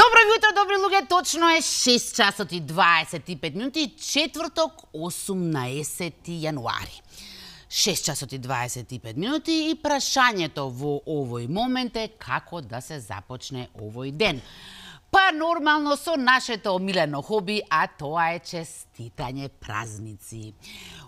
Добро јутро, добри луѓе, точно е 6 часот и 25 минути, четврток, 18 јануари. 6 часот и 25 минути и прашањето во овој момент е како да се започне овој ден. Па нормално со нашето омилено хоби, а тоа е честитање празници.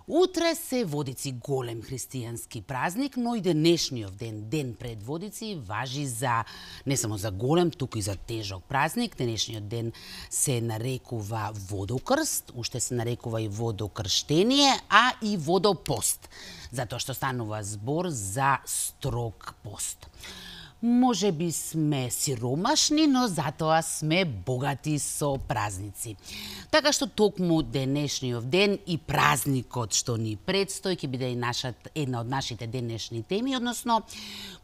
Утре се Водици голем христијански празник, но и денешниот ден, ден пред Водици, важи за не само за голем, туку и за тежок празник. Денешниот ден се нарекува Водокрст, уште се нарекува и Водокрштение, а и Водопост, затоа што станува збор за строг пост. Може би сме сиромашни, но затоа сме богати со празници. Така што токму денешниот ден и празникот што ни предстои ќе биде и една од нашите денешни теми, односно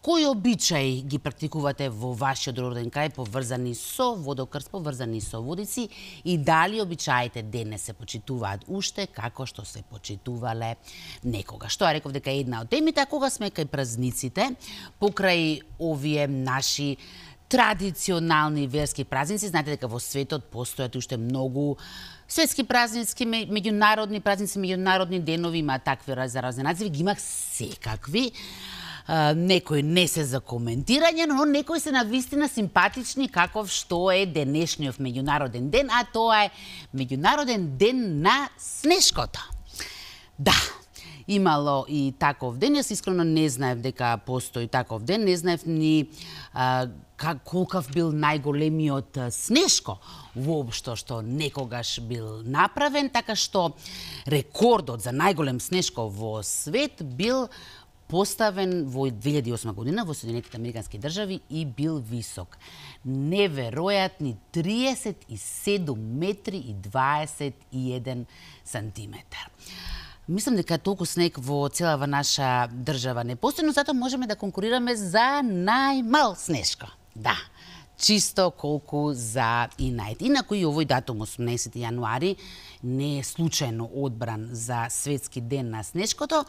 кои обичаи ги практикувате во вашиот роден крај поврзани со Водокрст, поврзани со Водици и дали обичаите денес се почитуваат уште како што се почитувале некогаш. Тоа реков дека е една од темите, а кога сме кај празниците, покрај овие наши традиционални верски празници, знаете дека во светот постојат уште многу светски празници, меѓународни празници, меѓународни денови, има такви разни називи, ги имах секакви. Некои не се за коментирање, но некои се навистина симпатични, каков што е денешниот меѓународен ден, а тоа е меѓународен ден на снешкото. Да, имало и таков ден, јас искрено не знаев дека постои таков ден, не знаев ни колкав бил најголемиот снешко воопшто што некогаш бил направен, така што рекордот за најголем снешко во свет бил поставен во 2008 година во Соединетите Американски држави и бил висок. Неверојатни 37 метри и 21 сантиметар. Мислам дека толку снег во целава наша држава не постои, но затоа можеме да конкурираме за најмал снешко. Да, чисто колку за Инајт. Инаку и овој датум, 18 јануари, не е случајно одбран за светски ден на снешкото.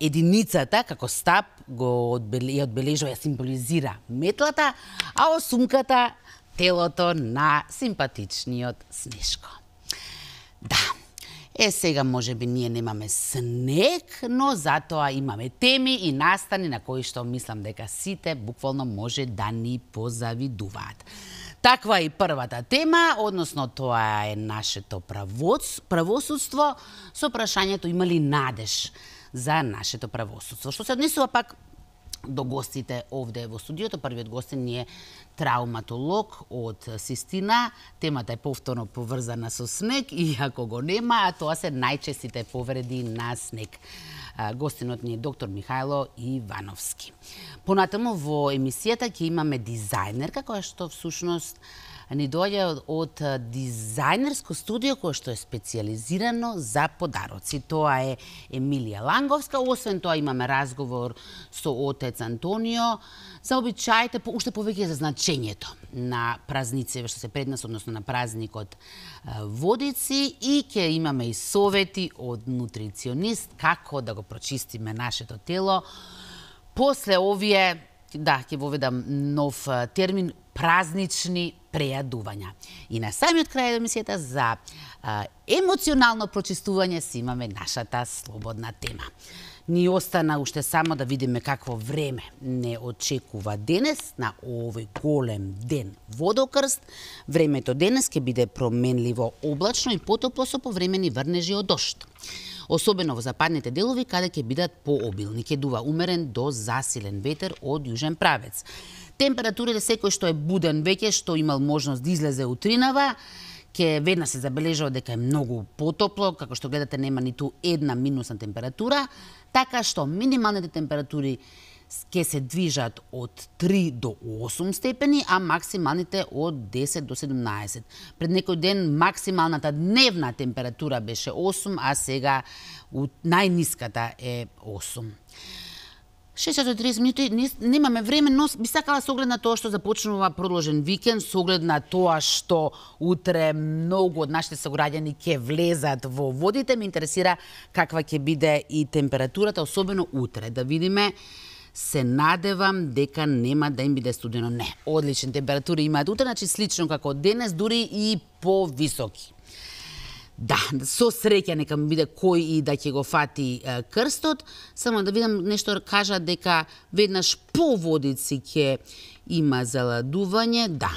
Единицата, како стап, ја одбележува, ја символизира метлата, а осумката телото на симпатичниот снешко. Да. Сега може би ние немаме снег, но затоа имаме теми и настани на кои што мислам дека сите буквално може да ни позавидуваат. Таква е и првата тема, односно тоа е нашето правосудство со прашањето има ли надеж за нашето правосудство. Што се однесува пак до гостите овде во студиото, првиот гостин ни е травматолог од Систина. Темата е повторно поврзана со снег, иако го нема, а тоа се најчестите повреди на снег. Гостинот ни е доктор Михајло Ивановски. Понатаму во емисијата ќе имаме дизајнерка, која што всушност ни доаѓа од дизајнерско студио кое што е специјализирано за подароци. Тоа е Емилија Ланговска. Освен тоа имаме разговор со отец Антонио за обичаите, уште повеќе за значењето на празниците што се пред нас, односно на празникот Водици, и ќе имаме и совети од нутриционист како да го прочистиме нашето тело. После овие, да, ќе воведам нов термин, празнични прејадувања. И на самиот крај емисијата за емоционално прочистување си имаме нашата слободна тема. Ни остана уште само да видиме какво време не очекува денес на овој голем ден Водокрст. Времето денес ќе биде променливо облачно и потопло со повремени врнежи од дожд. Особено во западните делови каде ќе бидат пообилни, ќе дува умерен до засилен ветер од јужен правец. Температурите секој што е буден веќе, што имал можност да излезе утринава, ќе веднаш се забележува дека е многу потопло, како што гледате нема ниту една минусна температура, така што минималните температури ќе се движат од 3 до 8 степени, а максималните од 10 до 17. Пред некој ден максималната дневна температура беше 8, а сега најниската е 8. 6:30 минути, немаме време, но би сакала со оглед на тоа што започнува продолжен викенд, со оглед на тоа што утре многу од нашите сограѓани ќе влезат во водите, ме интересира каква ќе биде и температурата, особено утре, да видиме се надевам дека нема да им биде студено. Не, одлични температури имаат утре, значи слично како денес, дури и повисоки. Да, со среќа нека ми биде кој и да ќе го фати крстот. Само да видам нешто кажа дека веднаш по Водици ќе има заладување. Да,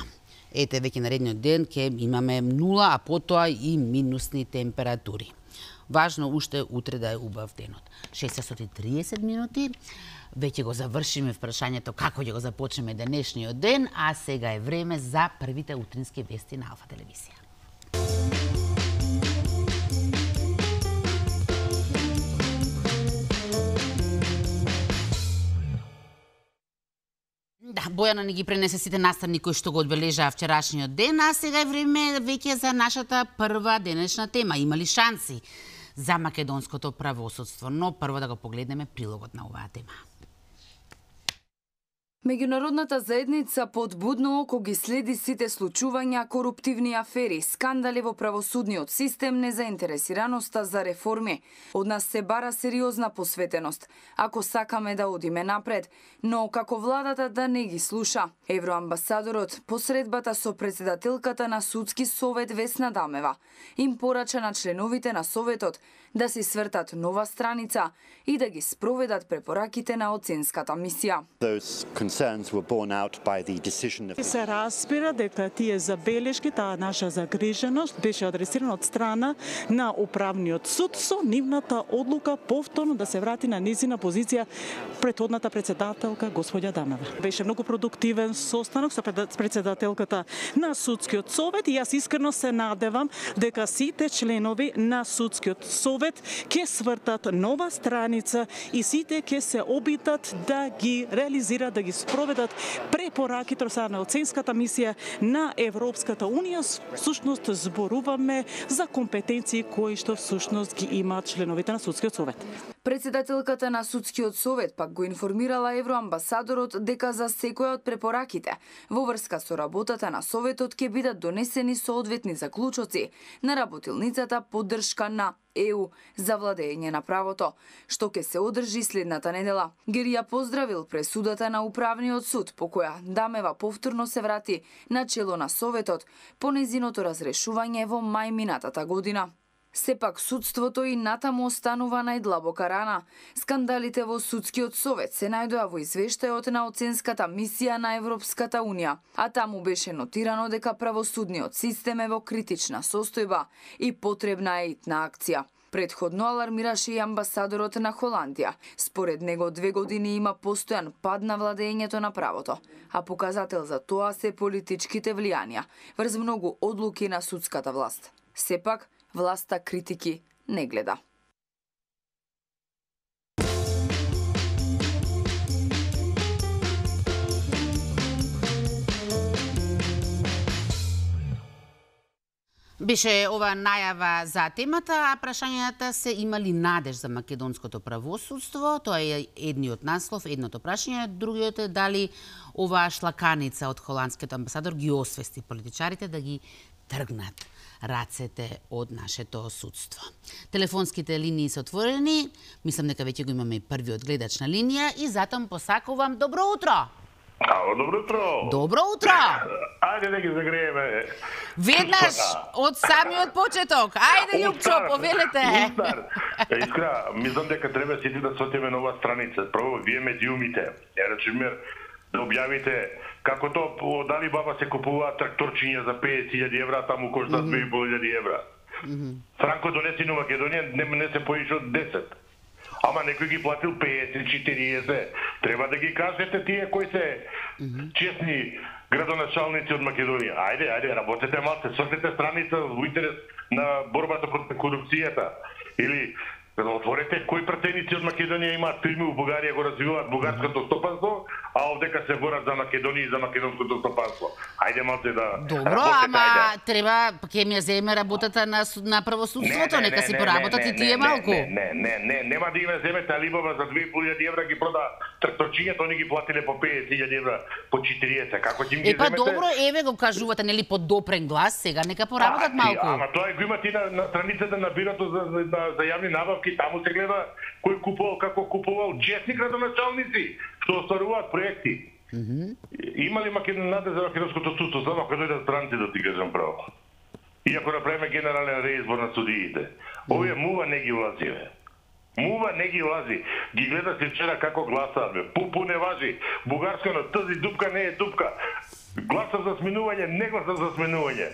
ете веќе наредниот ден ќе имаме 0, а потоа и минусни температури. Важно уште утре да е убав денот. 6:30 минути. Веќе го завршиме прашањето како ќе го започнеме денешниот ден, а сега е време за првите утрински вести на Алфа телевизија. Да, Бојана ни ги пренесе сите наставни кои што го одбележаа вчерашниот ден, а сега е време веќе за нашата прва денешна тема. Има ли шанси за македонското правосудство? Но прво да го погледнеме прилогот на оваа тема. Меѓународната заедница под будно око ги следи сите случувања, коруптивни афери, скандали во правосудниот систем, незаинтересираноста за реформи. Од нас се бара сериозна посветеност, ако сакаме да одиме напред, но како владата да не ги слуша. Евроамбасадорот, посредбата со председателката на Судски совет Весна Дамева, им порача на членовите на советот да си свртат нова страница и да ги спроведат препораките на оценската мисија. Се разбира дека тие забелешки, таа наша загриженост беше адресирана од страна на Управниот суд со нивната одлука повторно да се врати на низина позиција претходната председателка господја Дамева. Беше многу продуктивен состанок со председателката на Судскиот совет и јас искрено се надевам дека сите членови на Судскиот совет ќе свртат нова страница и сите ќе се обидат да ги реализираат, да ги спроведат препораките од страна на оценската мисија на Европската унија. Всушност зборуваме за компетенции кои што всушност ги имаат членовите на Судскиот совет. Председателката на Судскиот совет пак го информирала евроамбасадорот дека за секоја од препораките во врска со работата на советот ќе бидат донесени соодветни заклучоци на работилницата поддршка на ЕУ за владење на правото, што ќе се одржи следната недела. Ги поздравил пресудата на Управниот суд, по која Дамева повторно се врати на чело на советот по незиното разрешување во мај минатата година. Сепак судството и натаму останува најдлабока рана. Скандалите во Судскиот совет се најдоа во извештајот на оценската мисија на Европската унија, а таму беше нотирано дека правосудниот систем е во критична состојба и потребна е итна акција. Предходно алармираше и амбасадорот на Холандија. Според него 2 години има постојан пад на владењето на правото, а показател за тоа се политичките влијанија врз многу одлуки на судската власт. Сепак, власта критики не гледа. Беше ова најава за темата, а прашањата се имали надеж за македонското правосудство. Тоа е едниот наслов, едното прашање. Другиот е дали оваа шлаканица од холандскиот амбасадор ги освести политичарите да ги тргнат рацете од нашето судство. Телефонските линии се отворени. Мислам дека веќе го имаме и првиот гледач на линија и затоа посакувам добро утро. Ало, добро утро. Добро утро. Ајде да ги загрееме. Веднаш од самиот почеток. Ајде, Љупчо, повелете. Искра, мислам дека треба сите да сотиме нова страница. Прво, вие медиумите. Речемер, да објавите како то дали баба се купува тракторчиња за 50.000 евра, таму кошта 2.500 евра. Франко донеси на Македонија, не се поише од 10. Ама некој ги платил 50-40. Треба да ги кажете тие кои се честни градоначалници од Македонија. Ајде, работете малце, сортете страница во интерес на борбата против корупцијата. Или отворете кои пратеници од Македонија имаат фирми во Бугарија, го развиваат бугарското стопанство, а овдека се борат за Македонија и за македонското стопанство. Ајде малце да добро, ама треба ќе ми земе работата на правосудството, нека си поработат и тие малку. Не, нема да има земете Алибаба за 2.500 евра ги прода тракторчињата, они ги платиле по 50.000 евра, по 40. Како ќе им ги земете? Добро, еве го кажувате нели под допрен глас, сега нека поработат малку. Ама тоа го имате на страницата на бирото за јавни набавки, таму се гледа кој купувал, како купувал, честни градоначалници. што остваруваат проекти. Има ли надеж за македонското судство, само кога дојдат странци, да ти кажам право? И ако направиме генерален реизбор на судиите, овие мува не ги влази, бе. Мува не ги влази. Ги гледаш ли вчера како гласаат, бе. Пупу не важи. Бугарска, но тази дупка не е дупка. Гласав за сменување, не гласав за сменување.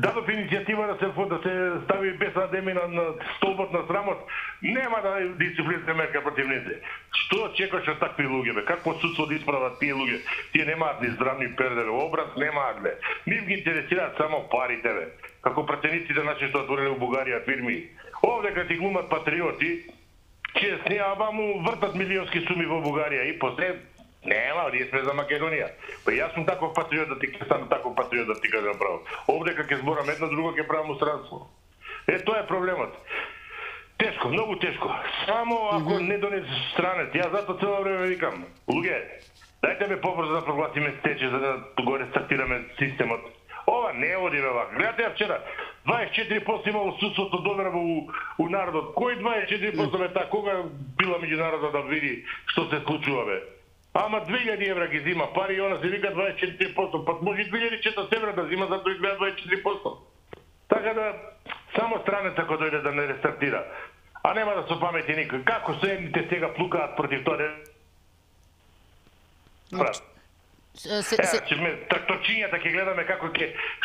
Дадов иницијатива да се стави без адеми на столбот на срамот, нема да дисциплинска мерка против ните. Што чекаш од такви луѓе, бе? Какво судство да исправат тие луѓе? Тие немаат ни здравни пердери, образ немаат, бе. Нив ги интересираат само парите, бе. Како пратениците наши што отвориле у Бугарија фирми. Овде кога ти глумат патриоти, честни, аба му вртат милионски суми во Бугарија и после нема, ние сме за Македонија. Па јас сум таков патриот да ти станам таков патриот да ти кажам право. Овде кога ќе зборам едно, друго ќе правам устранство. Тоа е проблемот. Тешко, многу тешко. Само ако не донесе странец. Јас затоа цело време викам, луѓе, дајте ме побрзо да прогласиме стече за да го рестартираме системот. Ова не оди вака. Гледате ја вчера, 24% имало судството доверба у народот. Кој 24% бе та? Кога била меѓународна да види што се случува, бе? Ама 2000 евра ги зима пари и она се вика 24%. Пак може 2400 евра да зима, затоа изгледа 24%. Така да, само странец ако дојде да не рестартира. А нема да се памети никој. Како се едните сега плукаат против тоа? Тракторчињата ќе гледаме како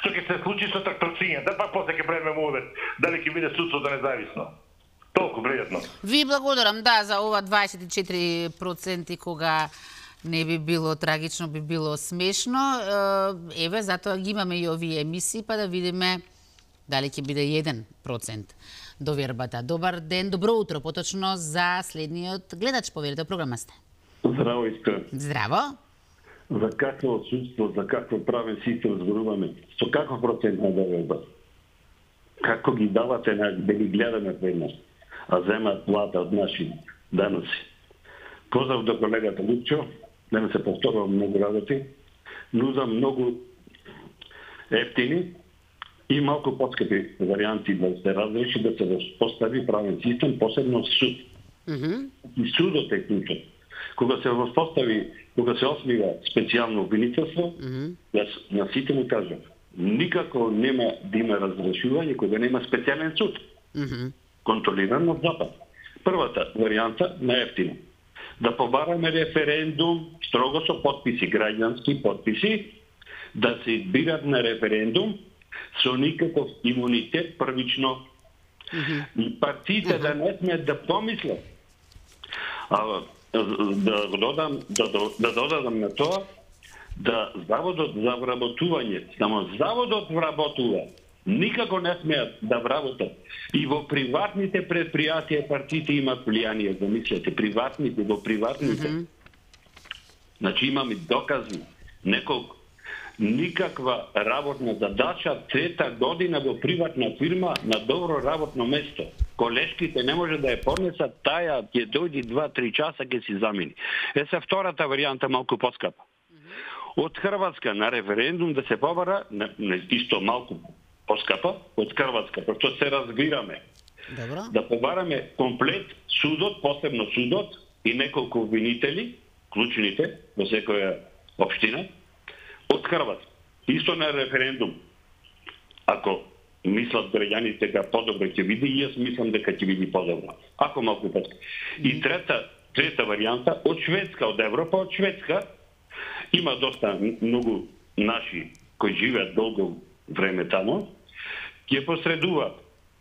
што ќе се случи со тракторчињата, па после ќе правиме мовет дали ќе биде судството независно. Толку пријатно. Ви благодарам, да, за ова 24% кога не би било трагично, би било смешно. Еве, затоа ги имаме и овие емисии, па да видиме дали ќе биде 1% довербата. Добар ден, добро утро, поточно за следниот гледач, поверите, програма сте. Здраво, Искра. Здраво. За какво судство, за какво правен систем зборуваме? Со каков процент на доверба? Како ги давате да ги гледаме пред нас, а земаат плата од наши даноци? Поздрав до колегата Лупчо, да не се повторувам многу работи, нудам многу ефтини и малку подскапи варианти да се разреши, да се постави правен систем, посебно суд. И судот е клучот. Кога се воспостави, кога се осмива специјално обвинителство, јас на сите му кажам, никако нема да има разрешување кога нема специјален суд. Контролиран од Запад. Првата варијанта на ефтино. Да побараме референдум строго со подписи, граѓански подписи, да се избират на референдум со никаков имунитет првично. И партиите да не смеат да помислат. Да додадам на тоа, да заводот за вработување, само заводот вработува, никако не смеат да вработат. И во приватните предпријатија партиите имаат влијание, замислете, во приватните. Значи имаме докази, неколку. Никаква работна задача, 3-та година во приватна фирма на добро работно место. Колешките не може да ја поднесат, таја ќе дојди 2-3 часа ќе си замени. Се втората варијанта малку поскапа. Од Хрватска на референдум да се побара, исто малку поскапа, од Хрватска, пошто се разбираме. Добро. Да побараме комплет судот, посебно судот и неколку обвинители, клучните во секоја општина, од Хрватска. Исто на референдум. Ако мислат граѓаните дека подобро ќе види, и јас мислам дека ќе види подобро. Ако малку пат. И трета варијанта од Шведска, од Европа, од Шведска, има доста многу наши кои живеат долго време тамо, ќе посредува,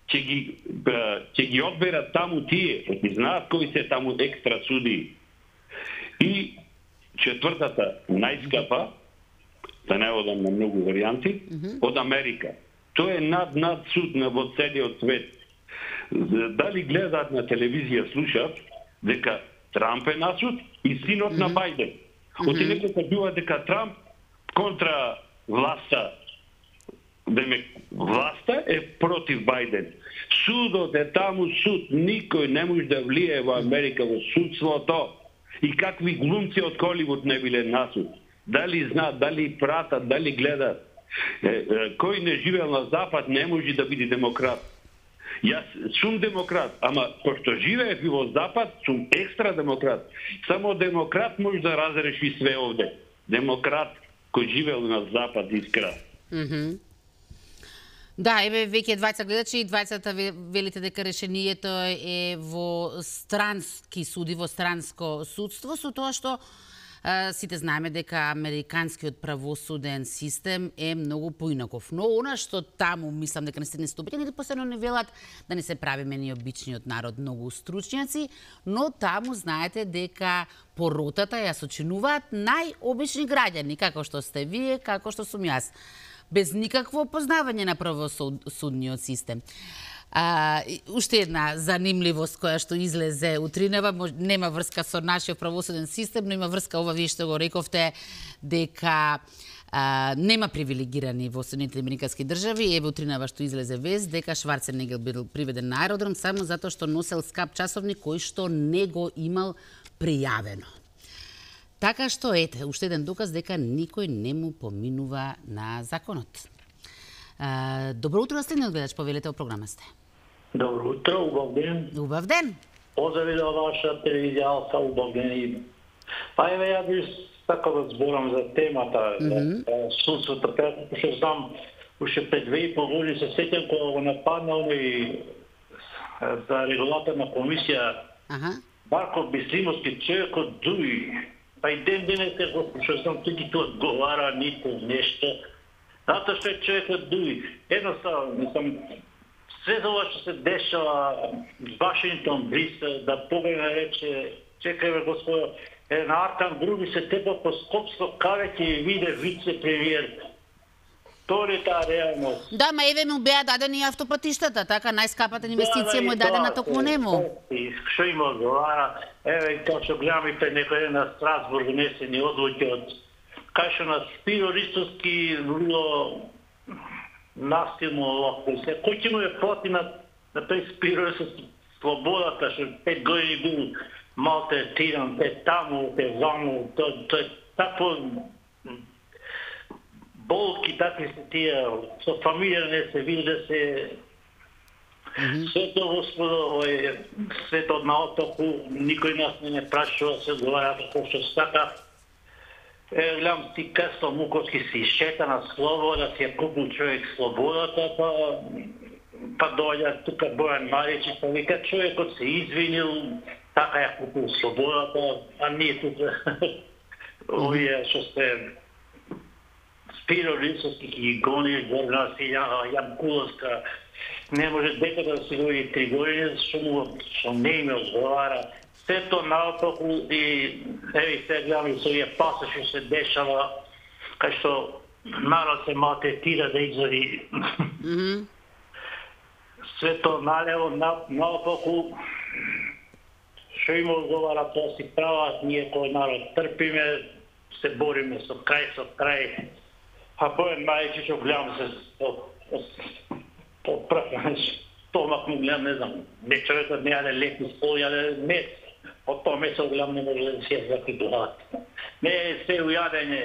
ќе ги одберат таму тие, ќе знаат кои се таму екстра суди. И четвртата најскапа, да не одам на многу варијанти, од Америка. Тоа е над суд во целиот свет. Дали гледаат на телевизија, слушаат дека Трамп е на суд и синот на Бајден. Оти некој кажува дека Трамп контра власта, власта е против Бајден. Судот е таму суд, никој не може да влие во Америка во судството. И какви глумци од Холивуд не биле на суд. Дали знаат, дали пратат, дали гледат. Кој не живеел на Запад не може да биде демократ. Јас сум демократ, ама пошто живеев и во Запад, сум екстра демократ. Само демократ може да разреши све овде. Демократ кој живеел на Запад, искра. Да, еве веќе двајца гледачи и двајцата велите дека решението е во странски суди, во странско судство, со тоа што сите знаеме дека американскиот правосуден систем е многу поинаков. Но она што таму мислам дека не стопите, или посебно не велат да не се правиме ни обичниот народ многу стручњаци, но таму знаете дека поротата ја сочинуваат најобични граѓани, како што сте вие, како што сум јас, без никакво познавање на правосудниот систем. Уште една занимливост која што излезе утринава, нема врска со нашиот правосуден систем, но има врска ова вие што го рековте дека нема привилегирани во Соединетите американски држави. Еве утринава што излезе вест дека Шварценегер бил приведен на аеродром само затоа што носел скап часовник кој што не го имал пријавено. Така што ете, уште еден доказ дека никој не му поминува на законот. Добро утро, следниот гледач, повелете, во програма сте. Добро утро, убав ден. Убав ден. Поздрави до ваша телевизија, Алса, убав ден. Па еве, ја би сакал да зборам за темата, судството, што знам, уште пред 2,5 години се сеќам кога го нападнал и за регулаторна комисија Барко Бислимовски, човекот дуи. Па и ден денес што знам, тој ги тоа одговара нито нешто. Затоа што е човекот дуи. Едноставно, мислам, све за ова што се дешава Вашингтон, Брисел, да погледне рече, чекајме господо, на Артан Груби се тепа по Скопско кавеќе и виде вице-премиер. Тоа е таа реалност. Да, ма еве му беа дадени автопатиштата, така најскапата инвестиција му е дадена токму нему. Што има одговара? Еве, како што гледаме пред некој ден на Страсбург внесени одлуки од кај што на Спиро Ристовски било настилно локо. Кој ќе му е плати на тој Спиро Ристовски слободата, што 5 години бил малтретиран, те таму, те ваму, тоа е такво болки, такви се тие, со фамилија не се види да се свето господо, свето на отоку, никој нас не прашува, се одговара како што сака. Гледам ти Касло Муковски си шета на слобода, си ја купил човек слободата, па дојде тука Бојан Марич, па вика човекот се извинил, така ја купил слободата, а ние тука овие што се Спиро Рисовски ги гони, Горна Јан Куловска, не може дека да се гои 3 години, што не име одговара. Сето наопаку и еви се гледам со овие пасоши се дешава, кај што народ се малтретира да изоди. Сето налево, наопаку, што има одговара, тоа си прават, ние кој народ трпиме, се бориме со крај. А Бојан Мајчи што гледам се по прв стомак му гледам, не знам, не човекот не јаде леки стол, јаде мес, од тоа месо гледам не може да си ја закидуват. Не е се ујадење.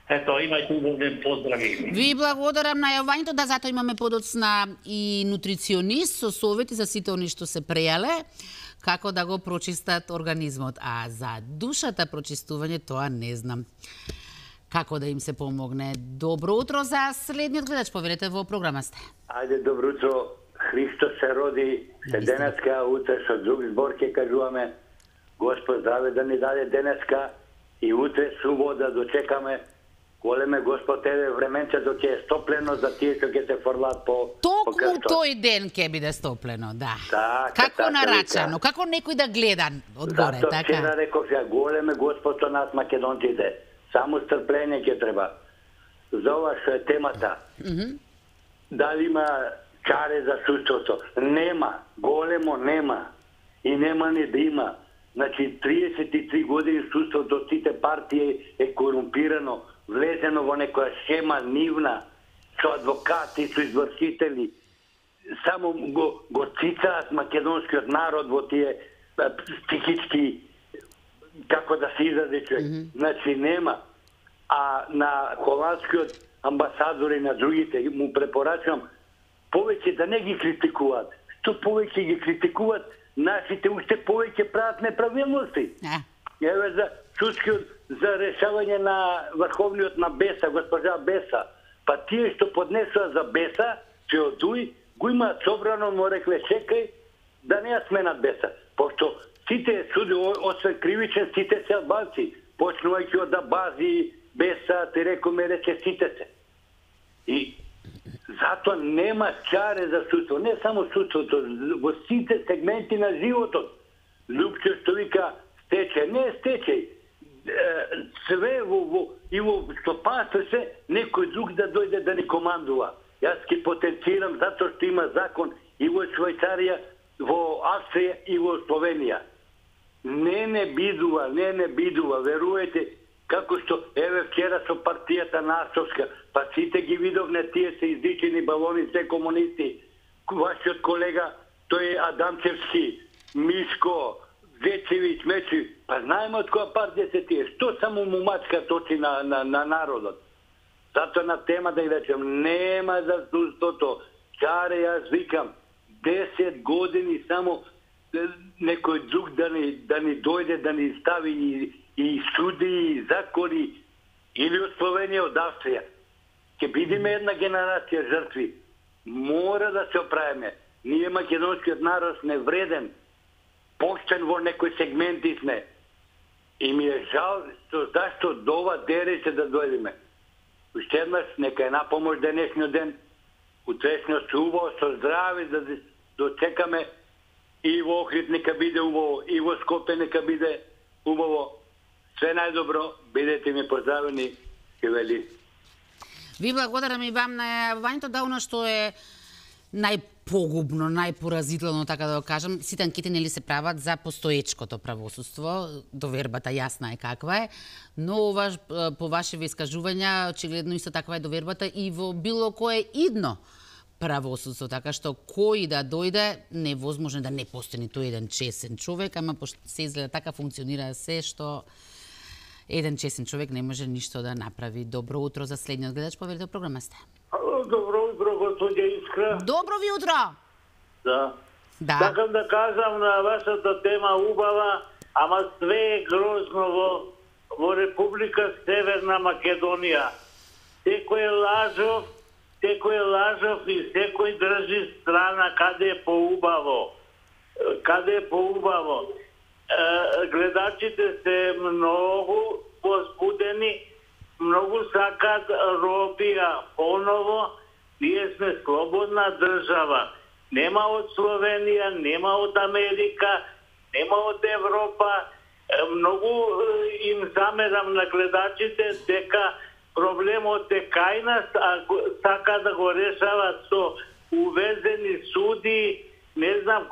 Ето, имајте убавен поздрави. Ви благодарам на јавањето, да затоа имаме подоцна и нутриционист со совети за сите они што се прејале, како да го прочистат организмот. А за душата прочистување, тоа не знам. Како да им се помогне. Добро утро за следниот гледач, повелете, во програма сте. Ајде, добро утро. Христос се роди, се денеска, утре со друг збор ќе кажуваме. Господ здраве да ни даде денеска и утре субота дочекаме. Големе Господ еве временце док е стоплено за тие што ќе се фрлат по Токму тој ден ќе биде стоплено, да. Така, како нарачано, како некој да гледа одгоре, така. Затоа вчера реков ја, големе Господ со нас македонците. Само стрпление ќе треба. За ова што е темата. Дали има чаре за судството? Нема. Големо нема. И нема ни да има. Значи, 33 години судството, сите партии е корумпирано, влезено во некоја схема нивна, со адвокати, со извршители. Само го цицаат македонскиот народ во тие психички, како да се изрази човек. Значи нема. А на холандскиот амбасадор и на другите му препорачувам повеќе да не ги критикуваат. Што повеќе ги критикуваат, нашите уште повеќе прават неправилности. Еве за судскиот за решавање на Врховниот на Беса, госпожа Беса. Па тие што поднесува за Беса, че од Дуј, го имаат собрано, му рекле чекај да не ја сменат Беса. Пошто сите суди, освен кривичен, сите се албанци. Почнувајќи од Абази, Беса, ти рекоме, рече сите се. И затоа нема чаре за судство. Не само судството, во сите сегменти на животот. Лупче што вика стечај, не стечај. Све и во стопанство се некој друг да дојде да ни командува. Јас ќе потенцирам затоа што има закон и во Швајцарија, во Австрија и во Словенија. Не бидува, веруете, како што еве вчера со партијата Насовска, па сите ги видовне, тие се издичени балони, се комунисти. Вашиот колега, тој е Адамчевски, Мишко, Зечевич, Мечи, па знаеме од која партија се тие. Што само мумачка точи на народот? Затоа на тема да ја речем, нема за судството. Чаре, јас викам, 10 години само некој друг да ни дојде, да ни стави и суди, и закони, или од Словенија, од Австрија. Ќе бидеме една генерација жртви. Мора да се оправиме. Ние македонскиот народ сме вреден, поштен во некој сегменти сме. И ми е жал зашто до ова дереće да дојдеме. Уште еднаш, нека е напомош денешниот ден, утрешниот се убаво, со здрави да дочекаме и во Охрид нека биде убаво, и во Скопје нека биде убаво. Све најдобро, бидете ми поздравени, Хевели. Ви благодарам и вам на јавувањето, да оно што е најпогубно, најпоразително, така да го кажам, сите анкети нели се прават за постоечкото правосудство, довербата јасна е каква е, но по вашеви искажувања, очигледно исто таква е довербата и во било кое идно правосудство, така што кој да дојде, невозможно да не постои ниту еден чесен човек, ама пошто се изгледа така функционира се што еден чесен човек не може ништо да направи. Добро утро за следниот гледач, поверите, програма сте. Добро утро, господја Искра. Добро ви утро. Да. Такам да кажам на вашата тема убава, ама све е грозно во Република Северна Македонија. Секој е лажов и секој држи страна каде е поубаво. Гледачите се многу возбудени, многу сакат робија поново. Ние сме слободна држава. Нема од Словенија, нема од Америка, нема од Европа. Многу им замерам на гледачите дека проблемот е кај нас, а сака да го решават со увезени суди, не знам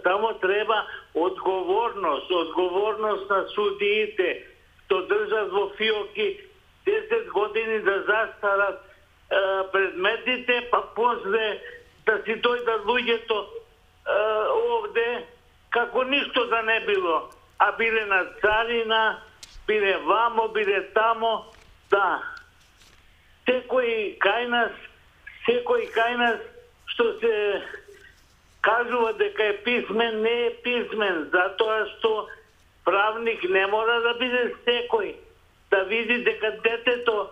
само треба одговорност на судиите, што држат во фиоки 10 години да застарат предметите, па после да си дојдат луѓето овде, како ништо да не било. А биле на царина, биле вамо, биле тамо, да. Секој кај нас, што се кажува дека е писмен, не е писмен, затоа што правник не мора да биде секој. Да види дека детето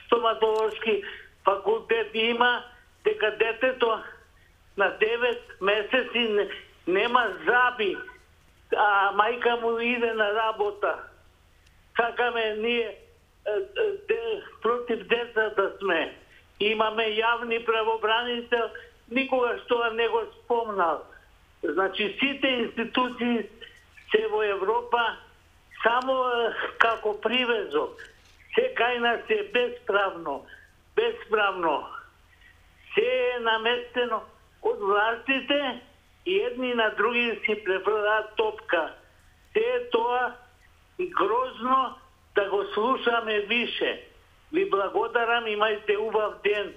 стоматолошки факултет има, дека детето на 9 месеци нема заби, а мајка му иде на работа. Сакаме ние против децата сме. Имаме јавни правобранител, никогаш тоа не го спомнал. Значи, сите институции се во Европа само како привезок. Се кај нас е безправно. Се е наместено од властите и едни на други си префрлаат топка. Се е тоа грозно да го слушаме више. Ви благодарам, имајте убав ден.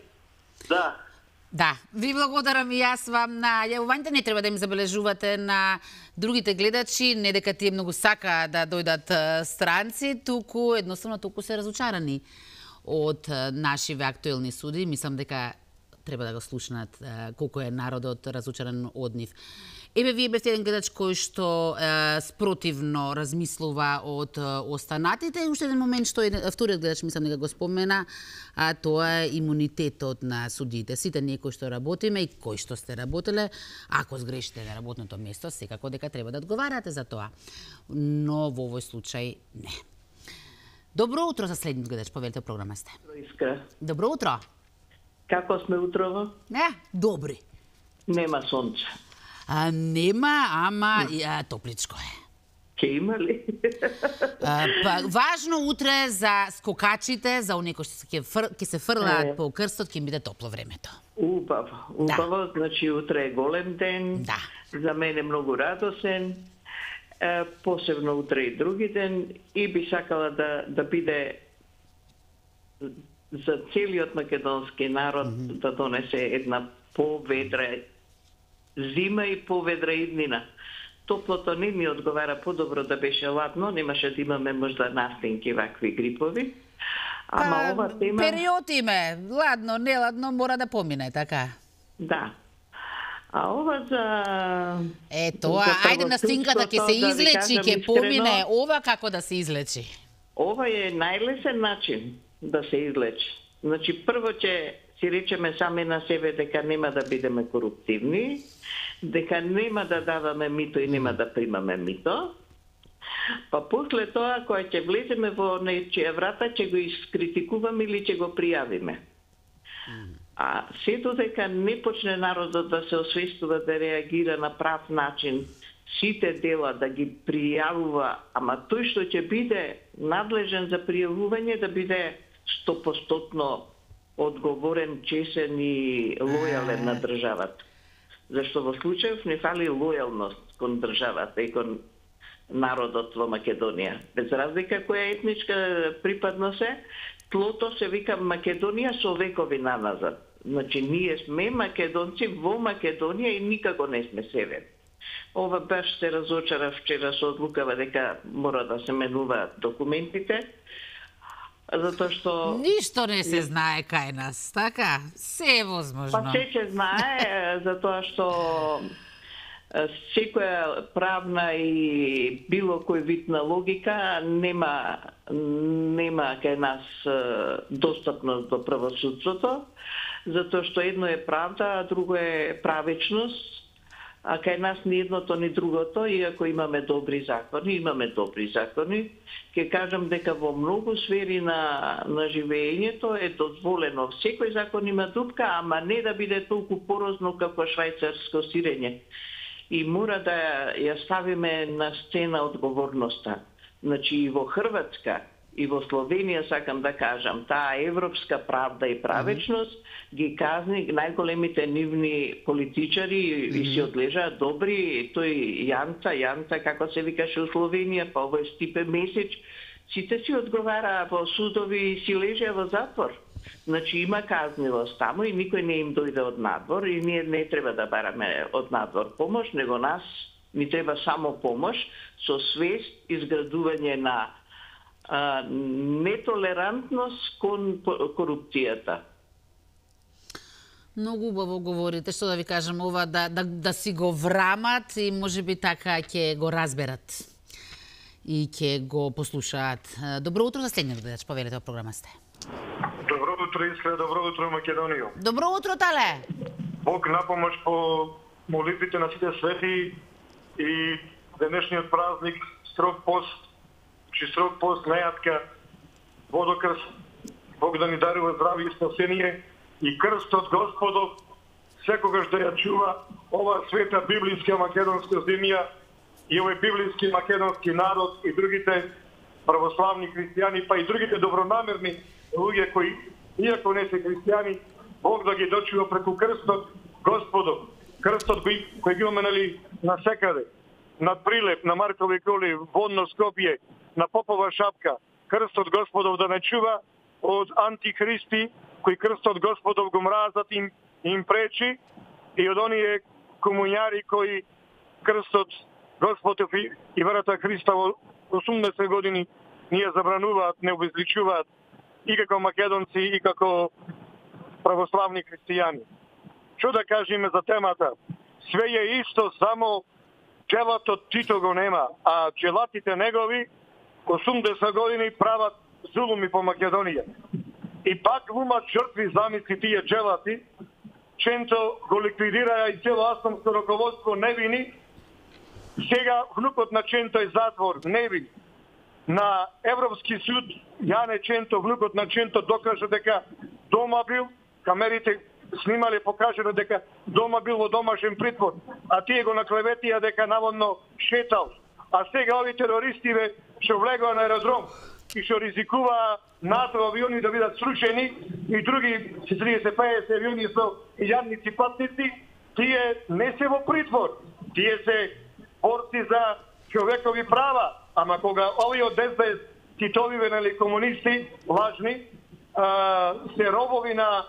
Да, ви благодарам и јас вам на јавувањето. Не треба да им забележувате на другите гледачи, не дека тие многу сака да дојдат странци, туку се разочарани од нашиве актуелни суди. Мислам дека треба да го слушнат колку е народот разучарен од нив. Еве, вие бевте еден гледач кој што спротивно размислува од останатите и уште еден момент што вториот гледач мислам дека го спомена, а тоа е имунитетот на судиите. Сите ние кои што работиме и кои што сте работеле, ако сгрешите на работното место, секако дека треба да одговарате за тоа. Но во овој случај не. Добро утро за следниот гледач, повелите програма сте. Искра. Добро утро. Како сме утрово? Добри. Нема сонце. Нема, ама топличко е. Ке има ли? Важно утре за скокачите, за оние кои ќе се фрлаат по крстот, ќе биде топло времето. Убаво, значи утре е голем ден, за мене многу радосен, посебно утре и други ден, и би сакала да биде за целиот македонски народ да донесе една поведра зима и поведра иднина. Топлото не ми одговара, подобро да беше ладно, немаше да имаме можда настинки вакви грипови. Ама ова тема... Период име, ладно, неладно, мора да помине, така? Да. А ова за... Тоа, ајде настинката ќе се излечи, ќе помине, ова како да се излечи? Ова е најлесен начин да се излечи. Значи, прво ќе си речеме сами на себе дека нема да бидеме коруптивни, дека нема да даваме мито и нема да примаме мито, па после тоа, кога ќе влеземе во нечија врата, ќе го искритикуваме или ќе го пријавиме. А се додека не почне народот да се освестува, да реагира на прав начин, сите дела да ги пријавува, ама тој што ќе биде надлежен за пријавување да биде 100% одговорен, чесен и лојален на државата. Зашто во случајов не фали лојалност кон државата и кон народот во Македонија. Без разлика која етничка припадност е, тлото се вика Македонија со векови наназад. Значи, ние сме македонци во Македонија и никако не сме север. Ова баш се разочара вчера со одлукава дека мора да се менуваат документите, затоа што... Ништо не се знае кај нас, така? Се е возможно. Па се знае, затоа што секоја правна и било кој вид на логика нема кај нас достапност до правосудството, затоа што едно е правда, а друго е правечност, а кај нас ни едното ни другото, иако имаме добри закони, ќе кажам дека во многу сфери на живеењето е дозволено. Секој закон има дупка, ама не да биде толку порозно како швајцарско сирење. И мора да ја ставиме на сцена одговорноста. Значи и во Хрватска, и во Словенија, сакам да кажам, таа европска правда и правечност ги казни најголемите нивни политичари и си одлежаат добри, тој Јанца, како се викаше у Словенија, па овој Стипе Месич, сите си одговараа во судови и си лежеа во затвор. Значи има казнивост таму и никој не им дојде од надвор и ние не треба да бараме од надвор помош, него нас ни треба само помош со свест, изградување на нетолерантност кон корупцијата. Многу убаво говорите, што да ви кажам, ова да си го врамат и можеби така ќе го разберат и ќе го послушаат. Добро утро за следниот гледач, повелете во програма сте. Добро утро, Искра, добро утро, Македонија. Добро утро, Тале. Бог напомош по молитвите на сите свети и денешниот празник, строг пост, нејатка, водокрст, Бог да ни дарува здравје и спасение и крстот Господов секогаш да ја чува ова света библиска македонска земја и овој библиски македонски народ и другите православни христијани, па и другите добронамерни луѓе кои, иако не се христијани, Бог да ги дочува преку крстот Господов. Крстот кој ги имаме насекаде, над Прилеп, на Маркови коли, Водно Скопје, на Попова шапка. Крстот Господов да не чува од антихристи, кои крстот Господов го мразат и им пречи, и од оние комуњари кои крстот Господов и верата Христа во 80 години ни ја забрануваат, не обезличуваат и како македонци, и како православни христијани. што да кажеме за темата? Све е исто, само челатот Тито го нема, а челатите негови 80 години прават зулуми по Македонија. И пак глумат жртви, замисли тие челати, Ченто го ликвидираа и цело астомско раководство невини. Сега внукот на Ченто е затвор, невин. На Европски суд Јане Ченто, внукот на Ченто, докажа дека дома бил, камерите снимале, покажано дека дома бил во домашен притвор, а тие го наклеветија дека наводно шетал. А сега ови терористи што влегоа на аеродром и што ризикуваа НАТО авиони да бидат срушени и други 30-50 авиони со јадници патници, тие не се во притвор. Тие се борци за човекови права. Ама кога овие од СДС титовиве, нали, комунисти, лажни, се робови на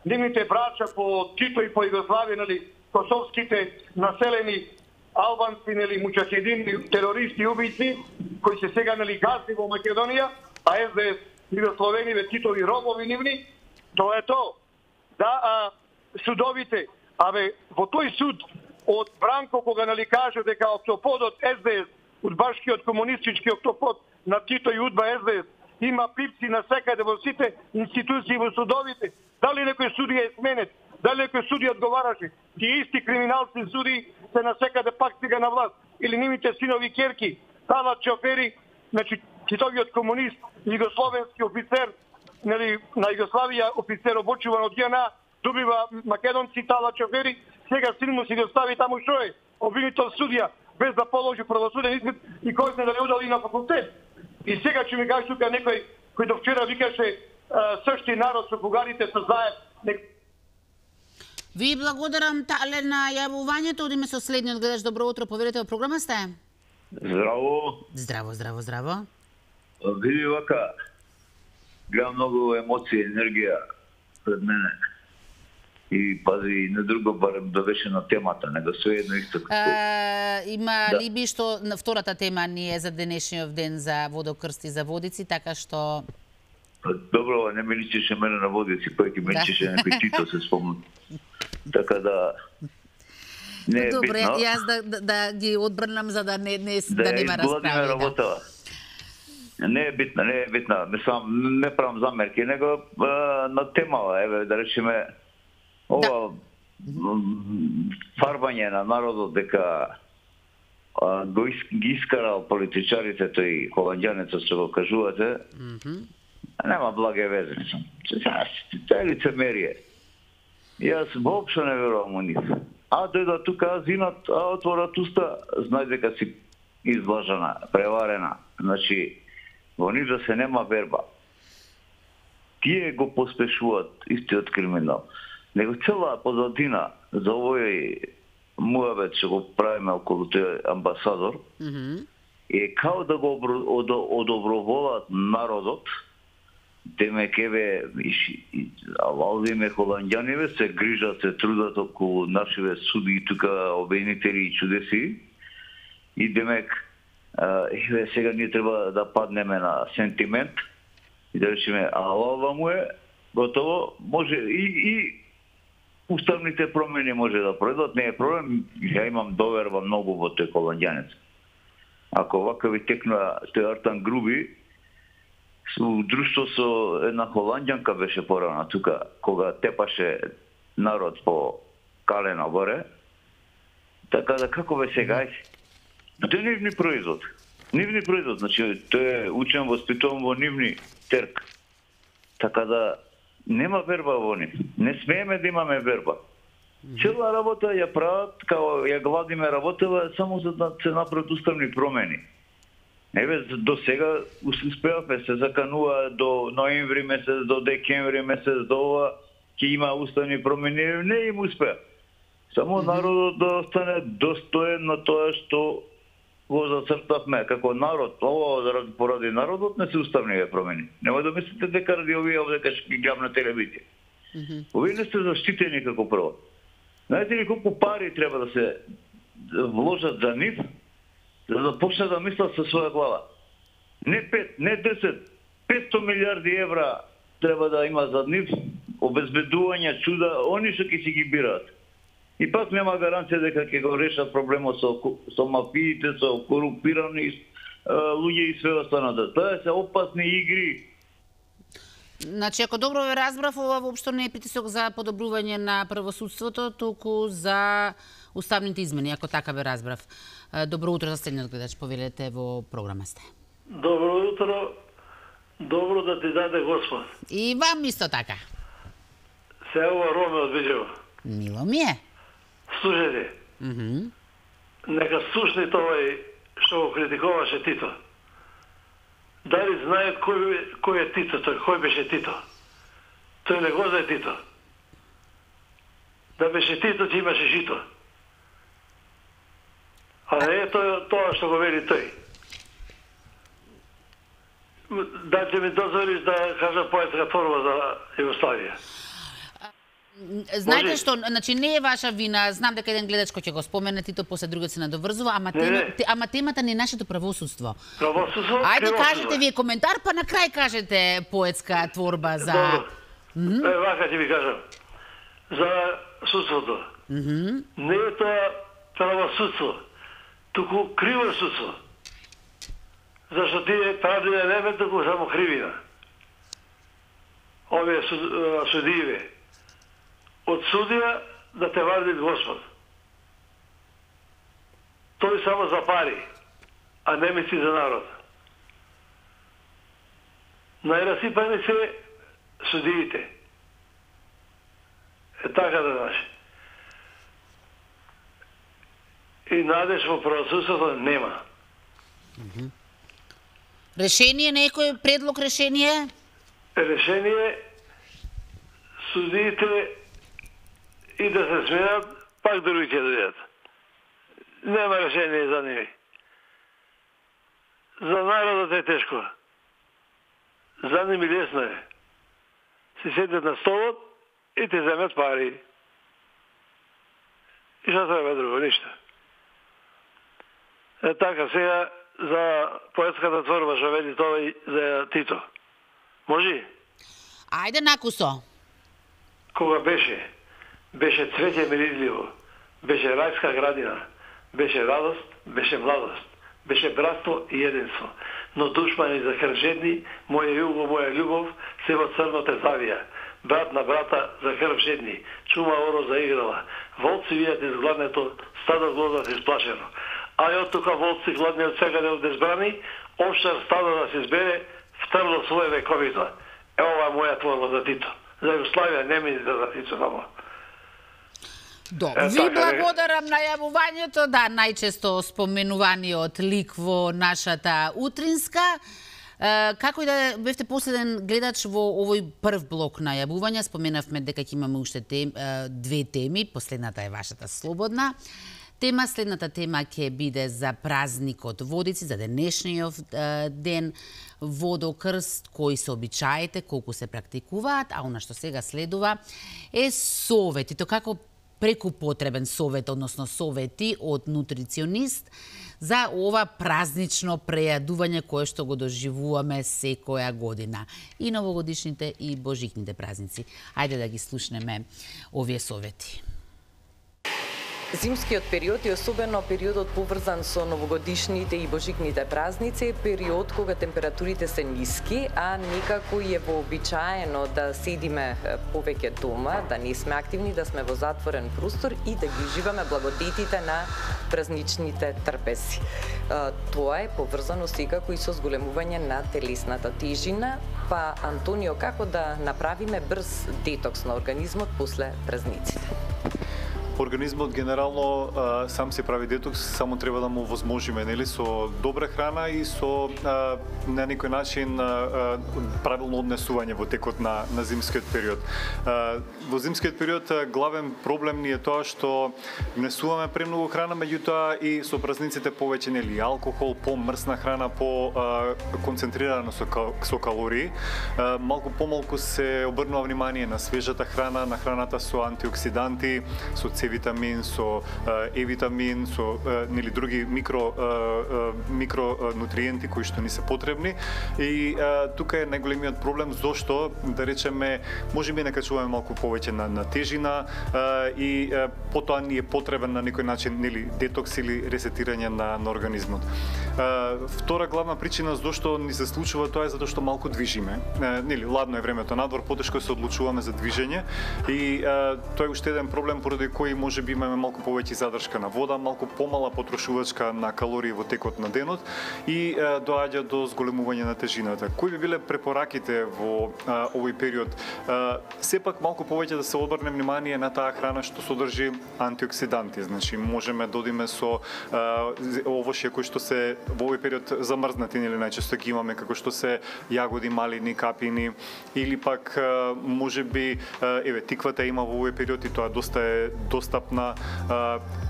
нивните брача по Тито и по Југославија, нали, косовските населени албанци, нали, мучахедини, терористи, убийци, кои се сега, нали, газни во Македонија, а СДС Југословени, Титови робови нивни, тоа е тоа. Да, судовите, во тој суд од Бранко, кога, нали, каже дека октоподот СДС, удбашкиот комунистички октопод на Тито и Удба СДС, има пипци на секаде во сите институции во судовите. Дали некој судија е сменет? Дали некој судија одговараше? Тие исти криминалци суди се на секаде пак сега на власт. Или нивните синови керки, талат шофери, значи Титовиот комунист, југословенски офицер, нели, на Југославија офицер обучуван од ЈНА, добива македонци талат шофери, сега син му си го стави таму што е, обвинител судија, без да положи правосуден испит и кој знае дали удали на факултет. И сега ќе ми кажеш тука некој кој до вчера викаше сшти народ со бугарите се заед. Ви благодарам, Тале, на јавувањето. Одиме со следниот гледач. Добро утро, поверете во програма сте. Здраво. Здраво. Види вака, гледам многу емоции, енергија пред мене. И пази, не друго, барем да беше на темата, него све едно исто. Има ли би што на втората тема ни е за денешниот ден за водокрсти за водици, така што... Добро, не ми личеше мене на водици, кој ќе ми личеше некој Тито, се спомнам. Така да... Не е добре, битно. јас да ги одбрнам за да нема расправи. Не е битна. Мислам, не правам замерки, него на тема, еве, да речеме, ова фарбање на народот дека ги искарал политичарите, тој холанѓанецот што го кажувате, нема благе везе. Тоа е лицемерие. Јас воопшто не верувам у нив. А дојдат тука, зинат, отворат уста, знај дека си излажана, преварена. Значи, во нив да се нема верба. Тие го поспешуваат истиот криминал. Него цела позадина за овој муавет што го правиме околу тој амбасадор, е као да го одоброволат народот, демек еве Валдиме холанѓаниве се грижат, се трудат околу нашиве суди тука обвинители и чудеси, и демек еве сега ние треба да паднеме на сентимент и да речеме ова му е готово, може и уставните промени може да пройдат, не е проблем, ја имам доверба многу во тој холанѓанец. Ако вакави текнува тој Артан Груби, у друштво со една холанѓанка беше порано тука, кога тепаше народ по калено горе, така да како бе сега, тоа е нивни производ. Нивни производ, значи тој е учен, воспитуван во нивни терк. Така да нема верба во нив. Не смееме да имаме верба. Цела работа ја прават, као ја Владиме работела, само за да се направат уставни промени. Еве, до сега успеавме, се заканува до ноември месец, до декември месец, до ова, ќе има уставни промени, не им успеа. Само народот да остане достоен на тоа што го зацртавме како народ. Ова поради народот не се уставни промени. Нема да мислите дека ради овие овдека ќе ги гледам на телевизија. Овие не сте заштитени како прво. Знаете ли колку пари треба да се вложат за нив, за да почне да мислат со своја глава? Не 5, не 10, 500 милиарди евра треба да има за нив, обезбедување, чуда, они што ќе си ги бираат. И пак нема гаранција дека ќе го решат проблемот со мафиите, со корумпирани луѓе и све останато. Тоа се опасни игри. Значи, ако добро ве разбрав, ова воопшто не е притисок за подобрување на правосудството, туку за уставните измени, ако така ве разбрав. Добро утро за следниот гледач, повелете во програма сте. Добро утро, добро да ти даде Господ. И вам исто така. Се ова Роме од Беџево. Мило ми е. Слушайте, нека слушнете овој што го критикуваше Тито. Дали знаат кој е Тито тој, кој беше Тито? Тој не го знае Тито. Да беше Тито, ти имаше жито. А не е тоа што го вели тој. Да ќе ми дозволиш да кажа поетска творба за Југославија. Знаете што, значи не е ваша вина, знам дека еден гледач кој ќе го спомене Тито, после другиот се надоврзува, ама темата не е нашето правосудство. Правосудство? Ајде кажете вие коментар, па на крај кажете поетска творба за... Добро. Вака ќе ви кажам. За судството. Не е тоа правосудство, туку криво судство. Зашто тие правдина не туку само кривина. Овие судије. Од судија да те вади Господ. Тој само за пари, а не мисли за народ. Најрасипани се судиите. Е така да знаеш. И надеж во правосудството нема. Решение, некој предлог решение? Решение судиите и да се сменат, пак други ќе дојдат. Нема решение за нив. За народот е тешко. За нив лесно е. Се седат на столот и те земат пари. И што треба друго? Ништо. Е така, сега за поетската творба што вели тоа за Тито. Може? Ајде накусо. Кога беше цвеќе миризливо, беше рајска градина, беше радост, беше младост, беше братство и единство. Но душмани за крвжедни, моја југо, моја љубов, се во црно те завија. Брат на брата за крв жедни, чума оро заиграла. Волци вијат из гладнето, стадо глодат исплашено. А и од тука волци гладни од секаде од избрани, овшар стадо да се избере, втрло своје вековито. Ова моја творба за Тито. За Југославија не ми за Тито само. Ви благодарам на јавувањето, да, најчесто споменуваниот лик во нашата утринска. Како и да бевте последен гледач во овој прв блок на јавувања, споменавме дека ќе имаме уште две теми, последната е вашата слободна тема, следната тема ќе биде за празникот Водици, за денешниот ден, водокрст, кои се обичаите, колку се практикуваат, а она што сега следува е совет. И то како преку потребен совет, односно совети од нутриционист за ова празнично прејадување кое што го доживуваме секоја година. И новогодишните и божикните празници. Ајде да ги слушнеме овие совети. Зимскиот период и особено периодот поврзан со новогодишните и божикните празници е период кога температурите се ниски, а некако е вообичаено да седиме повеќе дома, да не сме активни, да сме во затворен простор и да ги уживаме благодетите на празничните трпези. Тоа е поврзано секако и со зголемување на телесната тежина, па Антонио, како да направиме брз детокс на организмот после празниците? Организмот генерално сам се прави детокс, само треба да му возможиме, нели, со добра храна и со на некој начин правилно однесување во текот на зимскиот период. Во зимскиот период главен проблем ни е тоа што внесуваме премногу храна, меѓутоа и со празниците повеќе, нели, алкохол, помрсна храна, по концентрирано со калории. Малку помалку се обрнува внимание на свежата храна, на храната со антиоксиданти, со С-витамин, со Е-витамин, со нели други микронутриенти кои што ни се потребни. И тука е најголемиот проблем зошто, да речеме, можеби накачуваме малку повеќе на тежина и потоа ни е потребен на некој начин нели детокс или ресетирање на организмот. Втора главна причина зошто ни се случува тоа е затоа што малку движиме. Нели ладно е времето надвор, потешко се одлучуваме за движење и тоа е уште еден проблем поради кој можеби имаме малку повеќе задршка на вода, малку помала потрошувачка на калории во текот на денот и доаѓа до зголемување на тежината. Кои би биле препораките во овој период? Сепак малку повеќе да се обрне внимание на таа храна што содржи антиоксиданти. Значи можеме да одиме со овошје кои што се во овој период замрзнати или најчесто ги имаме како што се јагоди, малини, капини или пак можеби еве тиквата има во овој период и тоа доста е достапна,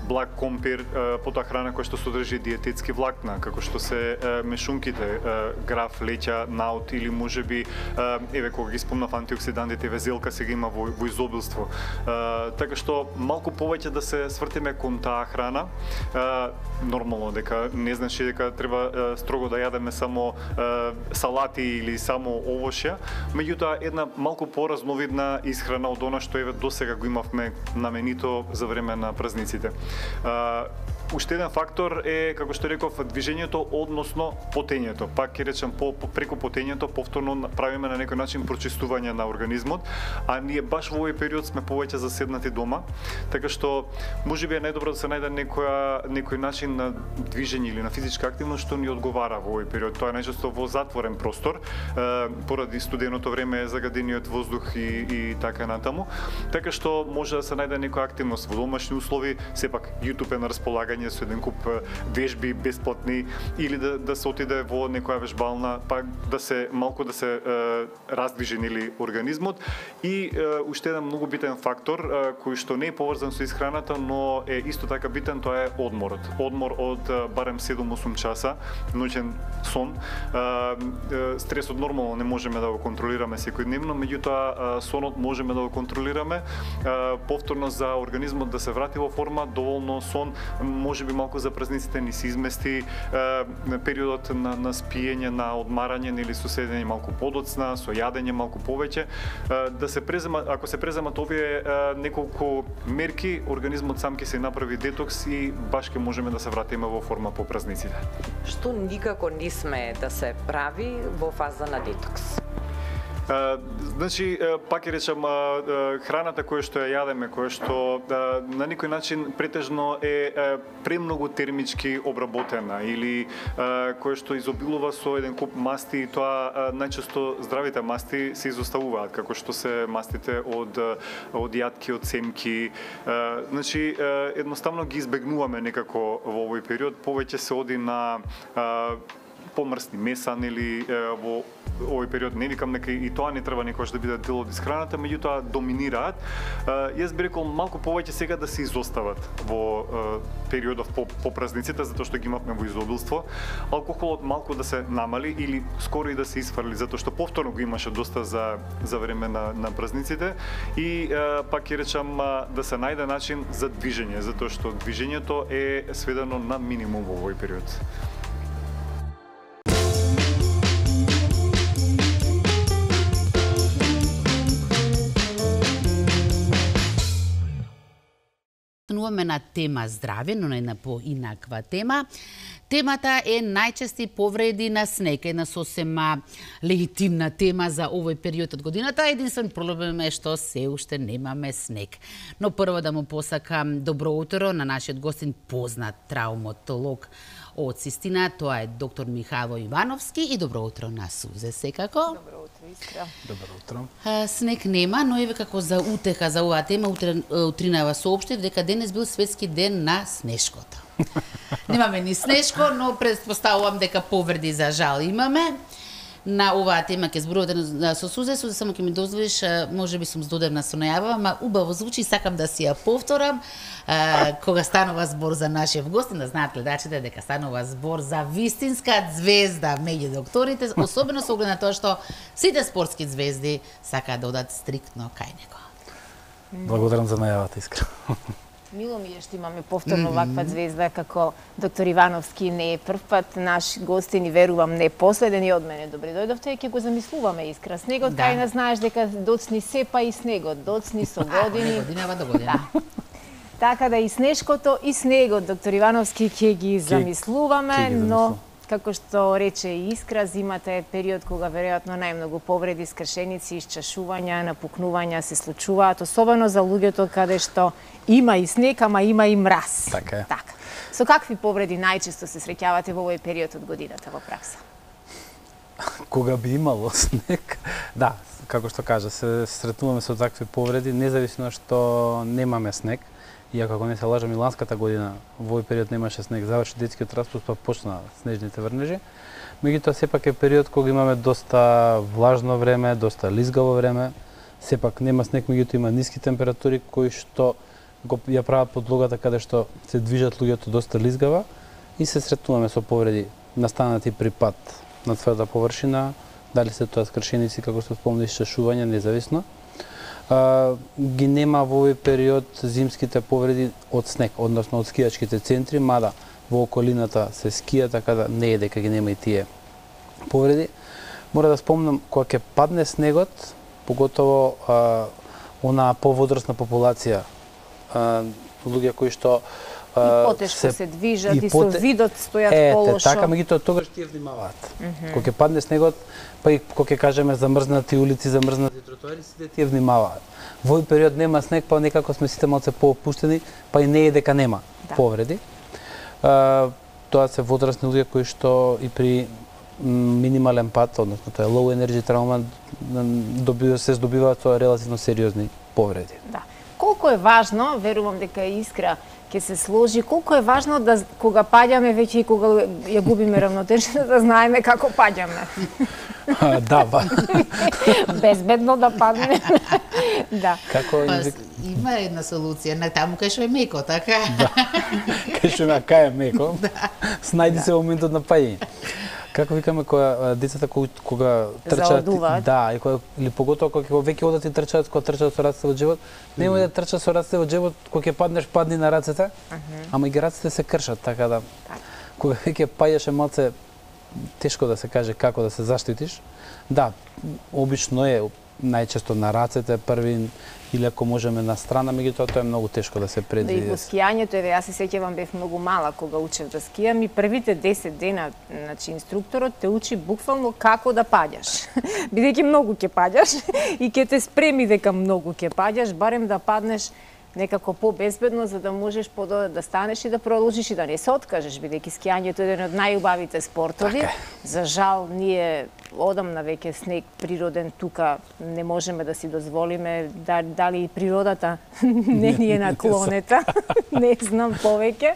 благ компир, потоа храна која што содржи диететски влакна, како што се мешунките, граф, леќа, наут или можеби еве кога ги спомнав антиоксидантите, везелка сега има во изобилство. Така што малку повеќе да се свртиме кон таа храна. Нормално дека не значи дека треба строго да јадеме само салати или само овошја, меѓутоа една малку поразновидна исхрана од она што еве досега го имавме на менито за време на празниците. Уште еден фактор е, како што реков, движењето, односно потењето. Пак ќе речам, преку потењето повторно правиме на некој начин прочистување на организмот, а ние баш во овој период сме повеќе заседнати дома, така што можеби е најдобро да се најде некој начин на движење или на физичка активност што ни одговара во овој период. Тоа е најчесто во затворен простор, поради студеното време, загадениот воздух и така натаму. Така што може да се најде некоја активност во домашни услови, сепак YouTube е на располагање со еден куп вежби бесплатни или да се отиде во некоја вежбална, пак да се малку да се раздвижи нели организмот. И уште еден многу битен фактор кој што не е поврзан со исхраната, но е исто така битен, тоа е одморот. Одмор од барем 7-8 часа ноќен сон. Стресот нормално не можеме да го контролираме секојдневно, меѓутоа сонот можеме да го контролираме. Повторно за организмот да се врати во форма, доволно сон, можеби малку за празниците ни се измести периодот на спиење, на одмарање или со седење малку подоцна, со јадење малку повеќе, да се презема, ако се преземат овие неколку мерки, организмот сам ќе се направи детокс и баш ќе можеме да се вратиме во форма по празниците. Што никако не сме да се прави во фаза на детокс? Значи, пак ќе речам, храната која што ја јадеме, која што на некој начин претежно е премногу термички обработена или која што изобилува со еден куп масти, и тоа најчесто здравите масти се изоставуваат, како што се мастите од јатки, од семки. Значи, едноставно ги избегнуваме некако во овој период, повеќе се оди на помрсни меса, нели во овој период. Не викам дека и тоа не треба некогаш да биде дел од исхраната, меѓутоа доминираат. Јас би рекол малку повеќе сега да се изостават во периодов по празниците, затоа што ги имавме во изобилство. Алкохолот малку да се намали или скоро и да се исфрли, затоа што повторно го имаше доста за време на празниците. И пак ќе речам да се најде начин за движење, затоа што движењето е сведено на минимум во овој период. Стануваме на тема здравје, но на една поинаква тема. Темата е најчести повреди на снег, една сосема легитимна тема за овој период од годината. Единствен проблем е што се уште немаме снег. Но прво да му посакам добро утро на нашиот гостин, познат травматолог од Систина, тоа е доктор Михајло Ивановски, и добро утро на Сузе секако. Добро утро, Искра. Добро утро. Снег нема, но еве како за утеха за оваа тема, утринава соопштив дека денес бил светски ден на снешкото. Немаме ни снешко, но предпоставувам дека повреди за жал имаме. На оваа тема ќе зборувате со Сузе, само ќе ми дозволиш, можеби сум здодевна со најава, ама убаво звучи, сакам да си ја повторам, кога станува збор за нашиот гостин, да знаат гледачите дека станува збор за вистинска звезда меѓу докторите, особено со оглед на тоа што сите спортски звезди сакаат да одат стриктно кај него. Благодарам за најавата, Искра. Мило ми е што имаме повторно ваква звезда како доктор Ивановски, не е прв пат, наш гостин и верувам не последен и од мене добре дојдовте, ќе го замислуваме Искра. Снегот кај нас знаеш дека доцни се па и снегот, доцни со години. Годинава до година. Така да и снешкото и снегот, доктор Ивановски, ќе ги замислуваме, но како што рече и Искра, зимата е период кога веројатно најмногу повреди, скршеници, исчашувања, напукнувања се случуваат, особено за луѓето каде што има и снег, ама има и мраз. Така е. Така. Со какви повреди најчесто се среќавате во овој период од годината во пракса? Кога би имало снег, да, како што кажа, се сретнуваме со такви повреди, независно што немаме снег. Иако ако не се лажам, миланската година во овој период немаше снег, заврши детскиот распуст, па почна снежните врнежи. Меѓутоа сепак е период кога имаме доста влажно време, доста лизгаво време. Сепак нема снег, меѓутоа има ниски температури кои што ја прават подлогата каде што се движат луѓето доста лизгава и се сретнуваме со повреди настанати при пат на тврда површина, дали се тоа скршеници, како што спомнав, исчашување, независно. Ги нема во овој период зимските повреди од снег, односно од скијачките центри, мада во околината се скија, така да не е дека ги нема и тие повреди. Мора да спомнам, кога ќе падне снегот, поготово онаа повозрасна популација, луѓе кои што и потешко се движат и со видот стојат полошо. Така, меѓутоа тогаш тие внимаваат. Кога ќе падне снегот, па и кога ќе кажеме замрзнати улици, замрзнати тротоари, сите тие внимаваат. Во овој период нема снег, па некако сме сите малце поопуштени, па и не е дека нема повреди. Тоа се возрастни луѓе кои што и при минимален пат, односно тоа е low energy травма, се здобиваат со релативно сериозни повреди. Да. Колку е важно, верувам дека Искра ќе се сложи, колку е важно да кога паѓаме веќе и кога ја губиме равнотежата, да знаеме како паѓаме. Да, безбедно да падне. Да. Како има една солуција, на таму кај што е меко, така? Да. Кај што е меко. Снајди се во моментот на паѓање. Како викаме кога децата кога трчаат, да, или поготово кога веќе одат и трчаат, кога трчаат со рацете во џебот, нема да трчаат со рацете во џебот, кога ќе паднеш, падни на рацете, ама и рацете се кршат, така да кога веќе паѓаш е малце тешко да се каже како да се заштитиш. Да, обично е најчесто на рацете први или ако можеме на страна, меѓутоа тоа е многу тешко да се предвиди. Да, и во скијањето, еве јас се сеќавам, бев многу мала кога учев да скијам и првите 10 дена, значи инструкторот те учи буквално како да паѓаш. Бидејќи многу ќе паѓаш и ќе те спреми дека многу ќе паѓаш, барем да паднеш некако по-безбедно, за да можеш подоцна да станеш и да продолжиш и да не се откажеш, бидејќи скијањето е еден од најубавите спортови. За жал, ние одамна веќе снег природен тука не можеме да си дозволиме, дали и природата не ни е наклонета, не знам повеќе.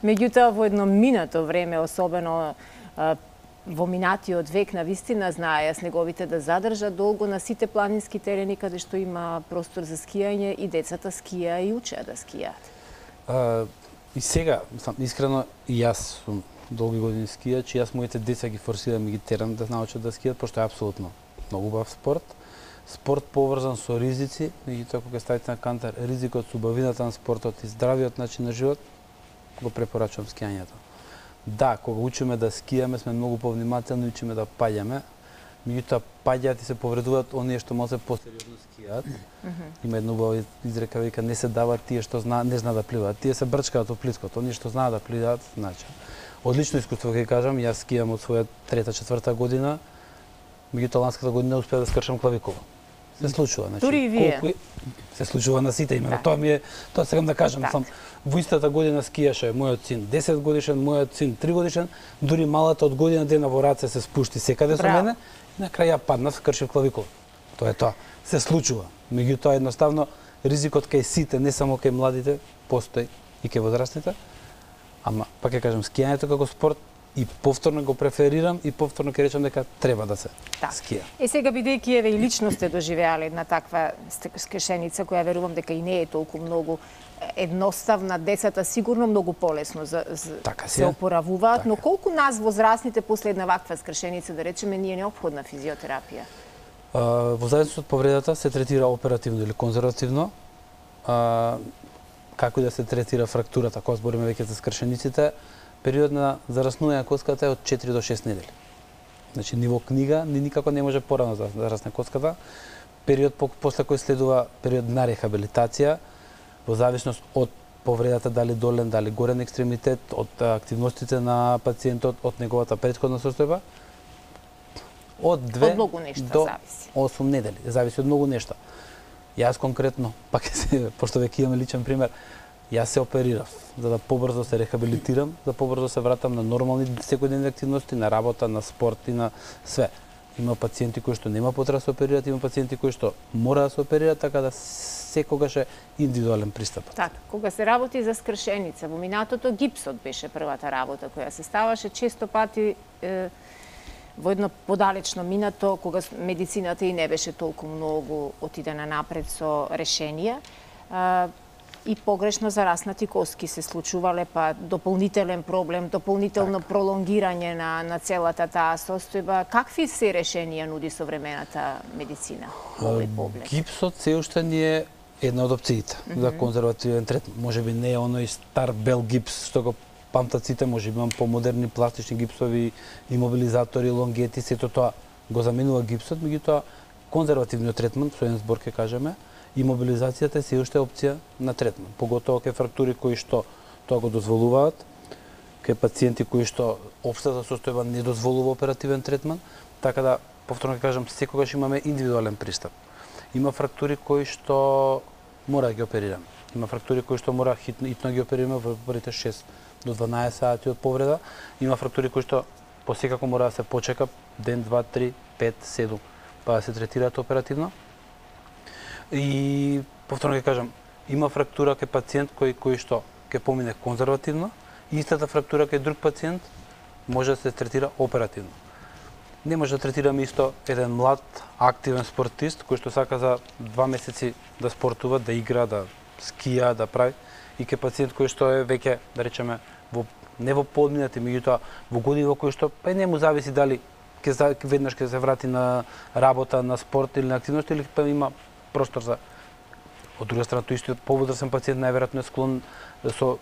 Меѓутоа, во едно минато време, особено во минатиот век, на вистина знаеа снеговите да задржат долго на сите планински терени каде што има простор за скијање и децата скија и учеа да скијаат. И сега, искрено, и јас сум долги години скијач, и јас моите деца ги форсирам и ги терам да научат да скијат, пошто е апсолутно многу убав спорт. Спорт поврзан со ризици, меѓутоа кога ставите на кантар ризикот со убавината на спортот и здравиот начин на живот, го препорачувам скијањето. Да, кога учиме да скијаме, сме многу повнимателни, учиме да паѓаме. Меѓутоа паѓаат и се повредуваат оние што малце посериозно скијаат. Има една убава изрека, вика, не се дават тие што не знаат да пливаат. Тие се брчкаат од плиткот, оние што знаат да пливаат, значи. Одлично искуство ќе кажам, јас скијам од своја 3-4 година, меѓутоа ланската година успеав да скршам клавикула. Се случува, значи. Дури и вие. Се случува на сите имено. Тоа ми е, тоа сакам да кажам, сам во истата година скијаше мојот син 10 годишен, мојот син 3 годишен, дури малата од година дена во раце се спушти секаде со мене и на крај ја паднав, скршив клавикула. Тоа е тоа. Се случува. Меѓутоа едноставно ризикот кај сите, не само кај младите, постои и кај возрастните. Ама пак ќе кажам, скијањето како спорт и повторно го преферирам и повторно ќе речам дека треба да се скија. И сега бидејќи еве и лично сте доживеале една таква скршеница која верувам дека и не е толку многу едноставна, децата сигурно многу полесно се опоравуваат, но колку нас возрастните после една ваква скршеница, да речеме, ни е неопходна физиотерапија? Во зависност од повредата се третира оперативно или конзервативно. како и да се третира фрактурата, кога збориме веќе за скршениците, период на зараснување на коската е од 4 до 6 недели. Значи, ниво книга никако не може порано да зарасне коската. Период после кој следува период на рехабилитација, во зависност од повредата, дали долен, дали горен екстремитет, од активностите на пациентот, од неговата претходна состојба, од 2 до 8 недели. Зависи од многу нешта. Јас конкретно, пак пошто веќе имаме личен пример, јас се оперирав за да побрзо се рехабилитирам, за побрзо се вратам на нормални секојдневни активности, на работа, на спорт и на све. Има пациенти кои што нема потреба да се оперираат, има пациенти кои што мора да се оперираат, така да секогаш е индивидуален пристап. Така, кога се работи за скршеница, во минатото гипсот беше првата работа која се ставаше често пати во едно подалечно минато, кога медицината и не беше толку многу отидена напред со решенија, и погрешно зараснати коски се случувале, па дополнителен проблем, дополнително пролонгирање на целата таа состојба. Какви се решенија нуди современата медицина во овој поглед? Гипсот се уште ни е една од опциите за конзервативен третман. Можеби не е оној стар бел гипс што го памтат сите, можеби имам помодерни пластични гипсови, имобилизатори, лонгети, сето тоа го заменува гипсот, меѓутоа конзервативниот третман, со еден збор ќе кажеме, имобилизацијата е се уште опција на третман, поготово кај фрактури кои што тоа го дозволуваат, кај пациенти кои што општата состојба не дозволува оперативен третман, така да, повторно ќе кажам, секогаш имаме индивидуален пристап. Има фрактури кои што мора да ги оперираме. Има фрактури кои што мора хитно ги оперираме во првите 6 до 12 сати од повреда. Има фрактури кои што посекако мора да се почека ден, 2, 3, 5, 7, па да се третираат оперативно. И повторно ќе кажам, има фрактура кај пациент кој што ќе помине конзервативно, и истата фрактура кај друг пациент може да се третира оперативно. Не може да третираме исто еден млад, активен спортист кој што сака за 2 месеци да спортува, да игра, да скија, да прави, и кај пациент кој што е веќе, да речеме, не во подминати, меѓутоа во години во кои што не му зависи дали веднаш ќе се врати на работа, на спорт или на активност, или па има простор за. Од друга страна, тој истиот поводрасен пациент најверојатно е склон со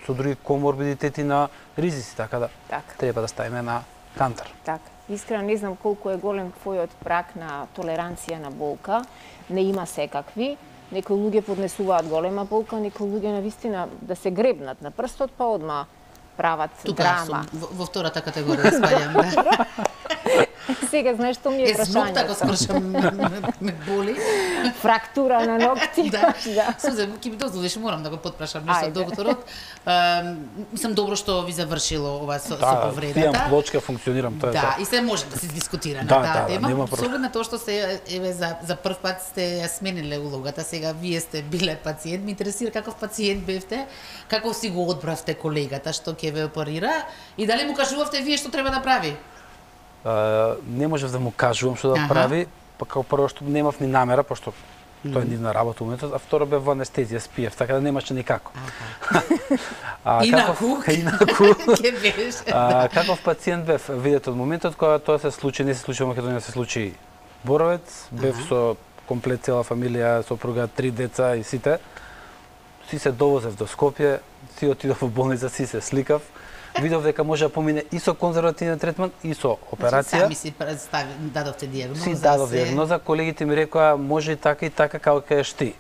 други коморбидитети на ризици, така да треба да ставиме на кантар. Така. Искрено не знам колку е голем твојот прак на толеранција на болка. Не има секакви. Некои луѓе поднесуваат голема болка, некои луѓе навистина да се гребнат на прстот, па одма прават драма. Тука сум во втората категорија спаѓам. Сега знаеш што ми е прашањето. Знок така скршам ме боли. Фрактура на ногти. Да. Сузе, ќе ми дозволиш, морам да го потпрашам нешто докторот. Мислам добро што ви завршило ова со повредата. Да, имам плочка, функционирам, тоа е. Да, и се може да се дискутира на таа тема. Со оглед на тоа што се еве за прв пат сте ја смениле улогата, сега вие сте биле пациент, ме интересира каков пациент бевте, како си го одбравте колегата што ќе ве оперира и дали му кажувавте вие што треба да прави? Не можев да му кажувам што да прави, па како прво што немав ни намера, пошто тоа е нивна работа уметот, а второ бев во анестезија, спиев, така да немаше никако. Инаку? Каков пациент бев? Видете, од моментот кога тоа се случи, не се случи во Македонија, се случи Боровец, бев со комплет цела фамилија, сопруга, 3 деца и сите. Си се довозев до Скопје, си отидов во болница, си се сликав. Видов дека може да помине и со конзервативен третман, и со операција. Сами си дадовте диагноза. Си дадов диагноза, колегите ми рекоа може и така како кажеш ти.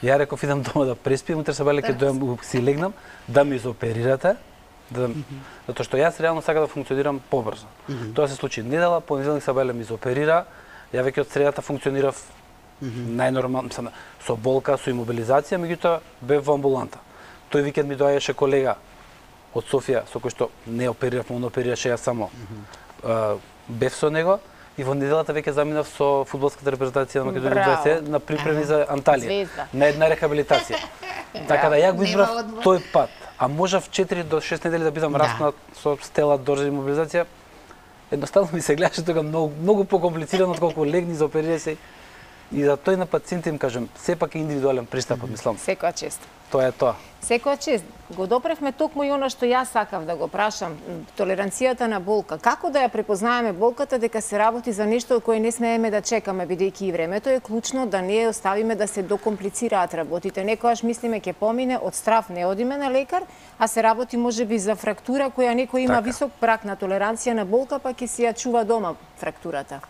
Ја реков идам дома да преспием, утре сабеле ќе дојам си легнам, да ми изоперирате, затоа што јас реално сакам да функционирам побрзо. Тоа се случи недела, понеделник сабеле ми изоперира, ја веќе од средата функционирав најнормално, со болка, со имобилизација, меѓутоа бев во амбуланта. Тој викенд ми доаѓаше колега од Софија, со кој што не оперирав, он оперираше, јас само бев со него, и во неделата веќе заминав со фудбалската репрезентација на Македонија 20 на припреми за Анталија, на една рехабилитација. Така да ја го избрав тој пат, а можев 4 до 6 недели да бидам раснат со стела дорза имобилизација. Едноставно ми се гледаше тога многу покомплицирано отколку легни за оперира се. И за тој на пациентите им кажем, сепак е индивидуален пристапот, мислам. Секоја чест. Тоа е тоа. Секоја чест. Го допревме токму и она што јас сакав да го прашам, толеранцијата на болка. Како да ја препознаеме болката дека се работи за нешто кое не смееме да чекаме, бидејќи и времето е клучно, да не ја оставиме да се докомплицираат работите. Некојаш мислиме ќе помине, од страв не одиме на лекар, а се работи можеби за фрактура која некој има висок праг на толеранција на болка, па ќе си ја чува дома фрактурата.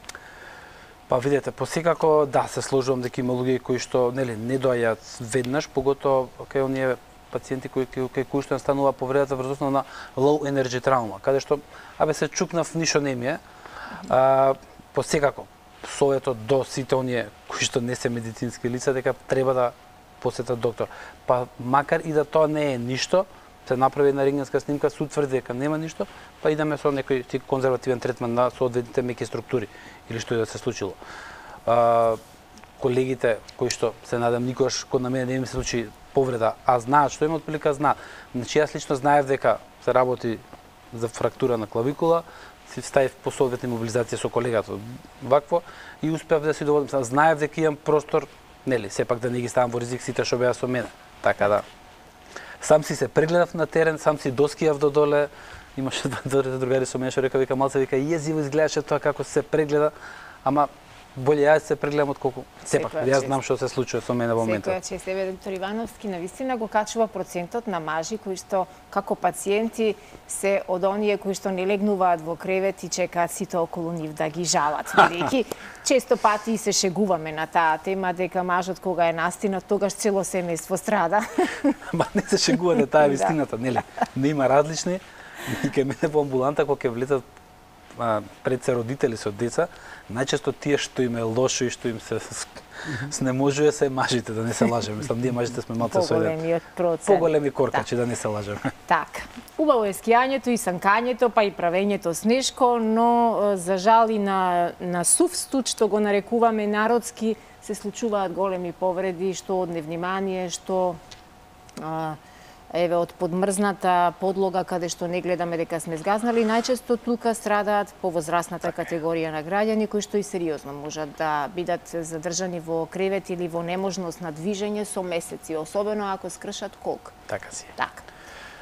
Па видете, посекако да се сложувам дека има луѓе кои што не доаѓаат веднаш, поготоа кај оние пациенти кои што настанува повредата врз основа на low energy травма, каде што се чукнав, ништо не ми е. Посекако советот до сите оние кои што не се медицински лица дека треба да посетат доктор. Па макар и да тоа не е ништо, се направи една рентгенска снимка, се утврди дека нема ништо, па идеме со некој конзервативен третман на соодветните меки структури или што и да се случило. Колегите кои што се надам никогаш код на мене не им се случи повреда, а знаат што има отприлика знаат. Значи јас лично знаев дека се работи за фрактура на клавикула, си ставив по соодветна мобилизација со колегата вакво и успеав да си доводам. Знаев дека имам простор, сепак да не ги ставам во ризик сите што беа со мене. Така да сам си се прегледав на терен, сам си доскијав до доле. Имаше другари со мене што река вика малце вика језиво изгледаше тоа како се прегледа, ама боле јас се прегледам отколку сепак јас знам што се случува со мене во моментот. Секоја чест, доктор Ивановски навистина го качува процентот на мажи кои што како пациенти се од оние кои што не легнуваат во кревет и чекаат сите околу нив да ги жалат. Бидејќи често пати се шегуваме на таа тема дека мажот кога е настинат тогаш цело семејство страда. Ма не се шегувате, таа е вистината, нели? Не има различни. И кај мене во амбуланта кога ќе влетат пред се родители со деца, најчесто тие што им е лошо и што им се снеможува се мажите, да не се лажеме. Мислам, ние мажите сме малце со поголемиот процент. Поголеми коркачи, да не се лажеме. Така. Убаво е скијањето и санкањето, па и правењето снешко, но за жал и на сув студ, што го нарекуваме народски, се случуваат големи повреди, што од невнимание, што од подмрзната подлога каде што не гледаме дека сме згазнали, најчесто тука страдаат повозрасната категорија на граѓани кои што и сериозно можат да бидат задржани во кревет или во неможност на движење со месеци, особено ако скршат колк. Така си. Така.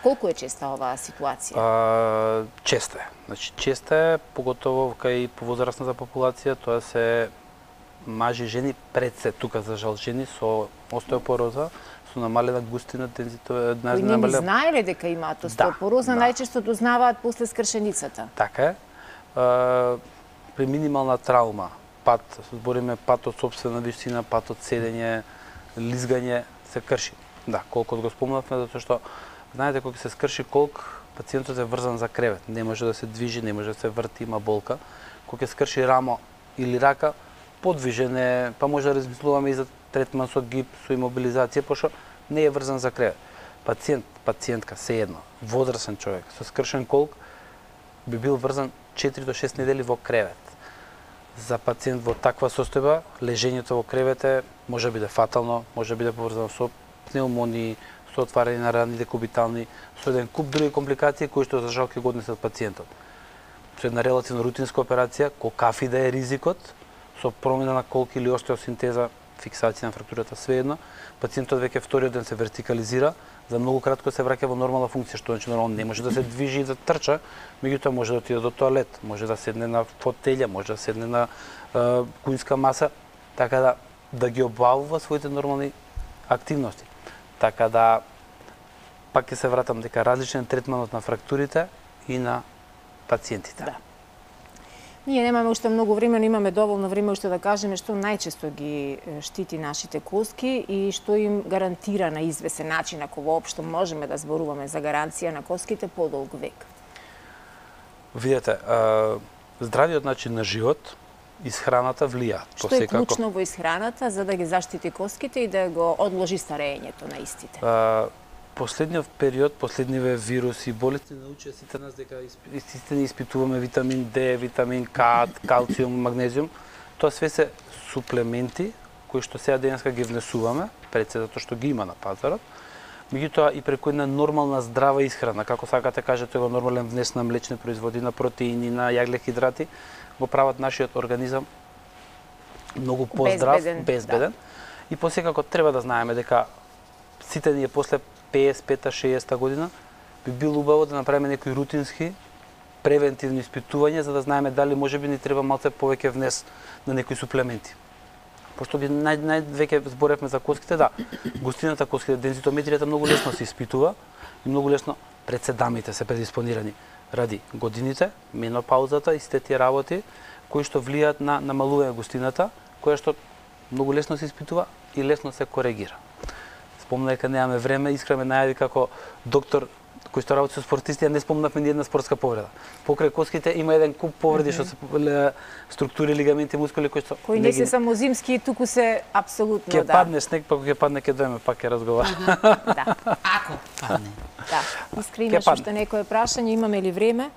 Колку е честа оваа ситуација? Честа е. Значи честа е, поготово кај повозрасната популација, тоа се мажи и жени, пред се тука за жал жени со остеопороза, со намалена густина, дензитет, кои не ни знаеле дека имаат остеопороза, најчесто дознаваат после скршеницата. Така е. При минимална травма, пат, збориме пат од сопствена висина, пат од седење, лизгање, се крши. Да, колкот го спомнавме, затоа што знаете кога се скрши колк, пациентот е врзан за кревет, не може да се движи, не може да се врти, има болка. Кога се скрши рамо или рака, подвижене, па може да размислуваме и за третман со гип, со имобилизација, пошто не е врзан за кревет. Пациентка, се едно, возрасен човек, со скршен колк, би бил врзан 4 до 6 недели во кревет. За пациент во таква состојба, лежењето во кревет може биде фатално, може биде поврзано со пневмонии, со отварање на рани декубитални, со еден куп други компликации кои што за жал ќе го однесат пациентот. Со една релативно рутинска операција, колкафи да е ризикот, со промена на колк или остеосинтеза, фиксација на фрактурата, свеедно, пациентот веќе вториот ден се вертикализира, за многу кратко се враќа во нормална функција, што значи нормално не може да се движи и да трча, меѓутоа може да отиде до тоалет, може да седне на фотелја, може да седне на кујнска маса, така да ги обавува своите нормални активности. Така да пак ќе се вратам дека различен третманот на фрактурите и на пациентите. Да. Ние немаме уште многу време, но имаме доволно време уште да кажеме што најчесто ги штити нашите коски и што им гарантира на извесен начин, ако воопшто можеме да зборуваме за гаранција на коските, подолг век. Видете, здравиот начин на живот, исхраната влијаат. Што е клучно во исхраната за да ги заштити коските и да го одложи старењето на истите? Последниот период, последниве вируси и болести научија сите нас дека истина испитуваме витамин D, витамин К, калциум, магнезиум. Тоа све се суплементи кои што сега денеска ги внесуваме, пред се затоа што ги има на пазарот. Меѓутоа и преку една нормална здрава исхрана, како сакате кажете го нормален внес на млечни производи, на протеини, на јаглехидрати, го прават нашиот организам многу поздрав, безбеден. Да. И посекако треба да знаеме дека сите ние после 55-60 година би било убаво да направиме некои рутински превентивни испитувања за да знаеме дали можеби ни треба малце повеќе внес на некои суплементи. Пошто би веќе зборевме за коските, да, густината коските, дензитометријата многу лесно се испитува и многу лесно пред 7 дамите се предиспонирани ради годините, менопаузата и сите тие работи кои што влијаат на намалување густината, која што многу лесно се испитува и лесно се коригира. Спомна дека немаме време, искрено најави како доктор кој што работи со спортисти, не спомнавме ни една спортска повреда. Покрај коските има еден куп повреди што се структури, лигаменти, мускули кои што кои не се само зимски, туку се апсолутно ќе падне снег, па кога ќе падне ќе дојме пак ќе разговараме. Да. Ако падне. Да. Искри имаш уште некое прашање, имаме ли време?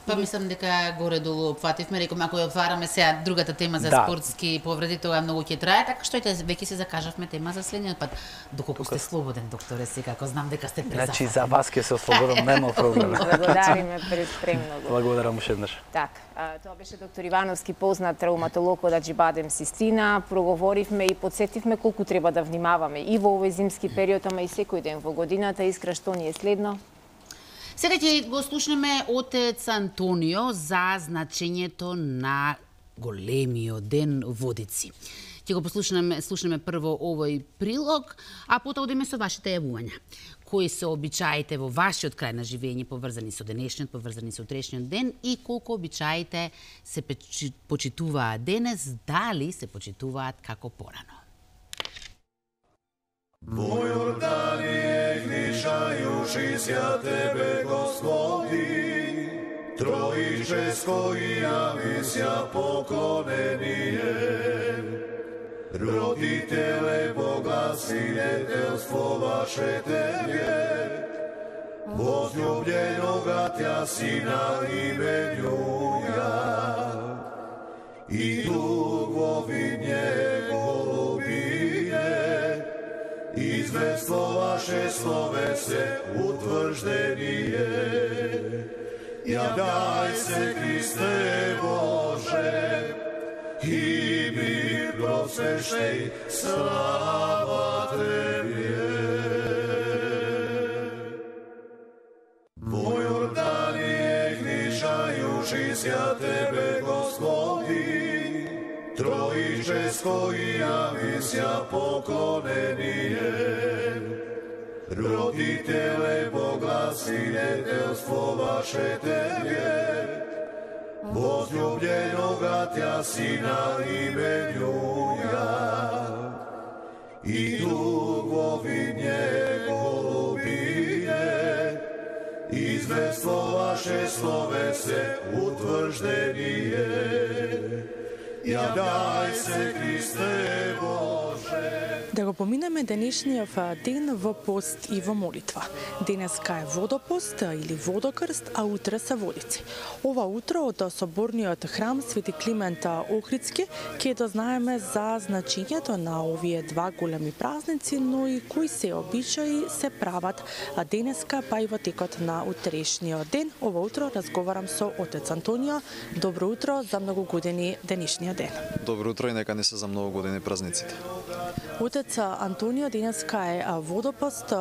Па мислам дека горе-долу опфативме, реком ако ја отвараме сега другата тема за спортски повреди, тоа многу ќе трае, така што веќе се закажавме тема за следниот пат. Доколку сте слободен, докторе, секако знам дека сте презапат. Значи за вас ќе се ослободам, нема проблем. Благодариме премногу. Благодарам уште еднаш. Така, тоа беше доктор Ивановски, познат травматолог од Аџибадем Систина. Проговоривме и подсетивме колку треба да внимаваме и во овој зимски период, ама и секој ден во годината. Искра, што ни е следно? Сега ќе го слушнеме отец Антонио за значењето на големиот ден водици. Ќе го слушнеме прво овој прилог, а потоа одиме со вашите јавувања. Кои се обичаите во вашиот крај на живење поврзани со денешниот, поврзани со утрешниот ден и колку обичаите се почитуваат денес, дали се почитуваат како порано. Во Јорданије гришајушися Тебе, Господи, Троическо и јавися поклонение. Родителе Бога, свидетелство ваше Тебе, возлюбленога Тя Сина именуја, и Дух во видње извествуваше словесе утврждение. Ја дај се, Христе Боже, и ми просвещај, слава Тебе. Во Јорданије гришајушися Тебе, Господи, Троическо и јавися поклонение. Родителе Бога, свидетелство ваше Тебе, возлюбленога Тя Сина именуја, и Дух во видње голубиње, извествуваше словесе утврждение. Ја дај се, Христе Боже. Да го поминеме денешниот ден во пост и во молитва. Денеска е водопост или водокрст, а утре се водици. Ова утро од соборниот храм Свети Климент Охридски ќе дознаеме за значењето на овие два големи празници, но и кои се обичаи се прават денеска, па и во текот на утрешниот ден. Ова утро разговарам со отец Антонио. Добро утро, за многу години денешниот ден. Добро утро и нека не се за многу години празниците. Отец Антонио, денеска е водопост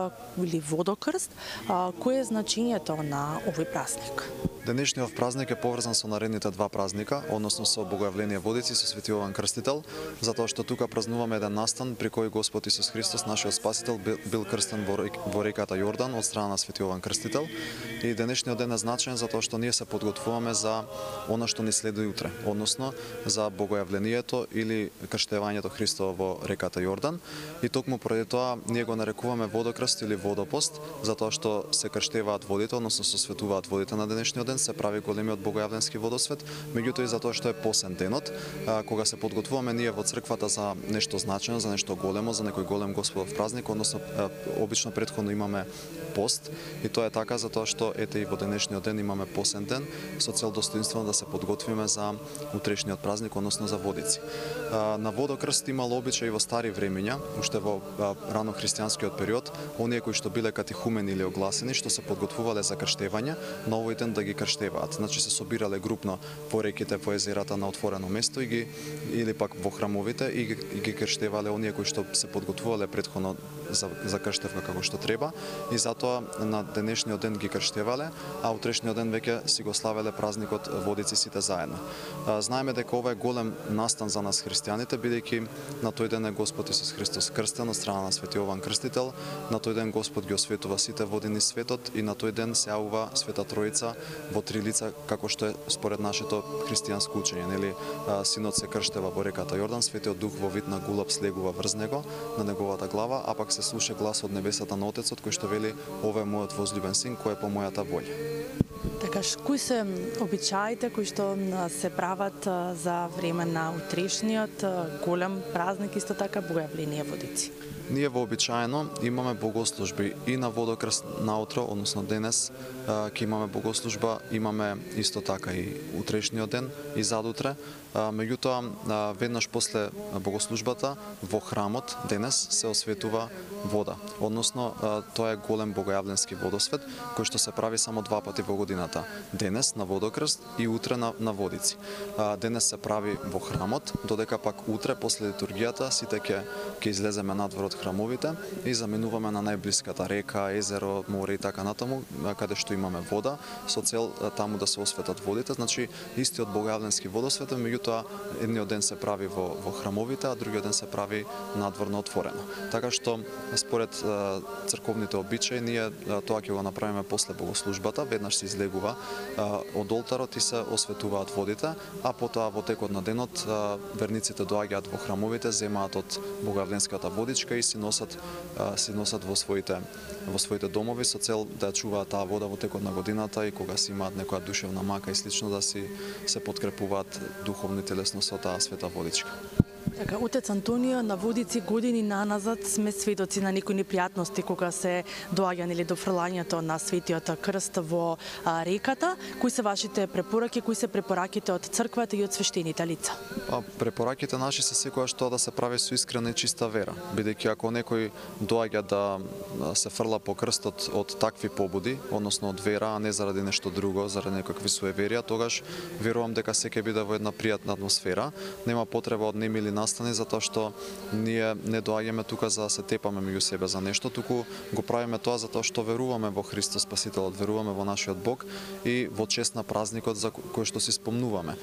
или водокрст. Кој е значењето на овој празник? Денешниот празник е поврзан со наредните два празника, односно со Богојавление водици со Свети Јован Крстител, затоа што тука празнуваме еден настан при кој Господ Исус Христос, нашиот Спасител, бил крстен во реката Јордан од страна на Свети Јован Крстител. И денешниот ден е значаен затоа што ние се подготвуваме за она што ни следи утре, односно за Богојавлението или крштевањето Христово во реката Јордан. И токму поради тоа ние го нарекуваме водокрст или водопост, затоа што се крштеваат водите, односно се светуваат водите на денешниот ден, се прави големиот богојавленски водосвет, меѓутоа и затоа што е посен денот, кога се подготвуваме ние во црквата за нешто значено, за нешто големо, за некој голем Господов празник, односно обично претходно имаме пост, и тоа е така затоа што ете и во денешниот ден имаме посен ден со цел достоинствено да се подготвиме за утрешниот празник, односно за водици. На водокрст имало обичај во стари времења, уште во рано христијанскиот период, оние кои што биле катехумени или огласени, што се подготвувале за крштевање, на овој ден да ги крштеваат. Значи се собирале групно по реките, по езерата на отворено место или пак во храмовите и ги крштевале оние кои што се подготвувале претходно за крштевка како што треба, и затоа на денешниот ден ги крштевале, а утрешниот ден веќе си го славеле празникот Водици сите заедно. Знаеме дека ова е голем настан за нас христијаните, бидејќи на тој ден е Господ Исус Христос крстен од страна на Свети Јован Крстител, на тој ден Господ ги осветува сите води низ светот и на тој ден се јавува Света Тројца во три лица, како што е според нашето христијанско учење, нели? Синот се крштева во реката Јордан, Светиот Дух во вид на гулаб слегува врз него, на неговата глава, а пак се слуша глас од небесата на Отецот кој што вели: "Ова е мојот возлюбен син кој е по мојата волја." Така, кои се обичаите кои што се прават за време на утрешниот голем празник, исто така Богојавление Водици? Ние вообичаено имаме богослужби и на Водокрст наутро, односно денес ќе имаме богослужба, имаме исто така и утрешниот ден и задутре. Меѓутоа, веднаш после богослужбата во храмот денес се осветува вода. Односно, тоа е голем богојавленски водосвет кој што се прави само 2 пати во годината. Денес на Водокрст и утре на Водици. Денес се прави во храмот, додека пак утре после литургијата сите ќе излеземе надвор од храмовите и заминуваме на најблиската река, езеро, море и така натаму, каде што имаме вода, со цел таму да се осветат водите. Значи, истиот богојавленски водосвет, меѓутоа едниот ден се прави во храмовите, а другиот ден се прави надворно отворено. Така што според црковните обичаи ние тоа ќе го направиме после богослужбата, веднаш се излегува од олтарот и се осветуваат водите, а потоа во текот на денот верниците доаѓаат во храмовите, земаат од богојавленската водичка и си носат во своите домови со цел да ја чуваат таа вода во текот на годината и кога си имаат некоја душевна мака и слично да се подкрепуваат духовно и телесно со таа света водичка. Така, Отец Антонио, на Водици години наназад сме сведоци на некои непријатности кога се доаѓа или до фрлањето на Светиот Крст во реката. Кои се вашите препораки, кои се препораките од црквата и од свештените лица? Препораките наши се секогаш тоа да се прави со искрена и чиста вера, бидејќи ако некој доаѓа да се фрла по крстот од такви побуди, односно од вера, а не заради нешто друго, заради некакви суеверија, тогаш верувам дека се ќе биде во една пријатна атмосфера. Нема потреба од немили настани, затоа што ние не доаѓаме тука за да се тепаме меѓу себе за нешто, туку го правиме тоа затоа што веруваме во Христос Спасителот, веруваме во нашиот Бог и во чест на празникот за кој што си спомнуваме.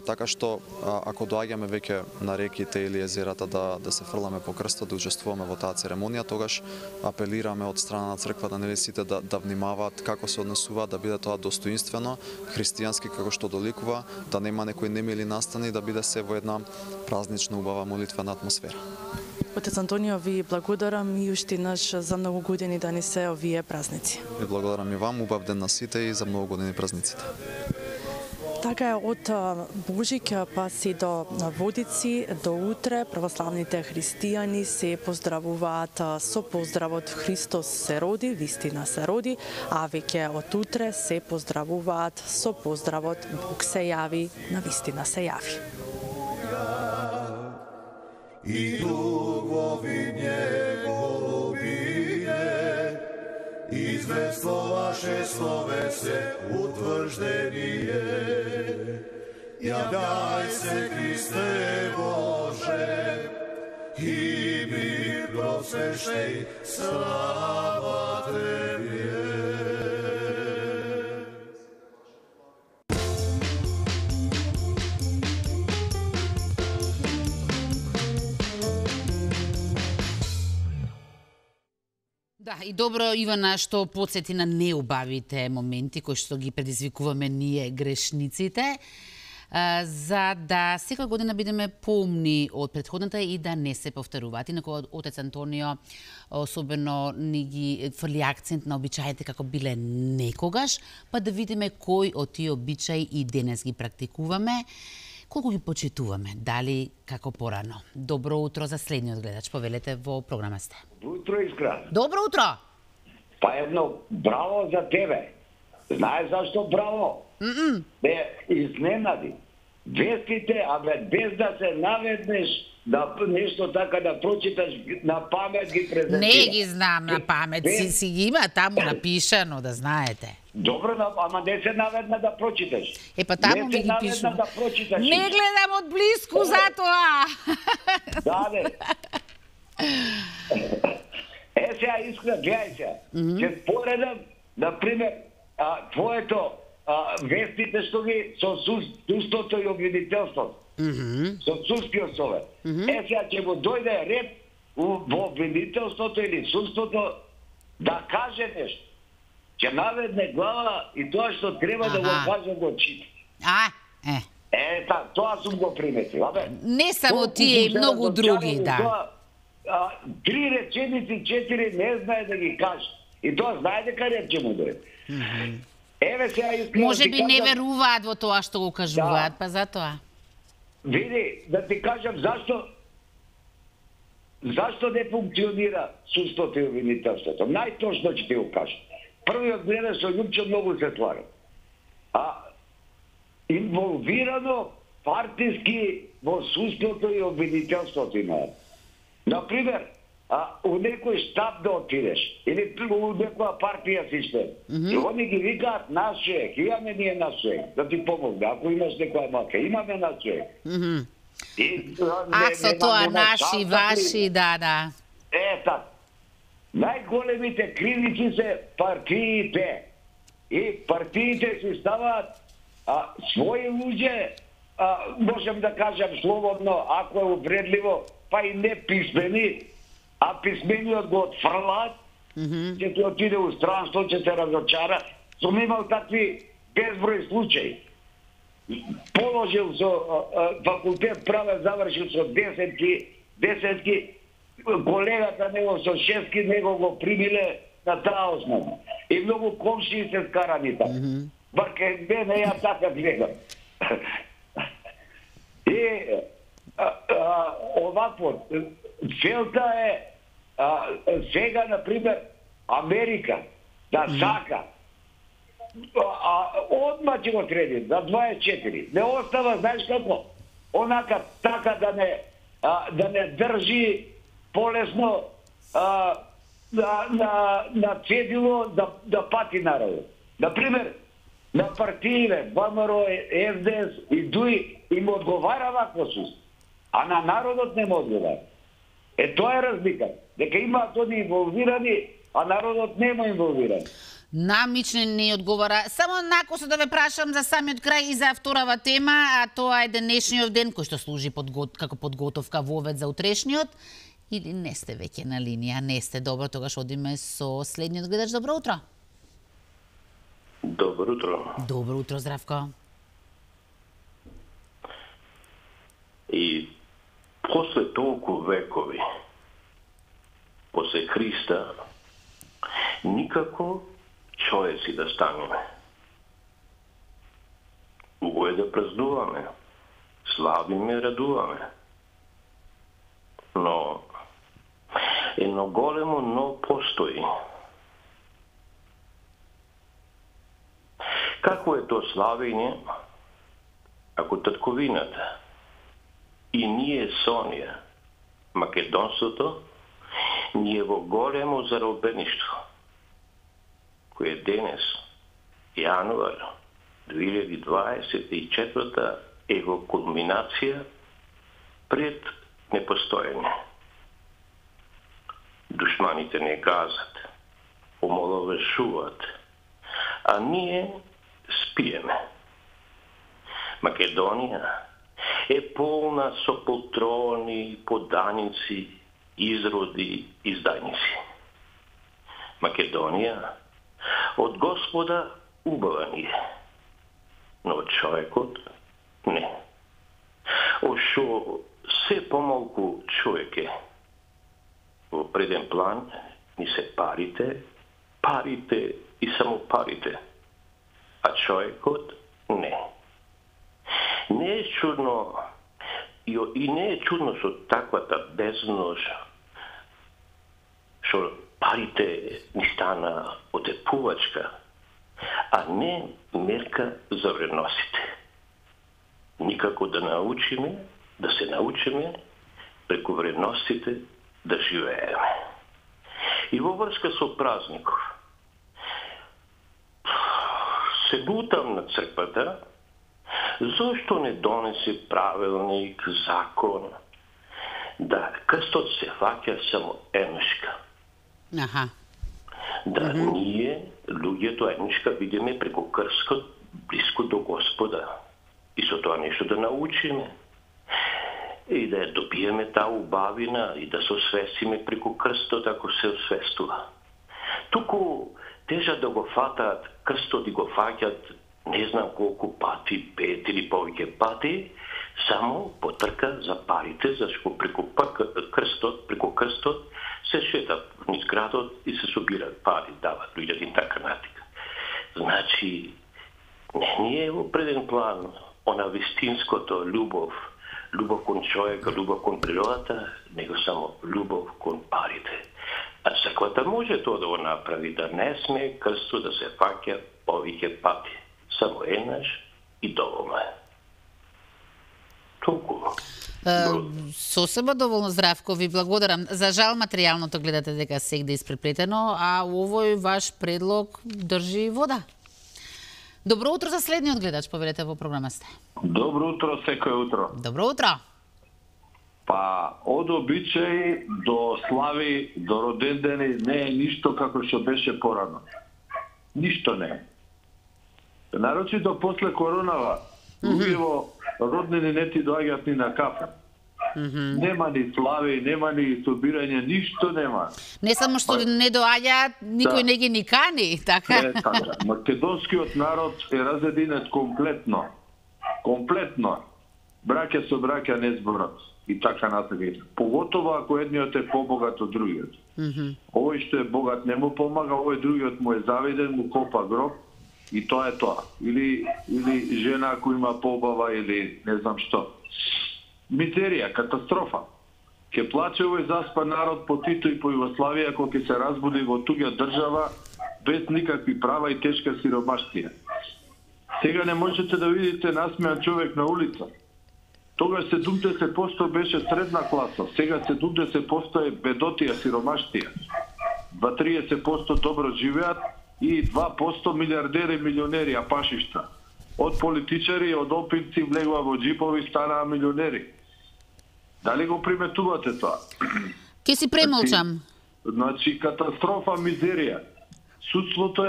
Така што ако доаѓаме веќе на реките или езерата да се фрламе по крстот, да учествуваме во таа церемонија, тогаш апелираме од страна на црквата нели сите да внимаваат како се однесуваат, да биде тоа достоинствено, христијански како што доликува, да нема некои немили настани, да биде се во една празнична убава молитвена атмосфера. Отец Антонио, ви благодарам и уште еднаш за многу години да ни се овие празници. Ви благодарам и вам, убав ден на сите и за многу години празниците. Така е, од Божик па се до Водици, до утре православните христијани се поздравуваат со поздравот Христос се роди, вистина се роди, а веќе од утре се поздравуваат со поздравот Бог се јави, на вистина се јави. И дугови неговине, извествуваше словесе утврждение. Јавјај се, Христе Боже, и ми просвещај, слава Тебе. Да, и добро, Ивана, што подсети на неубавите моменти кои што ги предизвикуваме ние грешниците, за да секоја година бидеме поумни од претходната и да не се повторуваат. Инаку Отец Антонио особено ни ги фрли акцент на обичаите како биле некогаш, па да видиме кој од тие обичаи и денес ги практикуваме, колку ги почитуваме, дали како порано. Добро утро за следниот гледач, повелете во програма сте. Добро утро, Искра. Добро утро. Па едно браво за тебе. Знаеш зашто браво? Бе изненади. Вестите, без да се наведнеш да нешто така да прочиташ на памет ги презентира. Не ги знам на памет, си ги има таму напишано, да знаете. Добро, ама не се наведна да прочиташ. Па таму ми ги пишува. Да прочиташ. Не гледам од близко затоа. Да, бе. Сега искра, гледај се. Ќе споредам, например, твоето вестите што ги со судството и обвинителството. Со судскиот совет. Сега ќе го дојде ред во обвинителството или судството да каже нешто. Ќе наведне глава и тоа што треба да го каже го чита. Тоа сум го приметил. Не само тие, и многу други, да. 3 реченици, 4 не знае да ги каже. И тоа знае дека ред ќе му дојде. Еве сега искрено. Може би не веруваат во тоа што го кажуваат, па затоа. Види, да ти кажам зашто не функционира судството и обвинителството. Најточно ќе ти го кажам. Првиот гледа со Љупчо многу се слага. Инволвирано партиски во судството и обвинителството има. Например, у некој штаб да отидеш, или у некоја партија систем, и они ги викаат наш човек, имаме ние наш човек, да ти помогне, ако имаш некоја мака, имаме наш човек. Со тоа наши, ваши, да. Така. Најголемите кривици се партиите. И партиите си ставаат своји луѓе, можем да кажам слободно, ако е увредливо, па и не писмени, а писмениот го отфрлаат, ќе ти отиде у странство, ќе се разочара. Сум имал такви безброј случаи. Положил со факултет праве, завршил со 10-ки, колегата него со 6-ки, него го примиле на таа основа. И многу комшии се скарани така. Баке мене ја така гледам. И овакво, целта е сега, например, Америка да сака одма ќе го среди, за 24. Не остава, знаеш како? Онака така да не држи полесно на цедило да пати народот. Например, на партиите, ВМРО, СДС и ДУИ им одговара вакво суст, а на народот не му одговара. Тоа е разлика. Дека имаат они инволвирани, а народот нема инволвирани. Намично не одговара. Само накосо да ве прашам за самиот крај и за вторава тема, а тоа е денешниот ден кој што служи како подготовка во овет за утрешниот. Или не сте веќе на линија, не сте, добро, тогаш одиме со следниот гледач. Добро утро. Добро утро. Добро утро, Здравко. И после толку векови, после Христа, никако човеци да станеме. Убаво е да празнуваме, славиме, радуваме. Но едно големо но постои. Какво е то славење, ако татковината и ние со неја, македонството, ние во големо заробеништво, кој е денес, јануар 2024, е во кулминација пред непостоење. Душманите не газат, омаловажуваат, а ние спиеме. Македонија е полна со полтрони, поданици, изроди, издајници. Македонија од Господа убава ни е, но човекот не. Ошо се помалку човек е. Во преден план ни се парите и само парите, а човекот не. Не е чудно и не е чудно со таквата бездност, што парите ни стана отепувачка, а не мерка за вредностите. Никако да се научиме преку вредностите да живееме. И во врска со празников, се бутам на црквата, зошто не донесе правилник, закон, да крстот се фаќа само еднашка. Аха. Да ние, луѓето еднашка, видиме преку крстот близко до Господа. И со тоа нешто да научиме. И да ја добиеме таа убавина и да се освестиме преку крстот ако се освестува. Туку тежа да го фатаат крстот и го фаќат не знам колку пати, 5 или повеќе пати, само потрка за парите, зашто преку крстот се шетат низ градот и се собираат пари, дават луѓето и така натика. Значи, не е во преден план она вистинското љубов кон човека, љубов кон природата, него само љубов кон парите. А црквата може тоа да го направи, да не сме крстот да се фаќа повеќе пати. Само еднаш и доволно е. Толку. Сосема доволно, Здравко, ви благодарам. За жал материјалното гледате дека сегде испреплетено, а овој ваш предлог држи вода. Добро утро за следниот гледач, повелете во програма сте. Добро утро, секој утро. Добро утро. Па, од обичај до слави, до родендени не е ништо како што беше порано. Ништо не е. Нарочито после коронава, луѓето роднини не ти доаѓаат ни на кафе. Нема ни слави, нема ни собирање, ништо нема. Не само што не доаѓаат, никој не ги ни кани, така? Така. Македонскиот народ е разединет комплетно. Комплетно. Браќа со браќа не зборат. И така натаму. Поготово ако едниот е побогат од другиот. Овој што е богат не му помага, овој другиот му е завиден, му копа гроб. И тоа е тоа. Или жена ако има побава или не знам што. Мизерија, катастрофа. Ке плаче овој заспан народ по Тито и по Југославија кога ќе се разбуди во туѓа држава без никакви права и тешка сиромаштија. Сега не можете да видите насмеан човек на улица. Тогаш 70% беше средна класа, сега 70% е бедотија, сиромаштија. 20-30% добро живеат и 2% милиардери, милионери, апашишта. Од политичари, од опинци влегува во джипови, станаа милионери. Дали го приметувате тоа? Ке си премолчам. Значи, катастрофа, мизерија. Судството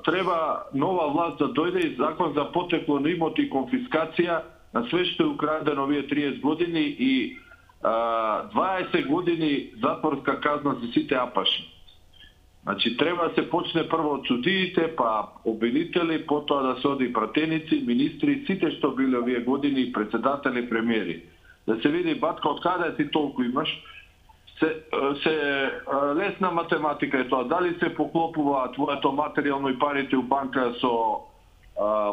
треба нова власт да дојде и закон за потекло на имот и конфискација на све што е украдено овие 30 години и 20 години затворска казна за сите апаши. Значи, треба да се почне прво од судиите, па обвинители, потоа да се оди пратеници, министри, сите што биле овие години, председатели, премиери. Да се види, батка, од каде ти толку имаш, лесна математика е тоа. Дали се поклопува твоето материјално и парите у банка со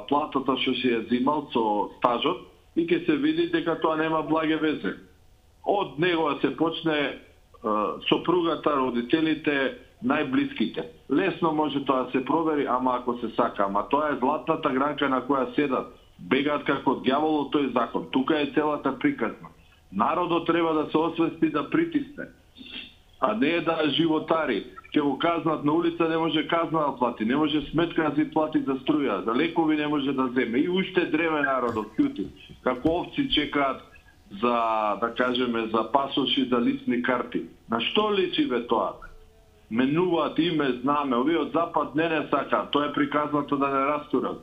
платата што си ја зимал, со стажот, и ќе се види дека тоа нема благе везе. Од него да се почне сопругата, родителите, најблиските. Лесно може тоа да се провери, ама ако се сака. Ама тоа е златната гранка на која седат. Бегаат како дјаволот тој закон. Тука е целата приказна. Народот треба да се освести да притисне, а не да животари. Ќе го казнат на улица, не може казна да плати, не може сметка да си плати за струја, за лекови не може да земе. И уште дреме народот ќути. Како овци чекаат за, да кажеме, за пасоши, за лични карти. На што личи бе тоа? Менуваат име, знаме, овие од запад не сакаат, тоа е приказнато да не растурат.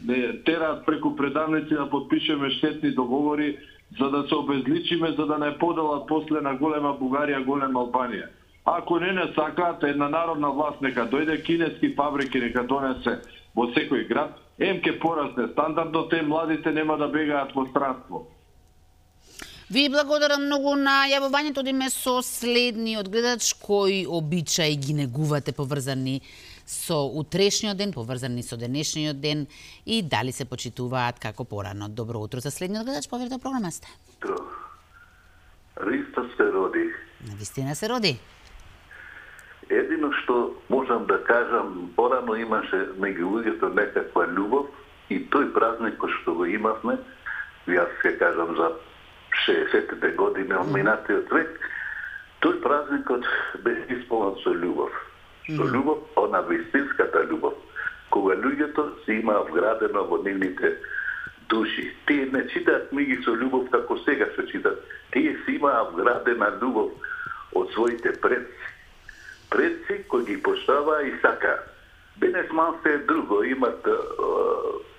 Не тераат преку предавници да подпишеме штетни договори за да се обезличиме, за да не поделат после на голема Бугарија, голема Албанија. Ако не сакаат, една народна власт нека дојде, кинески фабрики нека донесе во секој град, ке порасне стандардот, младите нема да бегаат во странство. Ви благодарам многу на јавувањето, одиме со следниот гледач кој обичаи ги негувате поврзани со утрешниот ден, поврзани со денешниот ден и дали се почитуваат како порано. Добро утро за следниот гледач, поверите програма сте. Христос се роди. Навистина се роди. Едино што можам да кажам, порано имаше меѓу луѓето некаква љубов и тој празник кој што го имавме, јас ќе кажам за 60-те години од минатиот век, тој празникот беше исполнет со љубов. Со љубов, она вистинската љубов. кога луѓето се има вградено во нивните души. Тие не читаат книги со љубов како сега се читат. Тие се имаа вградена љубов од своите предци. Предци кои ги поштаваа и сакаат. Денес малце е друго, имат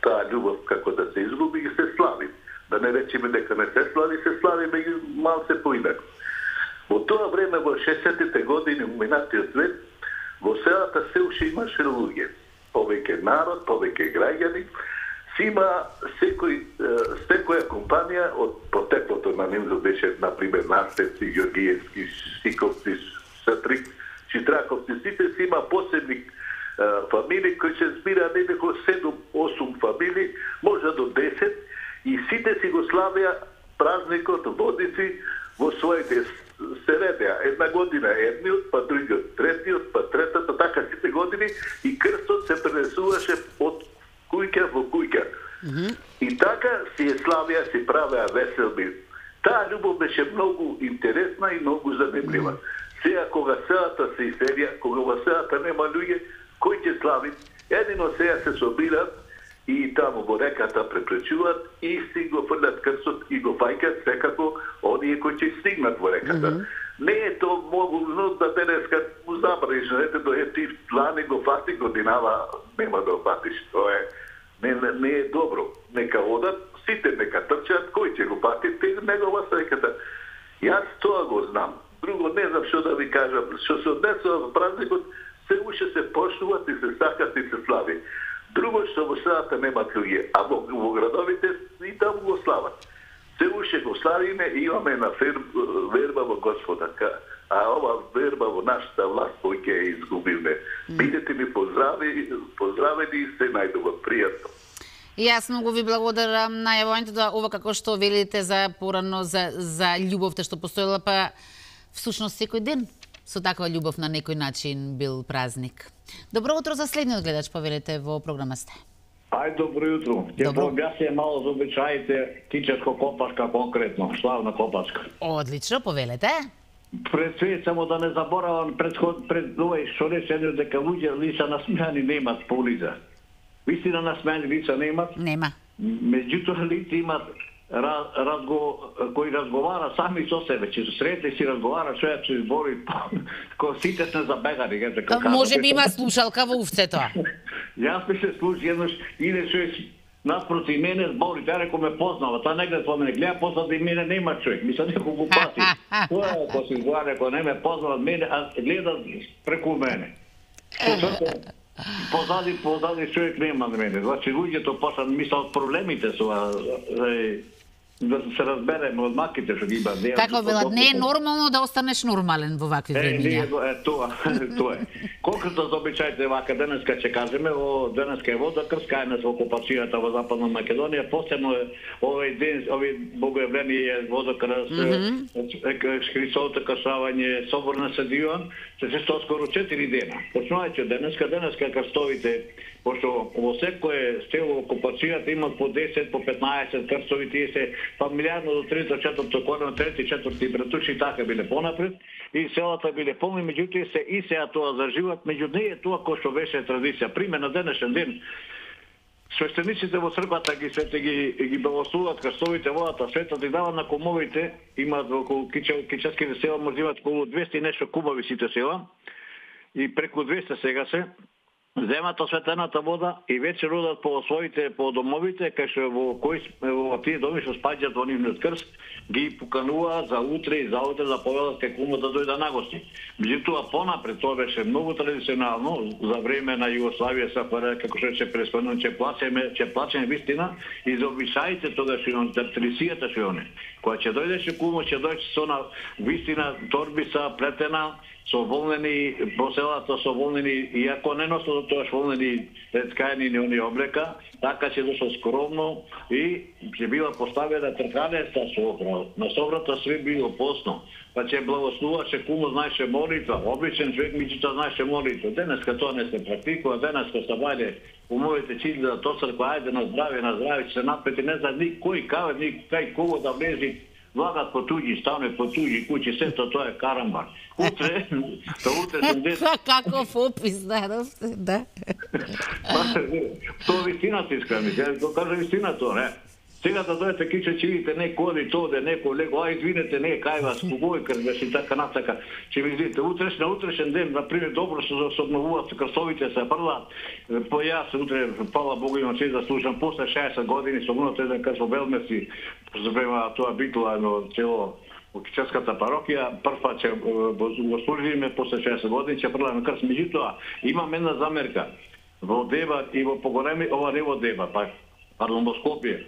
таа љубов како да се изгуби и се слави. Да не речеме дека не се слави меѓу малце поинако. Во тоа време, во 60-тите години, минатиот век, во селата се уште имаше луѓе. Повеќе народ, повеќе граѓани, си има секоја компанија од потеклото на нивно беше, например, Настевци, Георгиевски, Сиковци, Сатрик, Читраковци, сите си има посебни фамилии кои се збира некако 7-8 фамилии, може до 10, и сите си го славија празникот Водици во своите се редеа. Една година едниот, па другиот, третиот, па третата, така сите години, и крстот се пренесуваше од кујка во кујка. И така си е славија, си правеа веселби. Таа љубов беше многу интересна и многу занимлива. Сега кога селата се иселија, кога во селата нема луѓе, кој ќе слави? Едино сега се собират и таму во реката препречуваат и си го фрлят крстот и го фајкат секако оние кои ќе стигнат во реката. Не е то могуно да денеска му забраниш, ето ти лани го фати годинава, нема да фатиш. Тоа е не е добро. Нека одат, сите нека трчат, кој ќе го фати, негова реката. Јас тоа го знам. Друго не знам што да ви кажам. Што се однесува во празникот, се уште се почнуваат и се сакат и се слави. Друго што во селата немат луѓе, а во градовите и таму го слават. Се уште го славиме и имаме една верба во Господа, а ова верба во нашата власт кој ќе ја изгубиме. Бидете ми поздравени и се најдобро, пријатно. И јас многу ви благодарам на јавувањето да ова како што велите за порано за љубовта што постоела, па всушност секој ден со таква љубов на некој начин бил празник. Добро утро за следниот гледач, повелете во програма сте. Ај, добро jutro. Ќе пообјасне мало за обичаите кичешко-копашка конкретно, славна копачка. Одлично, повелете. Пред све, само да не заборавам пред овој што рече дека луѓе лица насмеани немат по улица. Вистина насмеани лица немат? Нема. Меѓутоа лица имат кои разговара сами со себе, че сретни си разговара, што ја се избори, кој сите сме забегари. Може би има слушалка во уфцето. Јас ми се слуши еднош, иде човек наспроти мене збори, таа реко ме познава, таа не гледа по мене, гледа позади мене нема човек, мисля некој го пати. Тоа е кој се изгледа, реко не ме познава мене, а гледа преку мене. Позади човек нема на мене. Значи луѓето почнат мислат проблемите со да се разбереме од маките што ги има. Како велат, не е нормално да останеш нормален во вакви времиња. Тоа е. Конкретно за обичаите вака денеска ќе кажеме, денеска е Водокрст, кај нас во окупацијата во Западна Македонија, посебно овој ден, овој богојавление Водокрст, Христовото кршавање, собор на Свети Јован, се тоа скоро 4 дена. Почнувајќи денеска крстовите, пошто во секое село окупацијата имат по 10, по 15 крстови, тие се фамилиарно до 3-4 корено, 3-4 братуши, така биле понапред, и селата биле полни, меѓутоа се и сега тоа за живот, меѓу не е тоа кој што беше традиција. Пример на денешен ден, свештениците во црквата ги благословуваат крстовите, водата света, да дават на кумовите, имаат околу кическите села, може имаат околу 200 и нешто кумови сите села, и преку 200 сега се, земат осветената вода и вечер одат по своите по домовите, кај што во тие доми што спаѓаат во нивниот крст, ги покануваат за утре и за утре да повелат кај кумот да дојде на гости. Меѓутоа понапред тоа беше многу традиционално за време на Југославија, СФР, како што се преспомнува, ќе плачеме вистина и за обичаите тогаш и традицијата што они. Кога ќе дојдеше кумот, ќе дојде со на вистина торбица плетена, со волнени по селата, со волнени, иако не носат тоа волнени ткани и они облека, така ќе дошло скромно и ќе била поставена трканеста собра. На собрата све било посно, па ќе благословуваше кумот, знаеше молитва, обичен човек меѓутоа знаеше молитва. Денеска тоа не се практикува, денеска се вајде умовите чили до црква, ајде на здравје, ќе се напети, не знам ни кој каве, ни кај кого да влези влагат по туѓи станови, по туѓи куќи, сето тоа е карамбар. Утре сум Каков опис, да. Тоа вистината искрено, ќе кажа вистината, не? Сега да дојдете кише, ќе видите некој оди тоде, некој лего, извинете, не кај вас, когој крвеши така натака, ќе видите на утрешен ден, например, добро се обновуваат крстовите, се фрлаат. По јас утре, фала Богу, имам чест да слушам, после 60 години со мнојот еден крст во Белмеси, према тоа битува едно цело Кичевската парокија, прва ќе го служиме после 60 години, ќе фрламе крст. Меѓутоа, имам една замерка. Во Деба и во Погореми, ова не во Деба, пардон, во Скопје.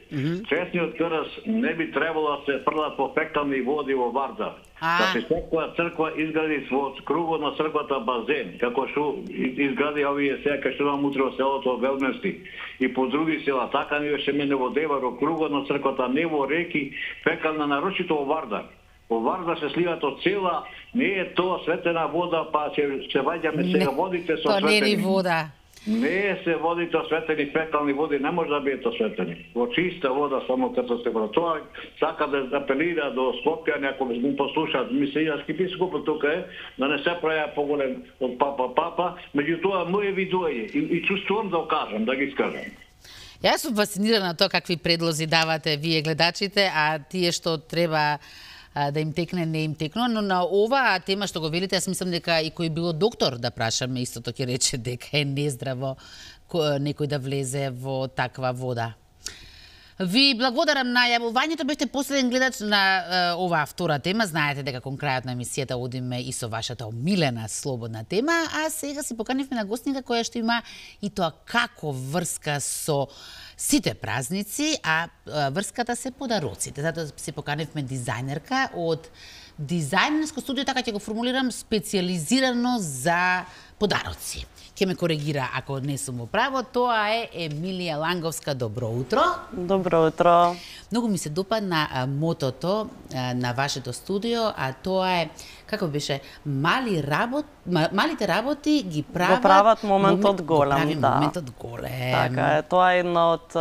Честниот крст не би требало да се фрлат по фекални води во Вардар. Да се секоја црква изгради во кругот на црквата базен, како што изгради овие сега кај што имам утре во селото Велмески и по други села. Така не беше мене во Дева, во кругот на црквата, не во реки, фекална, нарочито во Вардар. Во Вардар се сливат од цела, не е тоа светена вода, па ќе ваѓаме сега водите со светени. Тоа не е вода. Не се водите осветени фекални води, не може да бидат осветени. Во чиста вода само като се вода. Тоа сака да апелира до Скопје, некој го послушаат. Мисијаски бискупот тука е, да не се праја поголем од папа, меѓутоа моје видоње и чувствувам да окажам, да ги искажам. Јас сум фасцинирана тоа какви предлози давате вие гледачите, а тие што треба да им текне, не им текно, но на ова тема што го велите, јас мислам дека и кој било доктор да прашаме, истото ќе рече дека е нездраво некој да влезе во таква вода. Ви благодарам на јавувањето, бевте последен гледач на оваа втора тема. Знаете дека кон крајот на емисијата одиме и со вашата омилена слободна тема, а сега си поканивме на гостника која што има и тоа како врска со сите празници, а врската се подароците. Затоа се поканивме дизајнерка од дизајнерско студио, така ќе го формулирам, специализирано за подароци. Ке ме коригира ако не сум во право, тоа е Емилија Ланговска. Добро утро. Добро утро. Многу ми се допадна мотото на вашето студио, а тоа е, како беше, малите работи ги прават моментот голем, да. Моментот голем. Така е, тоа е една од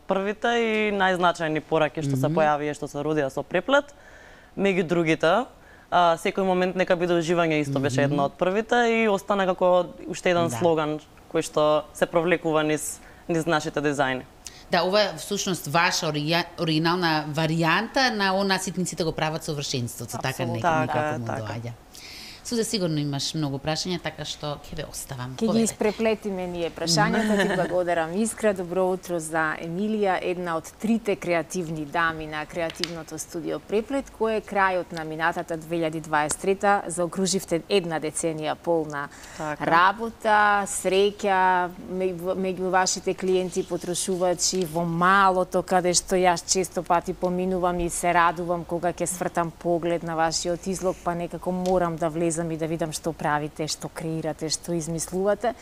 првите и најзначајни пораки што се појави и што се родија со Преплет. Меѓу другите, секој момент нека биде уживање исто беше една од првите и остана како уште еден слоган кој што се провлекува низ нашите дизајни. Да, ова е всушност ваша оригинална варијанта на она ситниците го прават совршенството, така некако му доаѓа. Сузе, сигурно имаш многу прашања, така што ќе ве оставам. Ќе ги испреплетиме ние прашањата. Ти благодарам искра. Добро утро за Емилија, една од трите креативни дами на креативното студио Преплет, кој е крајот на минатата 2023 заокруживте една деценија полна работа, среќа меѓу вашите клиенти, потрошувачи, во малото, каде што јас често пати поминувам и се радувам кога ќе свртам поглед на вашиот излог, па некако морам да влезам и да видам што правите, што креирате, што измислувате.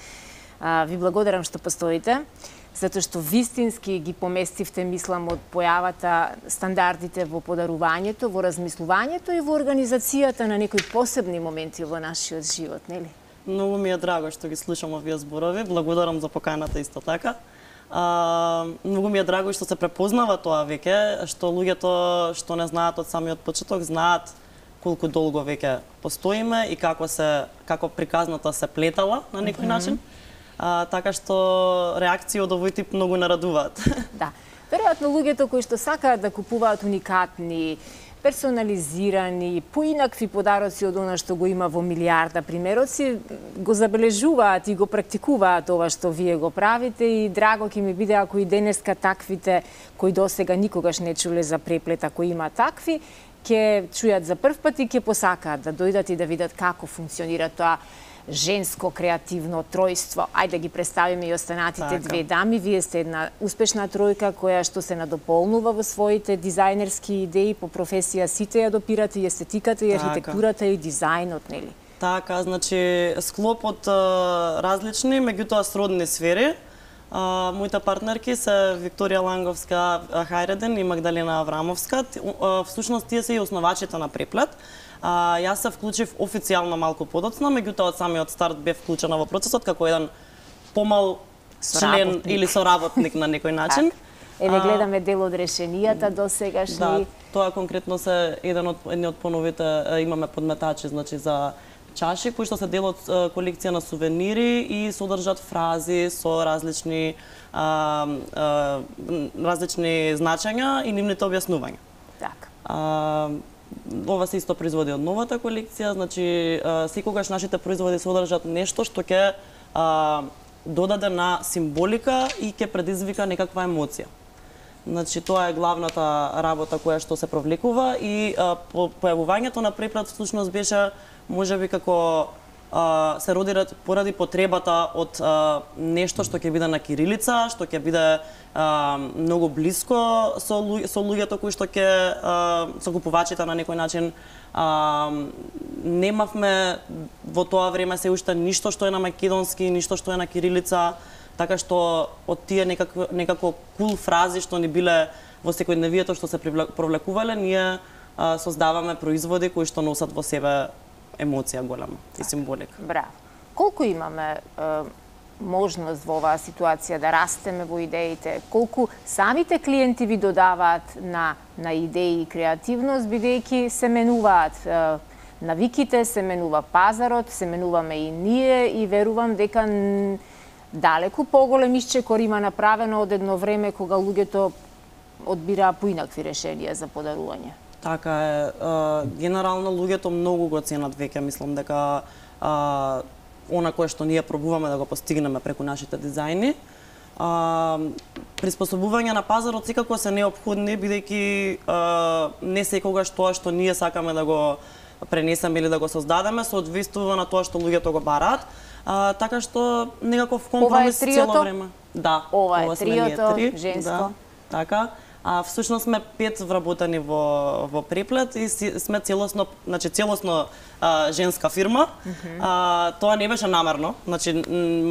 Ви благодарам што постоите, затоа што вистински ги поместивте, мислам, од појавата стандардите во подарувањето, во размислувањето и во организацијата на некои посебни моменти во нашиот живот, нели? Многу ми е драго што ги слушам овие зборови. Благодарам за поканата исто така. Многу ми е драго што се препознава тоа веќе, што луѓето што не знаат од самиот почеток знаат колку долго веќе постоиме и како приказната се плетала на некој начин. Така што реакции од овој тип многу нарадуваат. Да. Веројатно луѓето кои што сакаат да купуваат уникатни, персонализирани, поинакви подароци од она што го има во милиарда примероци, го забележуваат и го практикуваат ова што вие го правите и драго ќе ми биде ако и денеска таквите кои досега никогаш не чуле за Преплет, ако има такви, ќе чујат за прв пат и ќе посакаат да дојдат и да видат како функционира тоа женско креативно тројство. Ајде да ги представиме и останатите две дами. Вие сте една успешна тројка која што се надополнува во своите дизајнерски идеи, по професија сите ја допирате и естетиката и архитектурата и дизајнот, нели? Така, значи склоп од различни, меѓутоа сродни сфери. Моите партнерки се Викторија Ланговска Хајреден и Магдалена Аврамовска. Всушност тие се и основачите на Преплет. Јас се вклучив официјално малку подоцна, меѓутоа од самиот старт бев вклучена во процесот како еден помал член или соработник на некој начин. Еве гледаме дел од решенијата досегашни. Да, тоа конкретно се едни од поновите, имаме подметачи, значи за чаши кои што се дел од колекција на сувенири и содржат фрази со различни значења и нивните објаснувања. Така. Ова се исто производи од новата колекција, значи секогаш нашите производи содржат нешто што ќе додаде на символика и ќе предизвика некаква емоција. Значи тоа е главната работа која што се провлекува и појавувањето на преплет всушност беше можеби како се роди поради потребата од нешто што ќе биде на кирилица, што ќе биде многу блиско со луѓето кои што ќе со купувачите на некој начин. Немавме во тоа време се уште ништо што е на македонски, ништо што е на кирилица, така што од тие некако кул фрази што ни биле во секојдневието што се провлекувале, ние создаваме производи кои што носат во себе емоција голема и символика. Браво. Колку имаме можност во оваа ситуација да растеме во идеите? Колку самите клиенти ви додаваат на идеи и креативност, бидејќи се менуваат навиките, се менува пазарот, се менуваме и ние и верувам дека далеку поголем исчекор има направено од едно време кога луѓето одбираа поинакви решенија за подарување. Така е, генерално луѓето многу го ценат веќе, мислам дека она кое што ние пробуваме да го постигнеме преку нашите дизајни. Приспособување на пазарот секако се неопходни, бидејќи не секогаш тоа што ние сакаме да го пренесеме или да го создадеме соодветствува на тоа што луѓето го бараат. Така што некаков компромис цело време. Да, ова е триото, женско. Да, така. Всушност сме 5 вработени во преплет и сме целосно женска фирма. Тоа не беше намерно, значи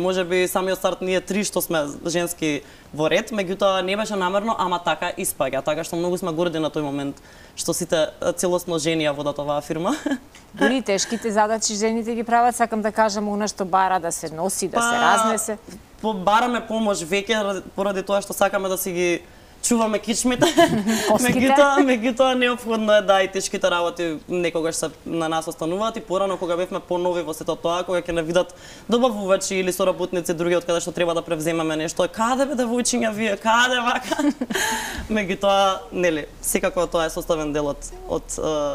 можеби самиот старт ние 3 што сме женски во ред, меѓутоа не беше намерно, ама така испаѓа, така што многу сме горди на тој момент што сите целосно жени ја водат оваа фирма. Дури тешките задачи жените ги прават, сакам да кажам, она што бара да се носи, да се разнесе. Бараме помош веќе поради тоа што сакаме да си ги чуваме кичмите. Меѓутоа неопходно е да и тешките работи некогаш се на нас остануваат и порано кога бевме понови во сето тоа, кога ќе не видат добавувачи или соработници други од каде што треба да превземеме нешто, каде бе девојчиња вие, каде вака. Меѓутоа, нели, секако тоа е составен дел од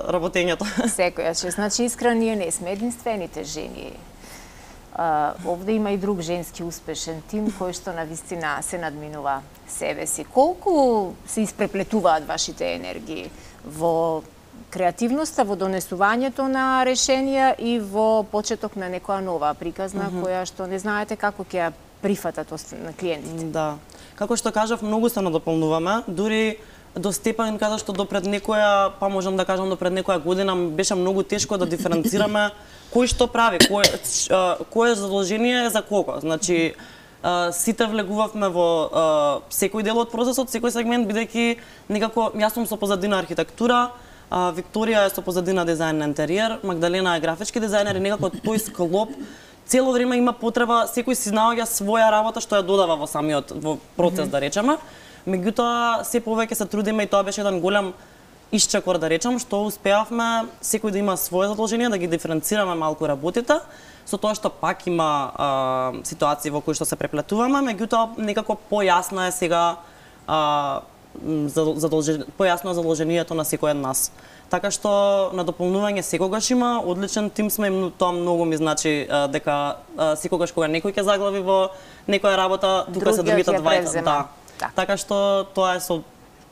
работењето. Секојаш, значи искрено ние не сме единствените жени. Овде има и друг женски успешен тим кој што навистина се надминува себе си. Колку се испреплетуваат вашите енергии во креативноста, во донесувањето на решенија и во почеток на некоја нова приказна која што не знаете како ќе ја прифатат на клиентите? Да. Како што кажав, многу се надополнуваме, дури до степен каде што допред некоја, па можам да кажам допред некоја година, беше многу тешко да диференцираме кој што прави, кое задолжение е за кого. Значи, сите влегувавме во секој дел од процесот, секој сегмент, бидејќи некако јас сум со позадина архитектура, Викторија е со позадина дизајн на интериер, Магдалена е графички дизајнер и некако тој склоп цело време има потреба, секој си наоѓа своја работа што ја додава во самиот процес, да речеме. Меѓутоа, се повеќе се трудиме и тоа беше еден голем исчекор, да речам, што успеавме секој да има своје задолжение, да ги диференцираме малку работите, со тоа што пак има ситуации во кои што се преплетуваме, меѓутоа некако појасно е сега појасно задолжението на секој од нас. Така што на дополнување секогаш има, одличен тим сме и тоа многу ми значи дека секогаш кога некој ќе заглави во некоја работа, тука се другите двајца. Да. Така што тоа е со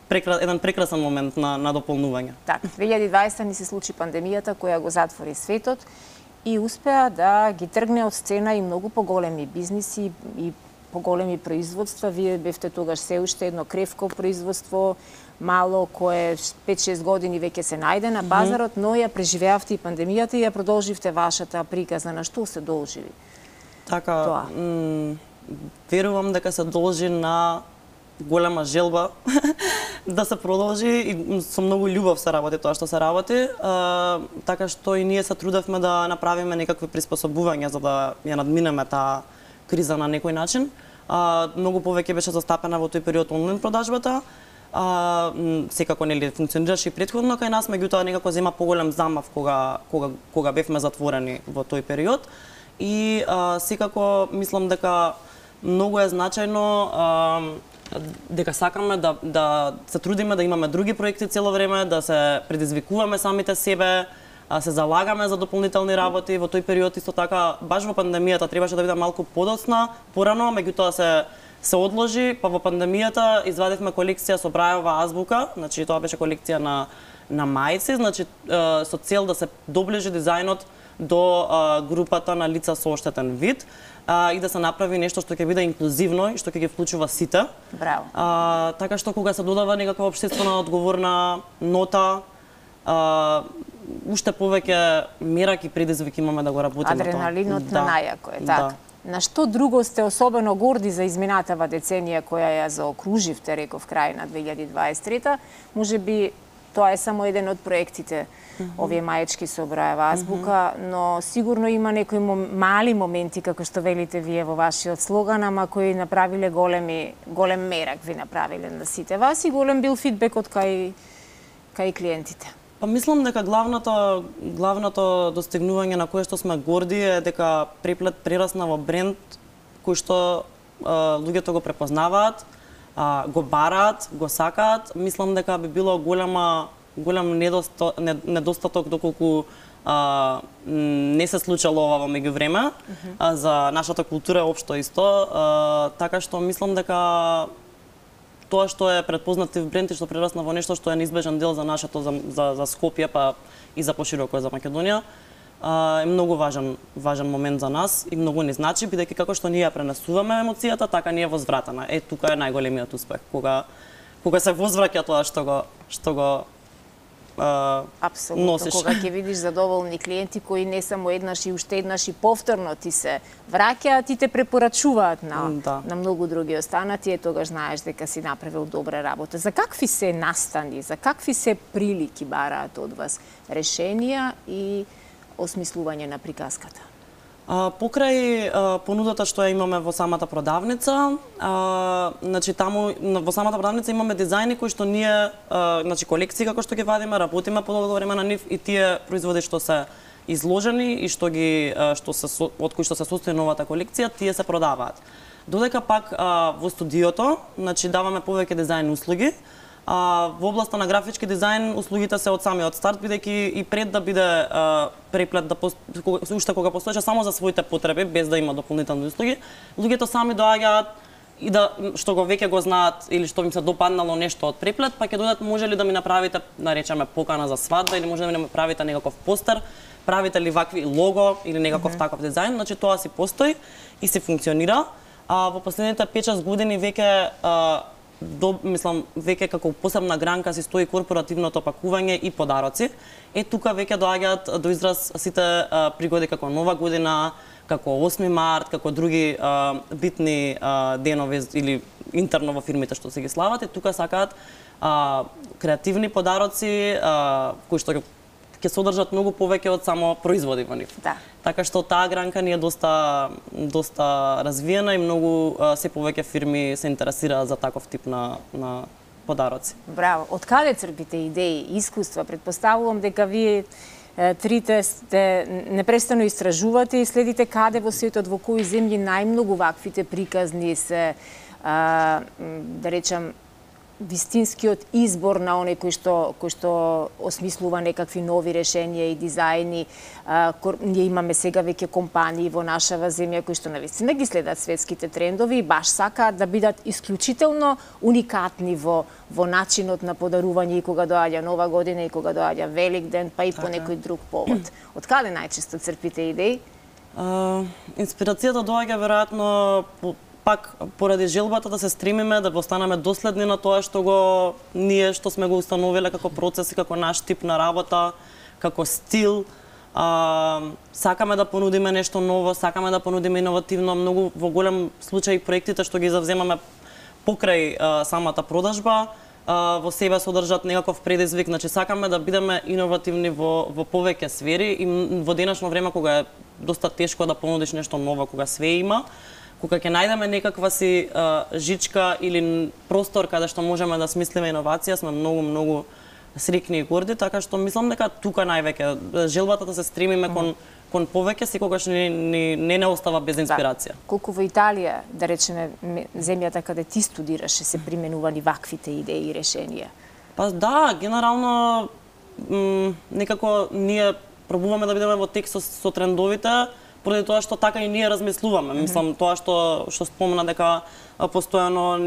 еден прекрасен момент на дополнување. Така, 2020 ни се случи пандемијата која го затвори светот и успеа да ги тргне од сцена и многу поголеми бизниси и поголеми производства. Вие бевте тогаш се уште едно кревко производство, мало, кое 5-6 години веќе се најде на пазарот, но ја преживеавте и пандемијата и ја продолживте вашата приказна. На што се должи? Така, верувам дека се должи на голема желба да се продолжи и со многу љубов се работи тоа што се работи, така што и ние се трудевме да направиме некакви приспособувања за да ја надминеме таа криза на некој начин. Многу повеќе беше застапена во тој период онлайн продажбата. Секако нели функционираше и претходно кај нас, меѓутоа некако зема поголем замав кога бевме затворени во тој период. И секако мислам дека многу е значајно дека сакаме да се трудиме да имаме други проекти цело време, да се предизвикуваме самите себе, се залагаме за дополнителни работи. Во тој период исто така, баш во пандемијата требаше да биде малку подоцна, порано, меѓутоа се одложи, па во пандемијата извадивме колекција со Брајова азбука, значи тоа беше колекција на мајци, значи со цел да се доближи дизајнот до групата на лица со оштетен вид и да се направи нешто што ќе биде инклузивно и што ќе ги вклучува сите. Браво. Така што кога се додава некаква општествена одговорна нота, уште повеќе мерак и предизвик имаме да го работиме тоа. Адреналинот на најако е, така. На што друго сте особено горди за изминатава деценија која ја заокруживте, реков, крај на 2023-та? Може би тоа е само еден од проектите, овие маечки со Брајова азбука, но сигурно има некои мали моменти, како што велите вие во вашиот слоган, ама кои направиле голем мерак ви направиле на сите вас и голем бил фидбекот кај клиентите. Па мислам дека главното достигнување на кое што сме горди е дека Преплет прерасна во бренд кој што луѓето го препознаваат, го бараат, го сакаат. Мислам дека би било голем недостаток доколку не се случало ова во меѓувреме за нашата култура општо исто, така што мислам дека тоа што е предпознатив бренд и што прерасна во нешто што е неизбежен дел за нашето за Скопје па и за пошироко за Македонија е многу важен момент за нас и многу ни значи, бидејќи како што ние ја пренесуваме емоцијата, така ни е возвратена. Тука е најголемиот успех, кога се возвраќа тоа што го апсолутно, носиш. Кога ќе видиш задоволни клиенти кои не само еднаш и уште еднаш и повторно ти се враќаат и те препорачуваат на многу други останати, тогаш знаеш дека си направил добра работа. За какви се настани, за какви се прилики бараат од вас решенија и осмислување на приказката? Покрај понудата што ја имаме во самата продавница, значи таму во самата продавница имаме дизајни кои што ние, значи колекции како што ги вадиме, работиме по долго време на нив и тие производи што се изложени и од кои што се состои новата колекција, тие се продаваат. Додека пак во студиото, значи даваме повеќе дизајн услуги. Во областа на графички дизајн услугите се од самиот старт, бидејќи и пред да биде Преплет уште кога постоеше само за своите потреби, без да има дополнителни услуги, луѓето сами доаѓаат и што го веќе го знаат или што им се допаднало нешто од Преплет, па ќе дојдат, може ли да ми направите, да речеме, покана за свадба или може да ми направите некаков постер, правите ли вакви лого или некаков таков дизајн, значи тоа си постои и си функционира. Во последните 5-6 години веќе мислам, веќе како посебна гранка си стои корпоративното пакување и подароци. Тука веќе доаѓаат до израз сите пригоди како Нова година, како 8 март, како други битни денови или интерно во фирмите што се ги слават. Тука сакаат креативни подароци кои што ќе содржат многу повеќе од само производи во нив. Така што таа гранка ни е доста развиена и многу се повеќе фирми се интересираат за таков тип на подароци. Браво. Од каде црпите идеи, искуства? Претпоставувам дека вие трите сте непрестано истражувате и следите каде во светот, во кои земји најмногу ваквите приказни се, да речам, вистинскиот избор на оној кој што осмислува некакви нови решенија и дизајни. Ние имаме сега веќе компании во нашава земја кои што навистина ги следат светските трендови и баш сакаат да бидат исклучително уникатни во начинот на подарување и кога доаѓа Нова година и кога доаѓа Великден, па и по некој друг повод. Од каде најчесто црпите идеи? Инспирацијата доаѓа веројатно пак поради желбата да се стремиме да останеме доследни на тоа што сме го установиле како процес и како наш тип на работа, како стил. Сакаме да понудиме нешто ново, сакаме да понудиме иновативно. Многу во голем случај проектите што ги завземаме покрај самата продажба во себе содржат некаков предизвик, значи сакаме да бидеме иновативни во повеќе сфери и во денешно време кога е доста тешко да понудиш нешто ново, кога све има, кога ќе најдеме некаква си жичка или простор каде што можеме да смислиме иновација, сме многу срекни и горди, така што мислам дека тука највеќе желбата да се стремиме кон повеќе секогаш не остава без инспирација. Колку во Италија, да речеме, земјата каде ти студираше, се применувани ваквите идеи и решенија? Па да, генерално некако ние пробуваме да бидеме во текст со трендовите, поради тоа што така и ние размислуваме. Мислам, тоа што спомена дека постојано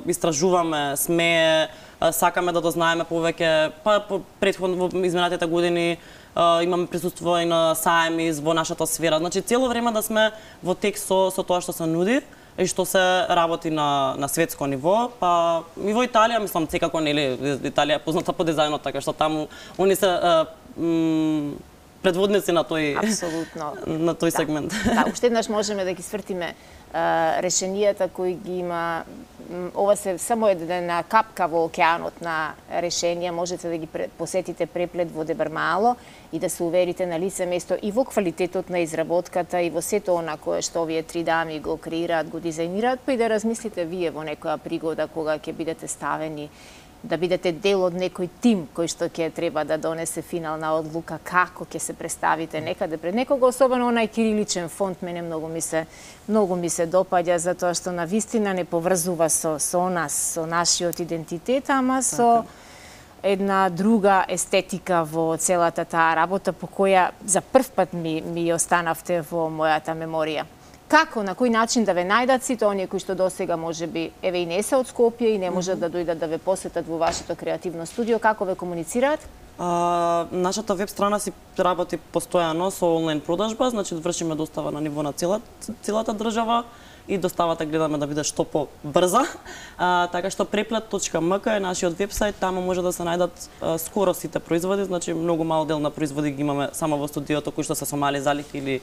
истражуваме, сакаме да дознаеме повеќе, па претходно во изминатите години имаме присуство и на саеми во нашата сфера. Значи цело време да сме во текст со тоа што се нуди и што се работи на светско ниво, па и во Италија, мислам, секако Италија е позната по дизајнот, така што таму они се предводници на тој апсолутно на тој сегмент. Да, уште еднаш можеме да ги свртиме решенијата кои ги има. Ова се само една капка во океанот на решенија, можете да ги посетите преплет во Дебармало и да се уверите на лице место и во квалитетот на изработката и во сето она кое што овие три дами го креираат, го дизајнираат, па и да размислите вие во некоја пригода кога ќе бидете ставени да бидете дел од некој тим кој што ќе треба да донесе финална одлука како ќе се представите некаде пред некого, особено онај кириличен фонт мене многу ми се допаѓа затоа што на вистина не поврзува со нас, со нашиот идентитет, ама со една друга естетика во целата таа работа по која за прв пат ми останавте во мојата меморија. Како, на кој начин да ве најдат сите оние кои што досега можеби еве и не се од Скопје и не можат да дојдат да ве посетат во вашето креативно студио, како ве комуницираат? Нашата веб страна си работи постојано со онлайн продажба, значи вршиме достава на ниво на целата држава и доставата гледаме да биде што побрза. Така што preplate.mk е нашиот вебсайт, таму може да се најдат скоро сите производи, значи многу мал дел на производи ги имаме само во студиото кои што се со мали залихи или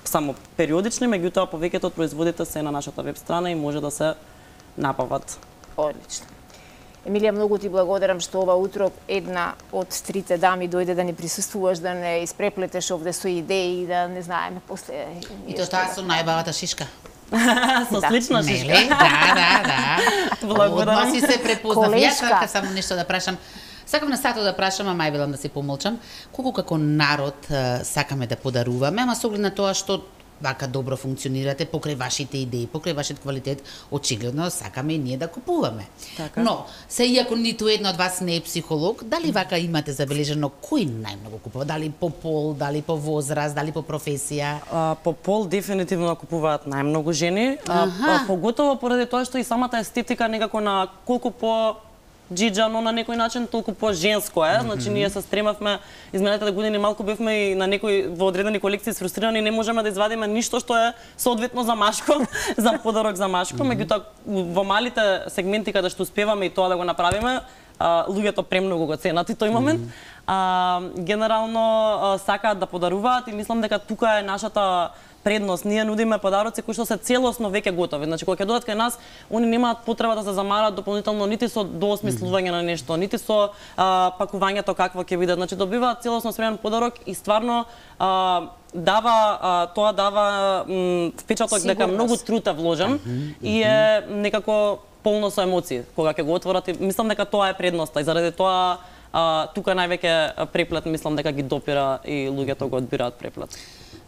само периодични, меѓутоа повеќето од производите се на нашата веб страна и може да се напават. Одлично. Емилија, многу ти благодарам што ова утро една од трите дами дојде да ни присуствуваш, да не испреплетеш овде со идеи и да не знаеме после. И тоа со најбавата шишка. Со слична шишка. Да. Благодарам. Одма си се препознав. Јас сакам само нешто да прашам. Сакам на сато да прашам, а мајбелам да се помолчам, колку како народ сакаме да подаруваме, ама со оглед на тоа што вака добро функционирате покрај вашите идеи, покрај вашиот квалитет, очигледно сакаме и ние да купуваме. Така. Но, се иако ниту една од вас не е психолог, дали вака имате забележено кој најмногу купува? Дали по пол, дали по возраст, дали по професија? По пол дефинитивно купуваат најмногу жени, поготово поради тоа што и самата естетика некако на колку по джиджано на некој начин, толку по-женско е. Значи, ние се стремавме, изминатите години малку бевме и на во одредени колекции сфрустрирани, не можеме да извадиме ништо што е соодветно за машко, за подарок за машко, меѓутоа во малите сегменти каде што успеваме и тоа да го направиме, луѓето премногу го ценат и тој момент. Генерално сакаат да подаруваат и мислам дека тука е нашата предност. Ние нудиме подароци кои што се целосно веќе готови. Значи кога ќе додат кај нас, они немаат потреба да се замарат дополнително нити со доосмислување на нешто, нити со пакувањето какво ќе биде. Значи добиваат целосно спремен подарок и стварно тоа дава впечаток дека многу труд е вложен и е некако полно со емоции кога ќе го отворат и мислам дека тоа е предноста и заради тоа тука највеќе преплет мислам дека ги допира и луѓето го одбираат преплет.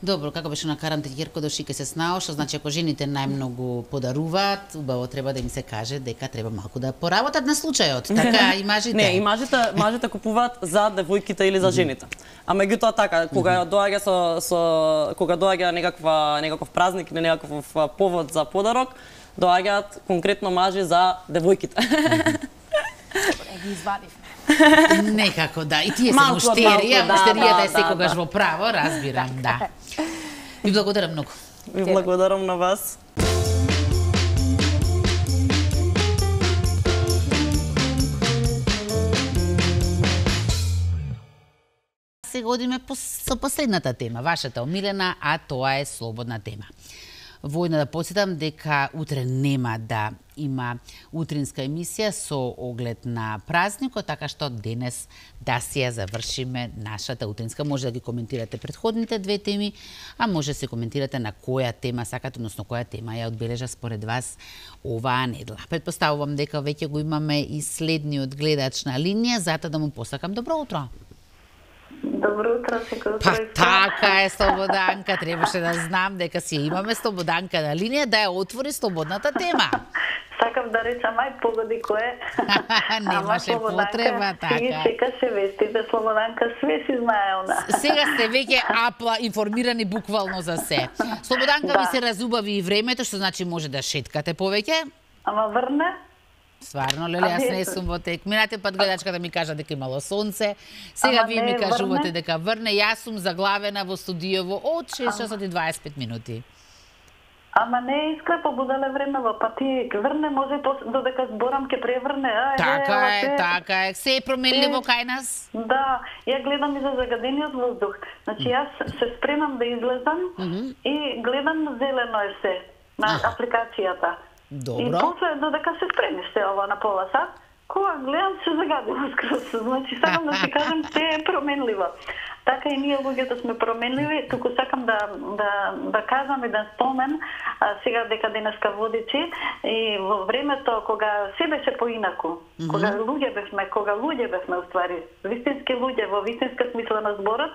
Добро, како беше на карантен Јерко Дошике се знао, што значи ако жените најмногу подаруваат, убаво треба да им се каже дека треба малку да поработат на случајот. Така и мажите. Не, и мажите купуваат за девојките или за жените. А меѓутоа така, кога доаѓа кога доаѓа некаков празник или некаков повод за подарок, доаѓаат конкретно мажи за девојките. Ги извадивме. Некако, да. И тие се муштерија, муштеријата е секогаш во право, разбирам, да. Ви благодарам многу. Ви благодарам на вас. Сега одиме со последната тема, вашата омилена, а тоа е слободна тема. Војно да потсетам дека утре нема да има утринска емисија со оглед на празникот, така што денес да си ја завршиме нашата утринска. Може да ги коментирате претходните две теми, а може да се коментирате на која тема сакате, односно која тема ја одбележа според вас оваа недела. Предпоставувам дека веќе го имаме и следниот гледач на линија, затоа да му посакам добро утро. Добро утро, секој утро. Па така е, Слободанка, требаше да знам дека си имаме Слободанка на линија да ја отвори слободната тема. Сакам да речам, ај погоди кој е. Немаше потреба, така. Си чекаше вестите, Слободанка све си знае она. Сега сте веќе апла информирани буквално за се. Слободанка ви се разубави и времето, што значи може да шеткате повеќе. Ама врне? Стварно, леле, јас не сум во тек. Минате пат гледачката ми кажа дека имало сонце. Сега вие ми кажувате дека врне. Јас сум заглавена во студиово од 6 часот и 25 минути. Ама не е искрепо буделе времево, па ти врне може додека зборам ке преврне. Така е. Се е променливо кај нас? Да, ја гледам и за загадениот воздух. Значи јас се спремам да излезам и гледам зелено е се на апликацијата. Добро. И после додека се спремиш се ова на пола сат, кога гледам се загадило скрос. Значи сакам да ти кажам се е променливо. Така и ние луѓето сме променливи, туку сакам да кажам еден спомен, сега дека денеска водичи, и во времето кога се беше поинаку, кога луѓе бевме уствари, вистински луѓе во вистинска смисла на зборот,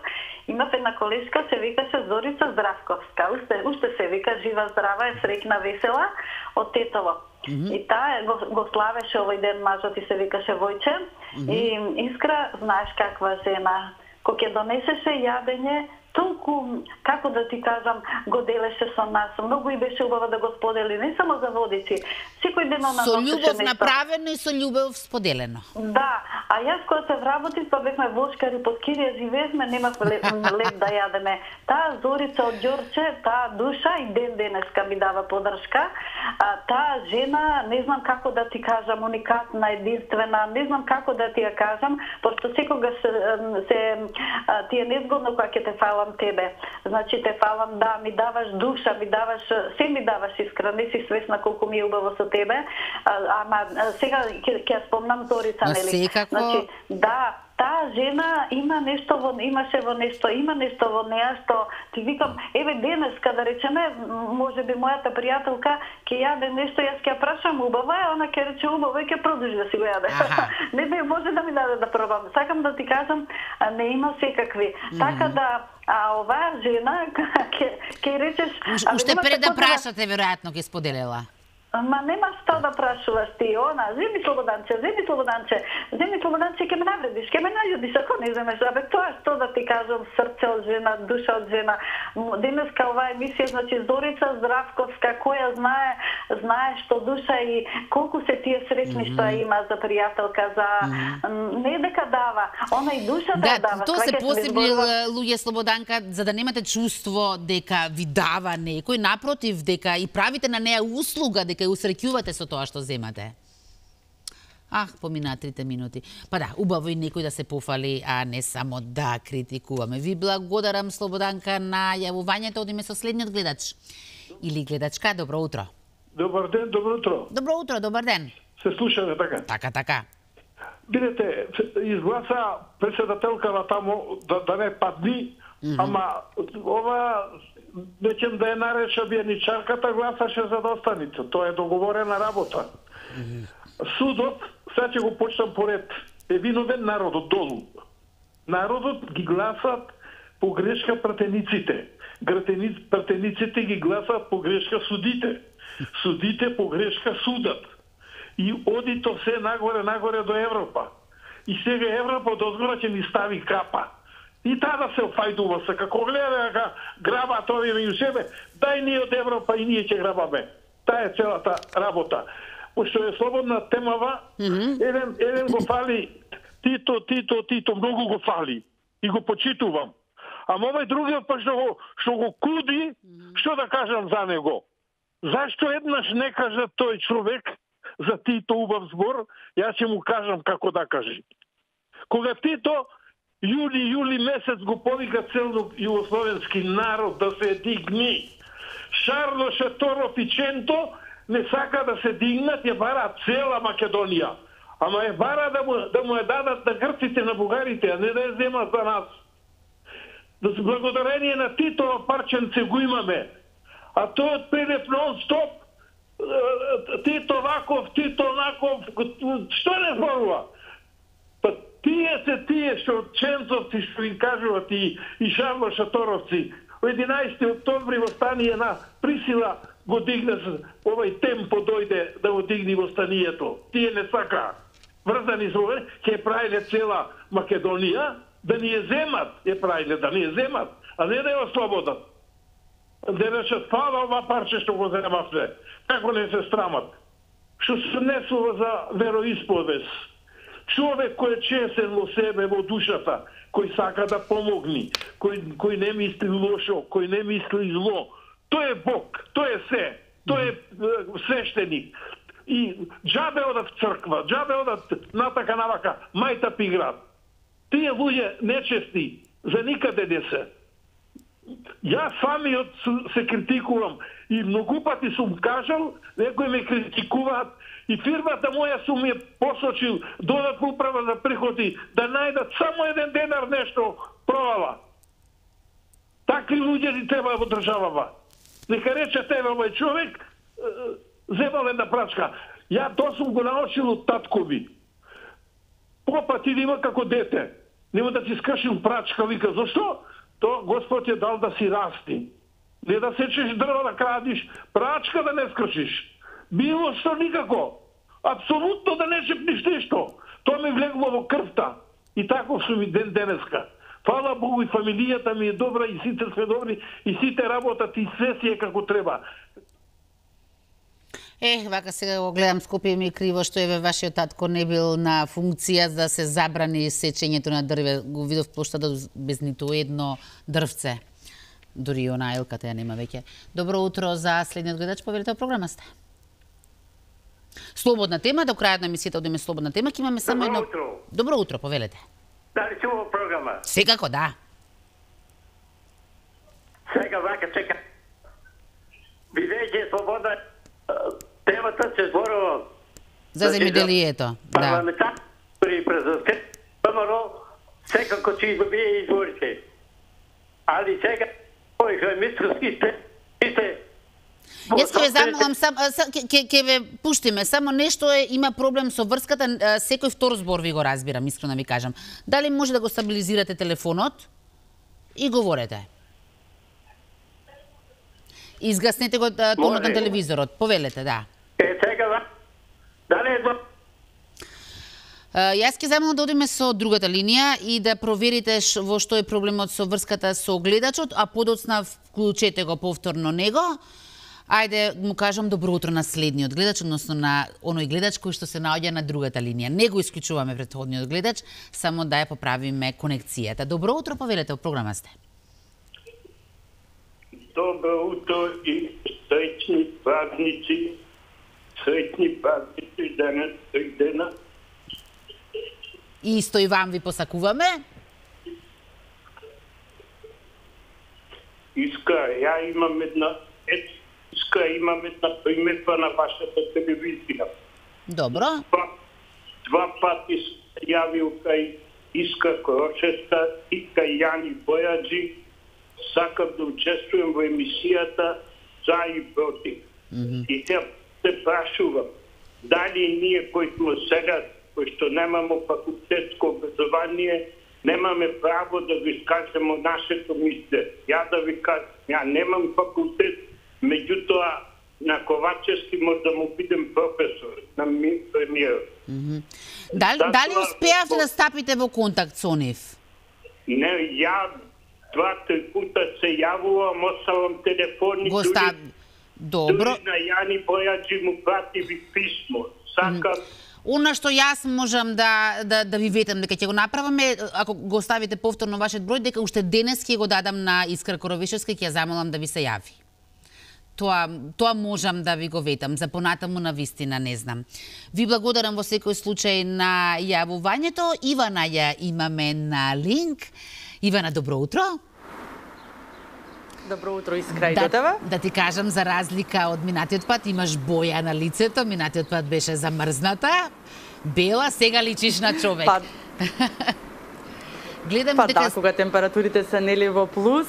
имав една колешка, се викаше Зорица Здравковска, уште се вика жива, здрава, е среќна, весела, од Тетово. И таа го славеше овој ден мажот и се викаше Војче, и Искра, знаеш каква жена, кога ќе донесеше јадење, толку, како да ти кажам, го делеше со нас. Многу и беше убаво да го сподели, не само за водици. Секој ден она со љубов направено и со љубов споделено. Да, а јас кога се вработив, па бевме вошкари под кирија, живеевме, немав леп да јадеме. Таа Зорица од Ѓорче, таа душа и ден денеска ми дава подршка. Таа жена, не знам како да ти кажам, уникатна, единствена, не знам како да ти ја кажам, пошто секогаш ти е незгодно кога ќе те фалам тебе. Значи те фалам, да, ми даваш душа, се ми даваш Искра, не си свесна колку ми е убаво со тебе. Ама сега ќе спомнам Зорица, нели? Значи, да, таа жена има нешто во неа што ти викам, еве денеска да речеме, можеби мојата пријателка ќе јаде нешто, јас ќе ја прашам убаво е, она ќе рече убаво и ќе продолжи да си го јаде. Не може да ми даде да пробам. Сакам да ти кажам, не има секакви. Така да оваа жена ќе речеш, уште пред да прашате веројатно ќе споделела. Ма нема што да прашуваш ти, она, земи Слободанче, ќе ме навредиш, ќе ме најудиш ако не земеш. Абе, тоа што да ти кажам, срце од жена, душа од жена. Денеска оваа емисија, значи Зорица Здравковска, која знае што душа и колку се тие среќни што има за пријателка, за не дека дава, она и душата дава. Тоа се посебни луѓе, Слободанка, за да немате чувство дека ви дава некој, напротив, дека и правите на неа услуга, дека ја усреќувате со тоа што земате. Помина 3 минути. Па да, убаво и некој да се пофали, а не само да критикуваме. Ви благодарам, Слободанка, на јавувањето. Одиме со следниот гледач. Или гледачка, добро утро. Добар ден, добро утро. Добро утро, добар ден. Се слушаме, така? Така. Видете, изгласа председателка на тамо да не падни, ама ова нечем да ја нареша бијаничарката, гласаше за да останите. Тоа е договорена работа. Судот, сега ќе го почнам поред, е виновен народот долу. Народот ги гласат по грешка пратениците. Пратениците ги гласат по грешка судите. Судите по грешка судат. И оди то се нагоре до Европа. И сега Европа од озгора ќе ни стави капа. И таа да се офајдува се, како гледа дека грабат овие меѓу себе, дај ние од Европа и ние ќе грабаме. Таа е целата работа. Пошто е слободна темава, еден го фали Тито, многу го фали и го почитувам. Ама овој другиот па што го куди, што да кажам за него? Зашто еднаш не кажа тој човек за Тито убав збор, јас ќе му кажам како да кажи. Кога Тито јули месец го повика цел југословенски народ да се дигни, Шарло Шаторов и Ченто не сака да се дигнат, ја бара цела Македонија. Ама ја бара да му ја дадат на грците, на бугарите, а не да ја земат за нас. Благодарение на Титова парченце го имаме. А тој од Пелев нон-стоп, Тито ваков, Тито онаков, што не зборува? Па тие што Ченцовци, што им кажуват и Шарло Шаторовци, 11. октомври востание на присила го дигне, овај темпо дојде да го дигне востанието. Тие не сака. Врзани со ове, ќе правиле цела Македонија, да ни ја земат, да ни ја земат, а не да ја ослободат. Да речат, фала ова парче што го земавте. Како не се страмат? Што се несува за вероисповест. Човек кој е честен во себе, во душата, кој сака да помогни, кој не мисли лошо, кој не мисли зло. Тој е Бог, тој е се, тој е свештеник. И џабе одат в црква, џабе одат натака навака, мајта пиграт. Тие луѓе нечести, за никаде не се. Јас самиот се критикувам и многу пати сум кажал, некои ме критикуваат и фирмата моја сум ја посочил додатна управа за приходи да најдат само еден денар нешто провала. Такви луѓе ни треба во државава. Нека рече тебе овој човек земал една прачка. Ја тоа сум го научил од таткови. Попа ти има како дете. Нема да ти скршил прачка, вика, зашто? То Господ ја дал да си расти. Не да сечеш дрва да крадиш, прачка да не скршиш. Било што никако. Апсолутно да не шепниш ништо. Тоа ми влегува во крвта. И таков сум и денеска. Фала Богу и фамилијата ми е добра и сите сме добри и сите работат и све си е како треба. Вака сега го гледам, Скопје ми е криво што еве вашиот татко не бил на функција да се забрани сечењето на дрве. Го видов плоштадот без ниту едно дрвце. Дури и она елката ја нема веќе. Добро утро за следниот гледач, повелете во програма сте. Слободна тема, до крајот на емисијата одиме слободна тема, ќе имаме само едно... Добро утро, повелете. Дали чува програма? Секако, да. Сега вака чека. Бидејќи слободна темата се зборува за земјоделието, да. Парламентари президент ВМРО секако ќе добие изборите. Али сега овој хемисковски сте Јас ќе ве замолам, ќе ве пуштиме, само нешто има проблем со врската, секој втор збор ви го разбирам, искрено ви кажам. Дали може да го стабилизирате телефонот и говорете? Изгаснете го тонот на телевизорот, повелете, да. Сега, дали е Јас ќе замолам да одиме со другата линија и да проверите во што е проблемот со врската со гледачот, а подоцна вклучете го повторно него. Ајде, му кажам добро утро на следниот гледач, односно на оној гледач кој што се наоѓа на другата линија. Не го исклучуваме претходниот гледач, само да ја поправиме конекцијата. Добро утро, повелете, во програма сте. Добро утро и среќни празници. Среќни празници денес, тој дена. И исто и вам ви посакуваме. Ја имам една приметба на вашата телевизија. Добро. Два пати се јавил кај Иска Крочеста и кај Јани Бојаджи. Сакам да учествувам во емисијата за и против. И се прашувам, дали ние кои сме сега, кои што немаме факултетско образование, немаме право да ви скажеме нашето мисле. Ја да ви кажам, ја немам факултет, меѓутоа на Ковачевски може да му бидем професор, на премиер. Дали успеавте да стапите во контакт со нив? Не, ја 2-3 пута се јавувам, осавам телефони, Добро. Дури на Јани Бојаджи му пративи писмо. Сакам Она што јас можам да ви ветам дека ќе го направиме, ако го ставите повторно вашиот број, дека уште денес ќе го дадам на Искра Коровишевска и ќе ја замолам да ви се јави. Тоа можам да ви го ветам, за понатаму на вистина не знам. Ви благодарам во секој случај на јавувањето. Ивана ја имаме на линк. Ивана, добро утро. Добро утро, Искра, и до тебе. Да ти кажам, за разлика од минатиот пат, имаш боја на лицето, минатиот пат беше замрзната, бела, сега личиш на човек. Гледам дека... да, кога температурите се нели во плюс,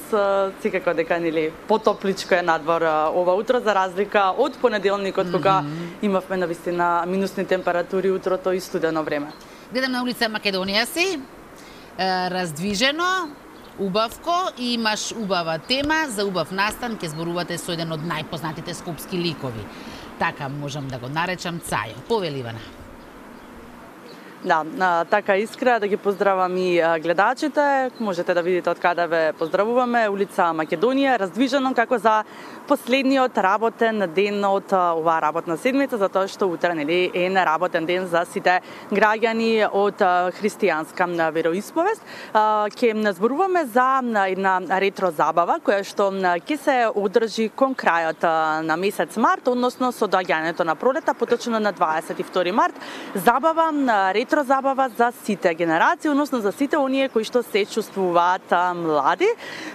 секако дека нели потопличко е надвор ова утро, за разлика од понеделникот, кога имавме навистина минусни температури утрото и студено време. Гледам на улица Македонија си, раздвижено, убавко, и имаш убава тема за убав настан, ќе зборувате со еден од најпознатите скопски ликови. Така можам да го наречам Цајо. Повели, Ивана. Да, така Искра, да ги поздравам и гледачите. Можете да видите од каде ве поздравуваме. Улица Македонија, раздвижено како за последниот работен ден од оваа работна седмица, затоа што утре нели е неработен ден за сите граѓани од христијанска вероисповест. Ќе зборуваме за една ретро забава која што ќе се одржи кон крајот на месец март, односно со доаѓањето на пролета, поточно на 22 март. Забава, ретро забава за сите генерации, односно за сите оние кои што се чувствуваат млади.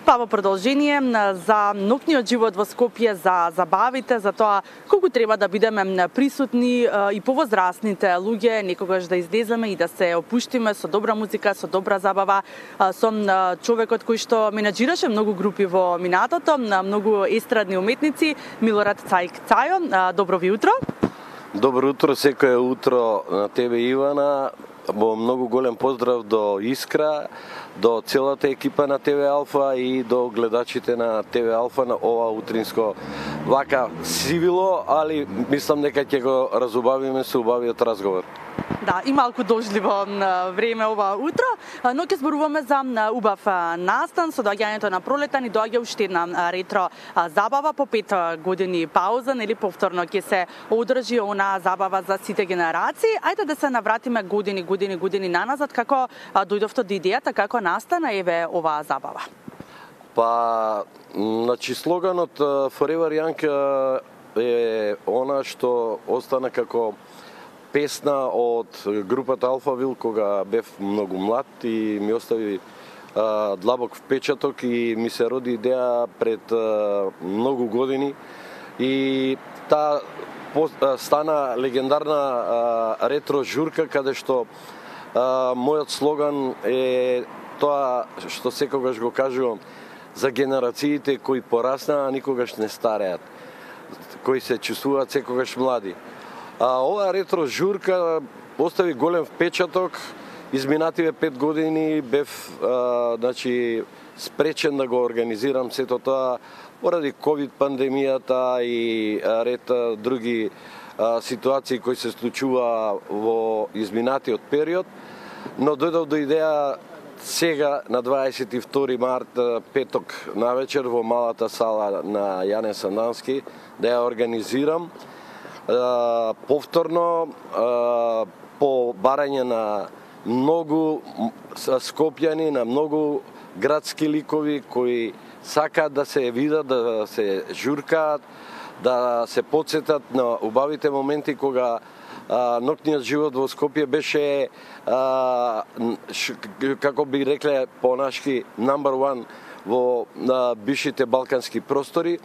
Па во продолжение за ноќниот живот во Скопје, за забавите, за тоа колку треба да бидеме присутни и повозрастните луѓе, некогаш да излеземе и да се опуштиме со добра музика, со добра забава, со човекот кој што менаџираше многу групи во минатото, многу естрадни уметници, Милорад Цајо. Добро ви утро. Добро утро, секое утро на тебе, Ивана. Во многу голем поздрав до Искра, до целата екипа на ТВ Алфа и до гледачите на ТВ Алфа на ова утринско вака сивило, али мислам дека ќе го разубавиме со убавиот разговор. Да, и малку дожливо време ова утро, но ќе зборуваме за убав настан. Со доаѓањето на пролета ни доаѓа уште една ретро забава по 5 години пауза, нели повторно ќе се одржи она забава за сите генерации. Ајде да се навратиме години наназад, како дојдовте до идејата, како настана еве оваа забава. Па, значи слоганот Forever Young е она што остана како песна од групата Алфавил кога бев многу млад и ми остави длабок впечаток и ми се роди идеја пред многу години и таа стана легендарна ретро журка каде што мојот слоган е тоа што секогаш го кажувам за генерациите кои пораснаа, а никогаш не стареат, кои се чувствуваат секогаш млади. Ова ретро журка остави голем впечаток. Изминативе 5 години бев значи спречен да го организирам сето тоа поради ковид пандемијата и ред други ситуации кои се случува во изминатиот период, но дојдов до идеја сега на 22 март петок навечер во малата сала на Јане Сандански да ја организирам повторно по барање на многу скопјани, на многу градски ликови кои сакаат да се видат, да се журкаат, да се потсетат на убавите моменти кога ноќниот живот во Скопје беше како би рекле понашки number one во бившите балкански простори.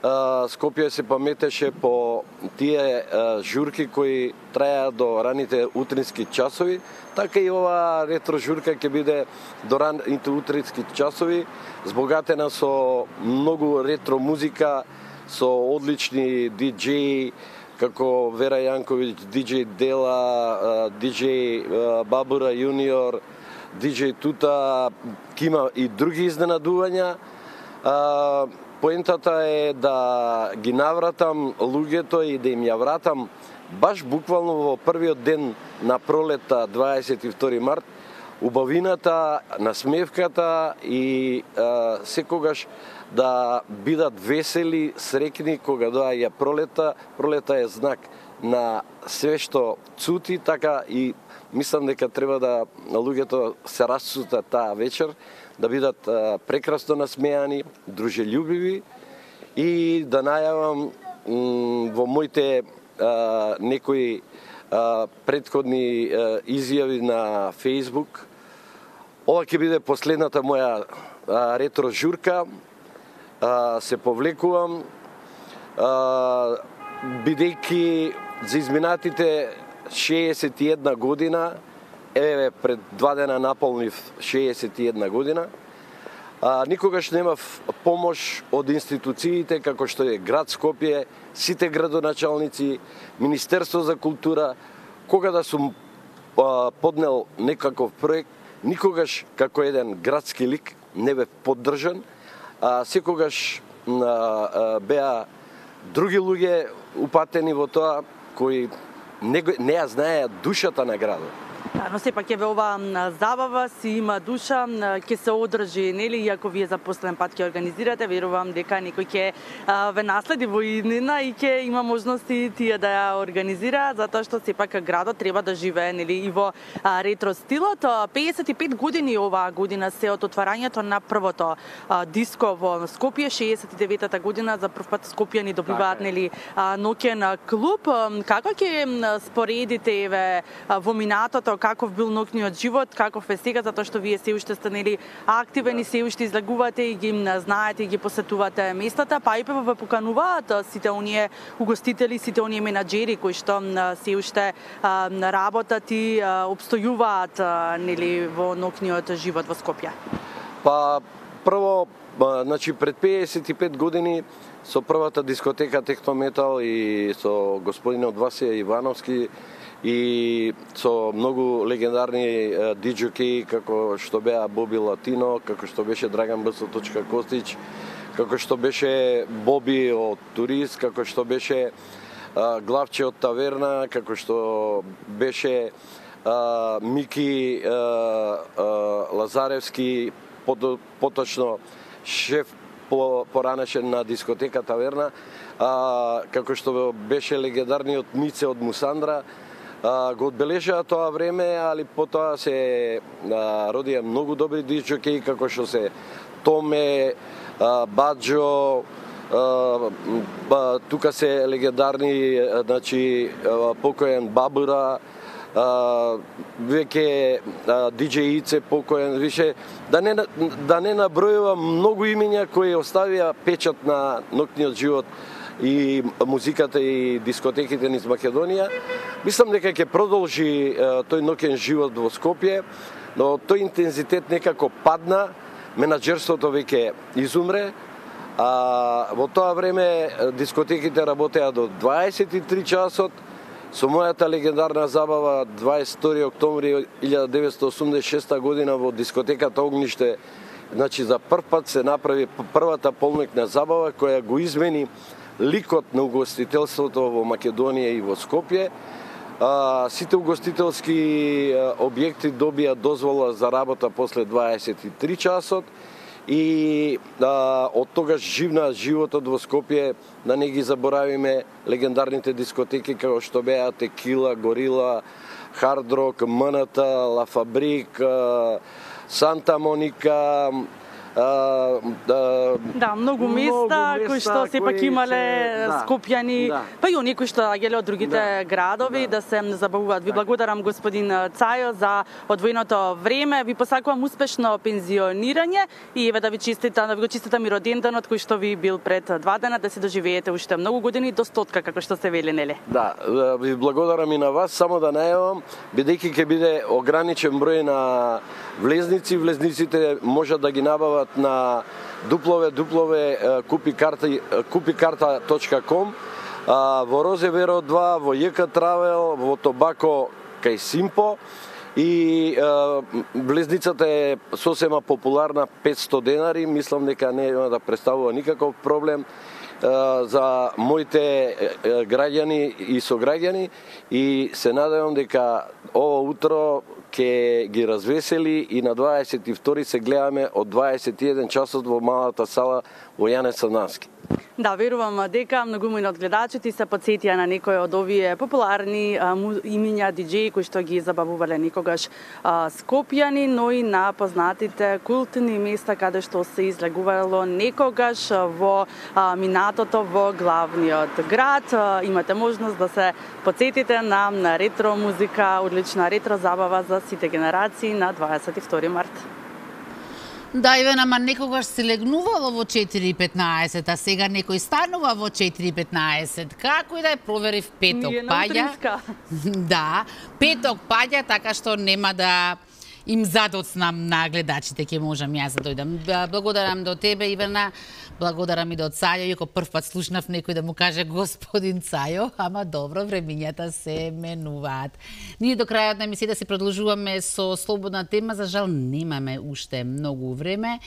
Скопје се паметеше по тие журки кои траја до раните утрински часови, така и ова ретро журка ќе биде до раните утрински часови, збогатена со многу ретро музика, со одлични диџеи, како Вера Јанковиќ, диџеј Дела, диџеј Бабура Јуниор, диџеј Тута, има и други изненадувања. Поентата е да ги навратам луѓето и да им ја вратам баш буквално во првиот ден на пролета, 22 март, убавината, насмевката и секогаш да бидат весели, среќни кога доаѓа пролета. Пролета е знак на све што цути, така и мислам дека треба да луѓето се расцутат таа вечер, да бидат прекрасно насмеани, дружелюбиви и да најавам во моите некои претходни изјави на Facebook. Ова ќе биде последната моја ретро журка се повлекувам, бидејќи за изминатите 61 година, еве пред 2 дена наполнив 61 година, никогаш немав помош од институциите како што е град Скопје, сите градоначалници, Министерство за култура, кога да сум поднел некаков проект, никогаш како еден градски лик не бе поддржан, секогаш беа други луѓе упатени во тоа кои не ја знаеа душата на градот. Но сепак еве ова забава си има душа, ќе се одржи, нели, иако вие за последен пат ќе организирате, верувам дека некој ќе ве наследи во иднина и ќе има можности тие да ја организира, затоа што сепак градот треба да живее, нели, и во ретро стилот. 55 години оваа година се од отварањето на првото диско во Скопје, 69-та година за прв пат скопјани добиваат, нели, ноќен клуб. Како ќе споредите еве во минатото, каков бил ноќниот живот, каков е сега, затоа што вие се уште сте, нели, активен и се уште излегувате и ги знаете и ги посетувате местата, па и ве покануваат сите оние угостители, сите оние менаџери кои што се уште работат и обстојуваат, нели, во ноќниот живот во Скопје. Па прво, значи пред 55 години со првата дискотека Технометал и со господинот Васија Ивановски и со многу легендарни диџоки како што беа Боби Латино, како што беше Драган Б. Костич, како што беше Боби од Турист, како што беше Главче од Таверна, како што беше Мики Лазаревски, поточно шеф поранешен на дискотека Таверна, како што беше легендарниот Мице од Мусандра, го одбележаа тоа време, али потоа се родија многу добри диџоки, како што се Томе, Баджо, тука се легендарни, значи, покоен Бабура, веќе диџеј Ице покоен, више, да не набројувам многу имиња кои оставија печат на ноќниот живот и музиката и дискотеките низ Македонија. Мислам дека ќе продолжи тој ноќен живот во Скопје, но тој интензитет некако падна, менаџерството веќе изумре, во тоа време дискотеките работеа до 23 часот, со мојата легендарна забава 22 октомври 1986 година во дискотеката Огниште, значи за прв пат се направи првата полноќна забава која го измени ликот на угостителството во Македонија и во Скопје. Сите угостителски објекти добија дозвола за работа после 23 часот и од тогаш живна животот во Скопје, да не ги заборавиме легендарните дискотеки како што беа Текила, Горила, Хард Рок, МНТ, Ла Фабрик, Санта Моника, да, многу места кои што сепак имале скопјани, па и оние кои што доаѓале од другите градови да се забавуваат. Ви благодарам, господин Цајо, за одвоеното време. Ви посакувам успешно пензионирање и еве да ви го честитам и роденденот кој што ви бил пред 2 дена, да се доживеете уште многу години до 100, како што се вели, нели? Да, ви благодарам и на вас, само да најавам, бидејќи ќе биде ограничен број на влезници, влезниците можат да ги набават на www.kupikarta.com, во Розеверо 2, во ЈК Травел, во Тобако кај Симпо и влезницата е сосема популарна, 500 денари, мислам дека нема да представува никаков проблем за моите граѓани и сограѓани и се надевам дека ова утро ќе ги развесели и на 22 се гледаме од 21 часот во малата сала во Јане Санански. Да, верувам дека многумина од гледачите се потсетија на некои од овие популарни имиња диџеи кои што ги забавувале некогаш скопјани, но и на познатите култни места каде што се излегувало некогаш во минатото во главниот град. Имате можност да се потсетите на ретро музика, одлична ретро забава за сите генерации на 22 март. Да, Иван, ама некогаш се легнувало во 4:15, а сега некој станува во 4:15. Како и да ја проверив, петок паѓа. Да, петок паѓа, така што нема да им задоцнам на гледачите, ќе можам јас да дојдам. Благодарам до тебе, Ивана, благодарам и до Цајо, иако прв пат слушнав некој да му каже господин Цајо, ама добро, времињата се менуваат. Ние до крајот на емисијата си продолжуваме со слободна тема, за жал немаме уште многу време,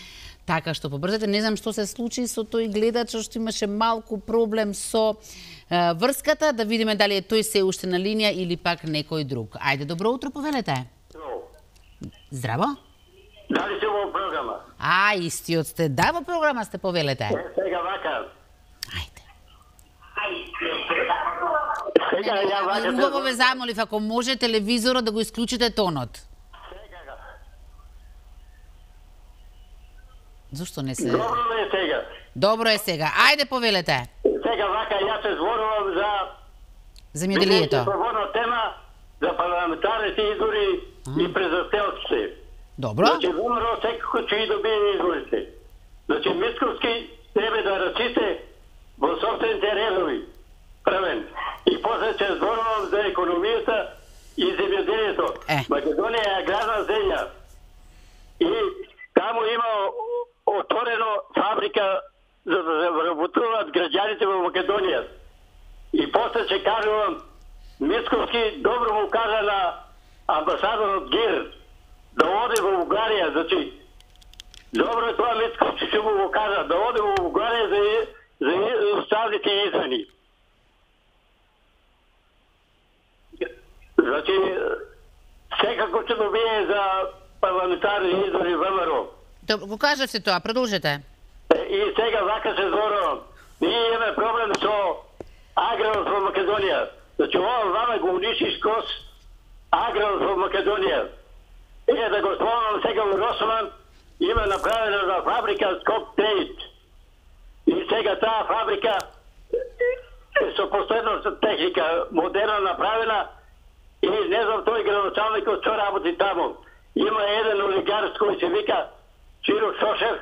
така што побрзете. Не знам што се случи со тој гледач, што имаше малку проблем со врската, да видиме дали е тој се уште на линија или пак некој друг. Ајде, добро утро, повелете. Здраво? Дали се во програма? Истиот сте. Да, во програма сте, повелете. Сега вака. Ајде. Сега ја вака. Убаво ве замолив, ако може телевизорот да го исклучите тонот. Сега. Зошто не се... Добро е сега. Добро е сега. Ајде, повелете. Сега вака, јас се зборувам за... Земјоделието. Слободна тема за парламентарните избори и презастелците. Добро. Значи, ВМРО секако ќе и добие изборите. Значи, Мицковски треба да рачите во собствените редови. Првен. И после ќе зборувам за економијата и земјоделието. Македонија е аграрна земја. И таму има отворено фабрика за да се вработуваат граѓаните во Македонија. И после ќе кажувам, Мицковски добро му кажа на амбасадорот ГИР да оде во Бугарија, значи добро е тоа Мицковски ќе му кажа да оде во Бугарија за уставните измени. Значи секако ќе добие за парламентарни избори ВМРО. Добро, го кажавте тоа, продолжете. И сега вака се зборувам. Ние имаме проблем со аграрот во Македонија. Значи ова вама го униши скос аграрот во Македонија. Да го спомнам сега во Росман има направена за фабрика Скоп Трейд. И сега таа фабрика со последната техника, модерна направена и не знам тој градоначалникот што работи таму. Има еден олигарх кој се вика Чиро Шошев,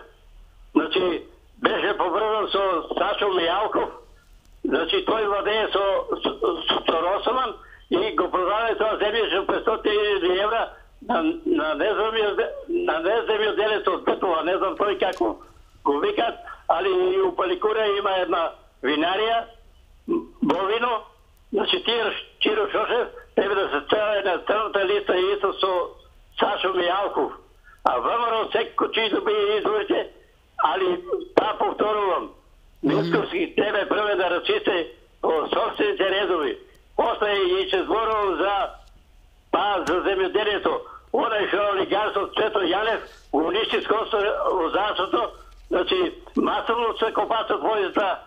значи беше поврзан со Сашо Мијалков, значи тој владее со Росман и го продаде тоа земјище 500.000 евра на неземјоделец од Бетова, не знам тој како го викат, али и у Паликура има една винарија, Бовино, значи Чиро Шошев треба да се стави на црната листа исто со Сашо Мијалков. А ВМРО секако ќе добие изборите, али па повторувам, Мицковски тебе прве да рачисте во собствените редови. После и ќе зборувам за земјоделието. Онај што олигарсот Цвето Јанев го уништи скосо лозарството, значи масовно се копасат војзата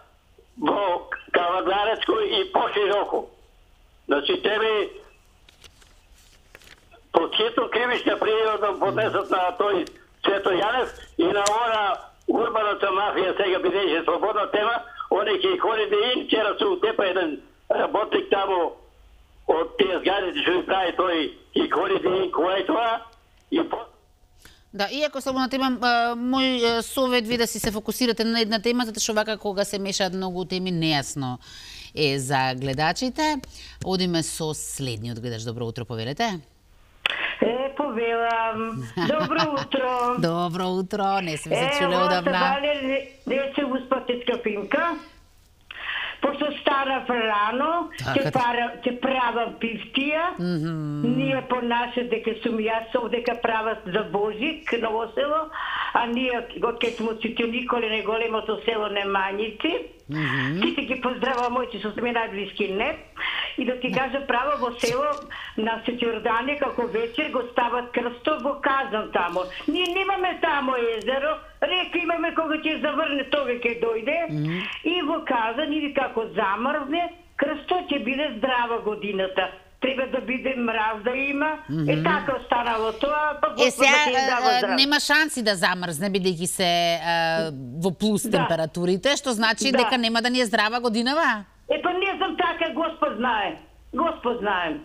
во Кавадарецко и пошироко. Значи тебе под хитно кривична пријава поднесат на тој Цвето Јанев и на она урбаната мафија сега бидејќи слободна тема, они ќе ходи да им вчера су тепа еден работник таму од тие зградите што ги прави тој и ходи да им кој е тоа и Да, иако слободна тема, мој совет ви да си се фокусирате на една тема, затоа што вака кога се мешаат многу теми нејасно е за гледачите. Одиме со следниот гледач. Добро утро, повелете. Повелам. Добро утро. Добро утро, не сме се чуле одавна. Дече успатетска финка. Пошто станав рано, ќе правам пивтија. Ние понаше дека сум јас овдека прават за Божик, Ново село, а ние од кај смо сите Николе, најголемото село Немањици. Сите ги поздравам моите со сме најблиски не. И да ти кажа право во село на Сеќорданија како вечер го стават крстов во Казан тамо. Ние немаме тамо езеро, река имаме кога ќе заврне тоа ќе дојде и во Казан или како замрзне, крстот ќе биде здрава годината. Треба да биде мраз да има. Така останало тоа, па Господ ќе им дава здраво. Нема шанси да замрзне бидејќи се во плюс температурите, што значи дека нема да ни е здрава годинава? Па не знам така, Господ знае. Господ знае.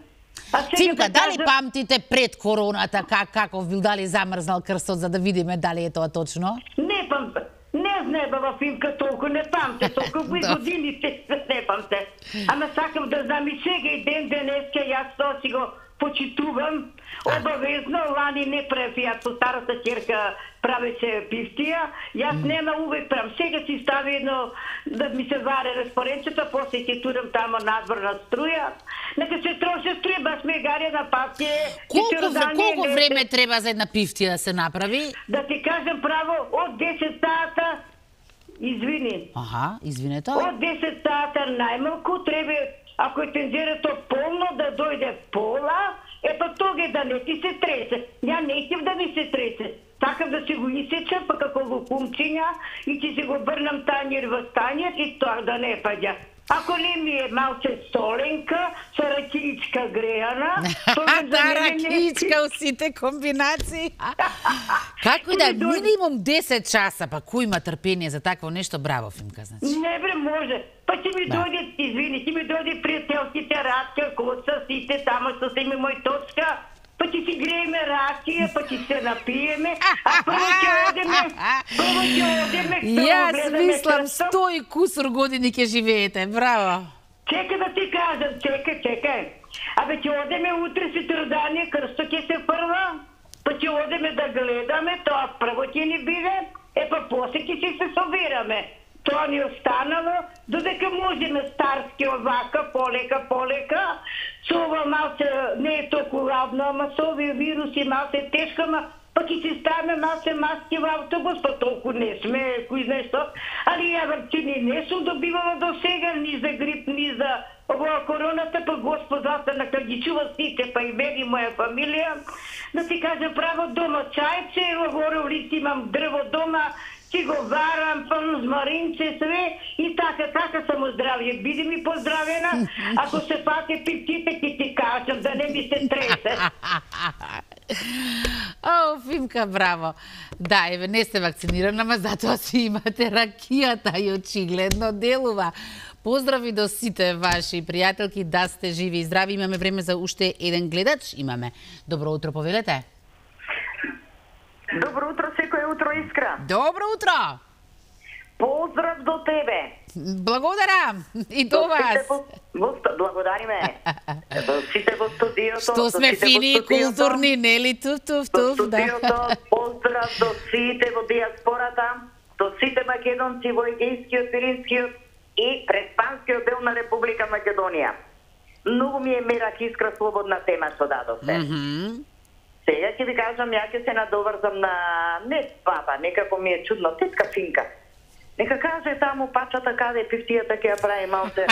Цимка, дали памтите пред короната каков бил, дали замрзнал крстот, за да видиме дали е тоа точно? Не памтам. Не знебава Фимка толку, не памте толку, кои годините не памте. Ама сакам да знам и сега и ден денеска, јас тоа си го почитувам. Обавезно, лани не правев, јас со старата ќерка правеше пифтија, јас нема увек правам. Сега си стави едно да ми се варе разпоренчето, после ќе турам тамо надвор на струја. Нека се троше струја, баш ме гарја на патје. Колку време треба за една пифтија да се направи? Да ти кажам право, од 10 сата, извини. Аха, извинете. Од 10 сата најмалку треба, ако е тензерето полно, да дојде пола, ето тога да не ти се тресе. Ја не искам да ми се тресе. Сакам да се го исечам, па како лукумчиња, и ќе се го врнам тањер во тањер и тоа да не паѓа. Ако не ми е малце соленка, со ракијичка грејана... Да, ракијичка у сите комбинации. Како и да, минимум 10 часа, па кој има трпение за такво нешто, браво, Фимка, значи. Не бре, може. Па ќе ми дојде, извини, ќе ми дојде пријателките Радка, Коца, сите тамо што се има мој точка, па ќе си грееме ракија, па ќе се напиеме, а прво ќе одеме, Јас мислам 100 и кусур години ќе живеете, браво. Чекај да ти кажам, чекај. Абе ќе одеме утре сутрдание, крсто ќе се фрла, па ќе одеме да гледаме, тоа прво ќе ни биде, па после ќе се собираме. Тоа ни останало, додека можеме старски овака, полека, со ова малце не е толку ладно, ама со овие вируси малце тешко, ама па ќе си ставаме малце маски во автобус, па толку не сме, кој знае што. Али ја вакцини не сум добивала до сега, ни за грип, ни за оваа короната, па Господ нека ги чува сите, па и мене и моја фамилија. Да ти кажа право, дома чајче, во улици имам дрво дома, си го варам, змаринце, све, и така само здравје. Биди ми поздравена, ако се пате пиптите, ќе ти кажам, да не ми се тресе. О, Фимка, браво. Да, еве, не сте вакцинирана, ама затоа си имате ракијата и очигледно делува. Поздрави до сите ваши пријателки, да сте живи и здрави. Имаме време за уште еден гледач. Имаме. Добро утро, повелете. Добро утро, секој утро, Искра. Добро утро. Поздрав до тебе. Благодарам. И до вас. Благодариме. До сите во студиото. Што сме фини и културни, нели? Туф, до студиото, поздрав до сите во диаспората, до сите македонци во Егејскиот, Пиринскиот и преспанскиот дел на Република Македонија. Многу ми е мерак, Искра, слободна тема што дадовте. Сега ќе ви кажам, ја ќе се надоврзам на не баба, некако ми е чудно, тетка Финка. Нека каже таму пачата каде пифтијата ќе ја прави малце.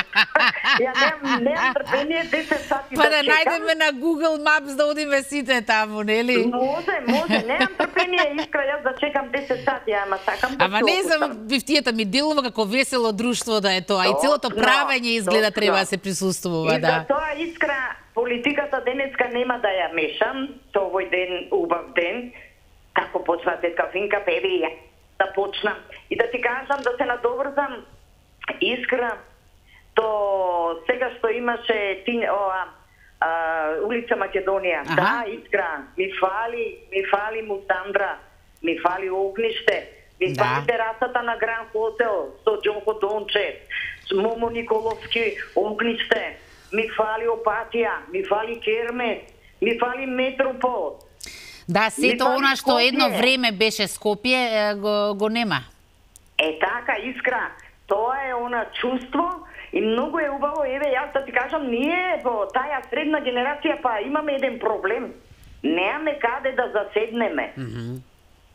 Ја немам трпение 10 сати да чекам. Па да најдеме на Google Maps да одиме сите таму, нели? Може, немам трпение, Искра, јас да чекам 10 сати, ама сакам да Ама не знам, пифтијата ми делува како весело друштво да е тоа. И целото правење изгледа треба да се присуствува, да. И за тоа, Искра, политиката денеска нема да ја мешам, со овој ден, убав ден, како почна тетка Финка, певи да почнам. И да ти кажам, да се надоврзам, Искра, то сега што имаше улица Македонија. Да, Искра, ми фали Мусандра, ми фали огниште, ми фали терасата на Гран Хотел, со Џонко Дончев, с Момо Николовски огниште, ми фали Опатија, ми фали Кермес, ми фали Метропол. Да, сето она што едно време беше Скопје, го нема. Така, Искра, тоа е она чувство и многу е убаво, еве, јас да ти кажам, ние во таа средна генерација па имаме еден проблем. Немаме каде да заседнеме.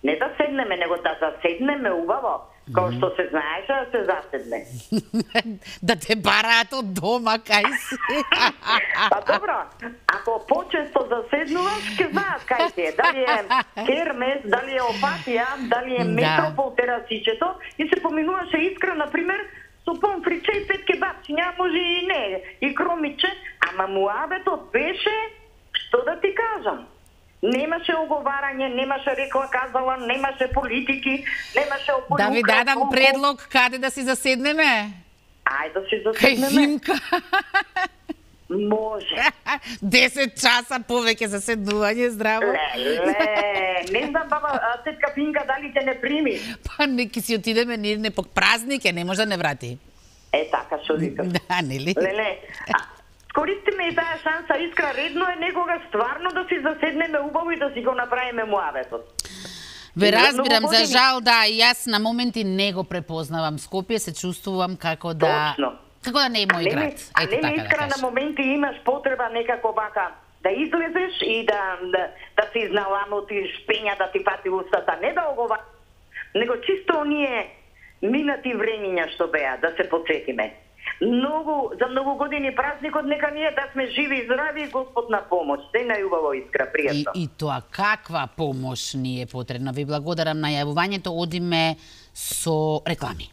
Не да седнеме, него да заседнеме убаво. Као што се знаеше да се заседне. Да те бараат од дома, кај си. Па добро, ако почесто заседнуваш, ќе знаат кај си е. Дали е Кермес, дали е Опатија, дали е Метропол терасичето и се поминуваше Искра, например, со помфриче и 5 кебапчиња, може и не, и кромиче, ама муабетот беше, што да ти кажам, немаше оговарање, немаше рекла казала, немаше политики, немаше опорука. Да ви дадам предлог каде да си заседнеме? Ајде да си заседнеме. Кај Финка. Може. 10 часа повеќе за седнување, здраво. Не знам, баба, тетка Пинка, дали те не прими? Па неки си отидеме, не пок празник не може да не врати. Така што викам. Да, нели? Леле, користиме и таа шанса, Искра, редно е некога стварно да си заседнеме убаво и да си го направиме муабетот. Ве разбирам, за жал, да, и јас на моменти не го препознавам Скопје, се чувствувам како да... Точно. Како да не е мој град. А не Искра, на моменти имаш потреба некако бака да излезеш и да си изналамотиш, пења да ти пати устата, не да огова, него чисто оние минати времиња што беа, да се подсетиме. За многу години празникот нека ние да сме живи и здрави, Господ на помош. Се најубаво, Искра, пријатно. И тоа каква помош ни е потребна. Ви благодарам на јавувањето, одиме со реклами.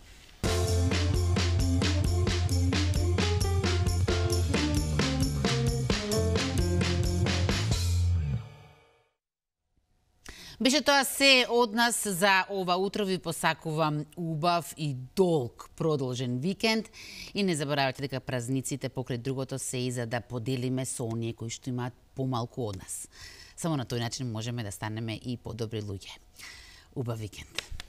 Беше тоа се од нас за ова утро. Ви посакувам убав и долг продолжен викенд и не заборавајте дека празниците покрај другото се и за да поделиме со оние кои што имаат помалку од нас. Само на тој начин можеме да станеме и подобри луѓе. Убав викенд.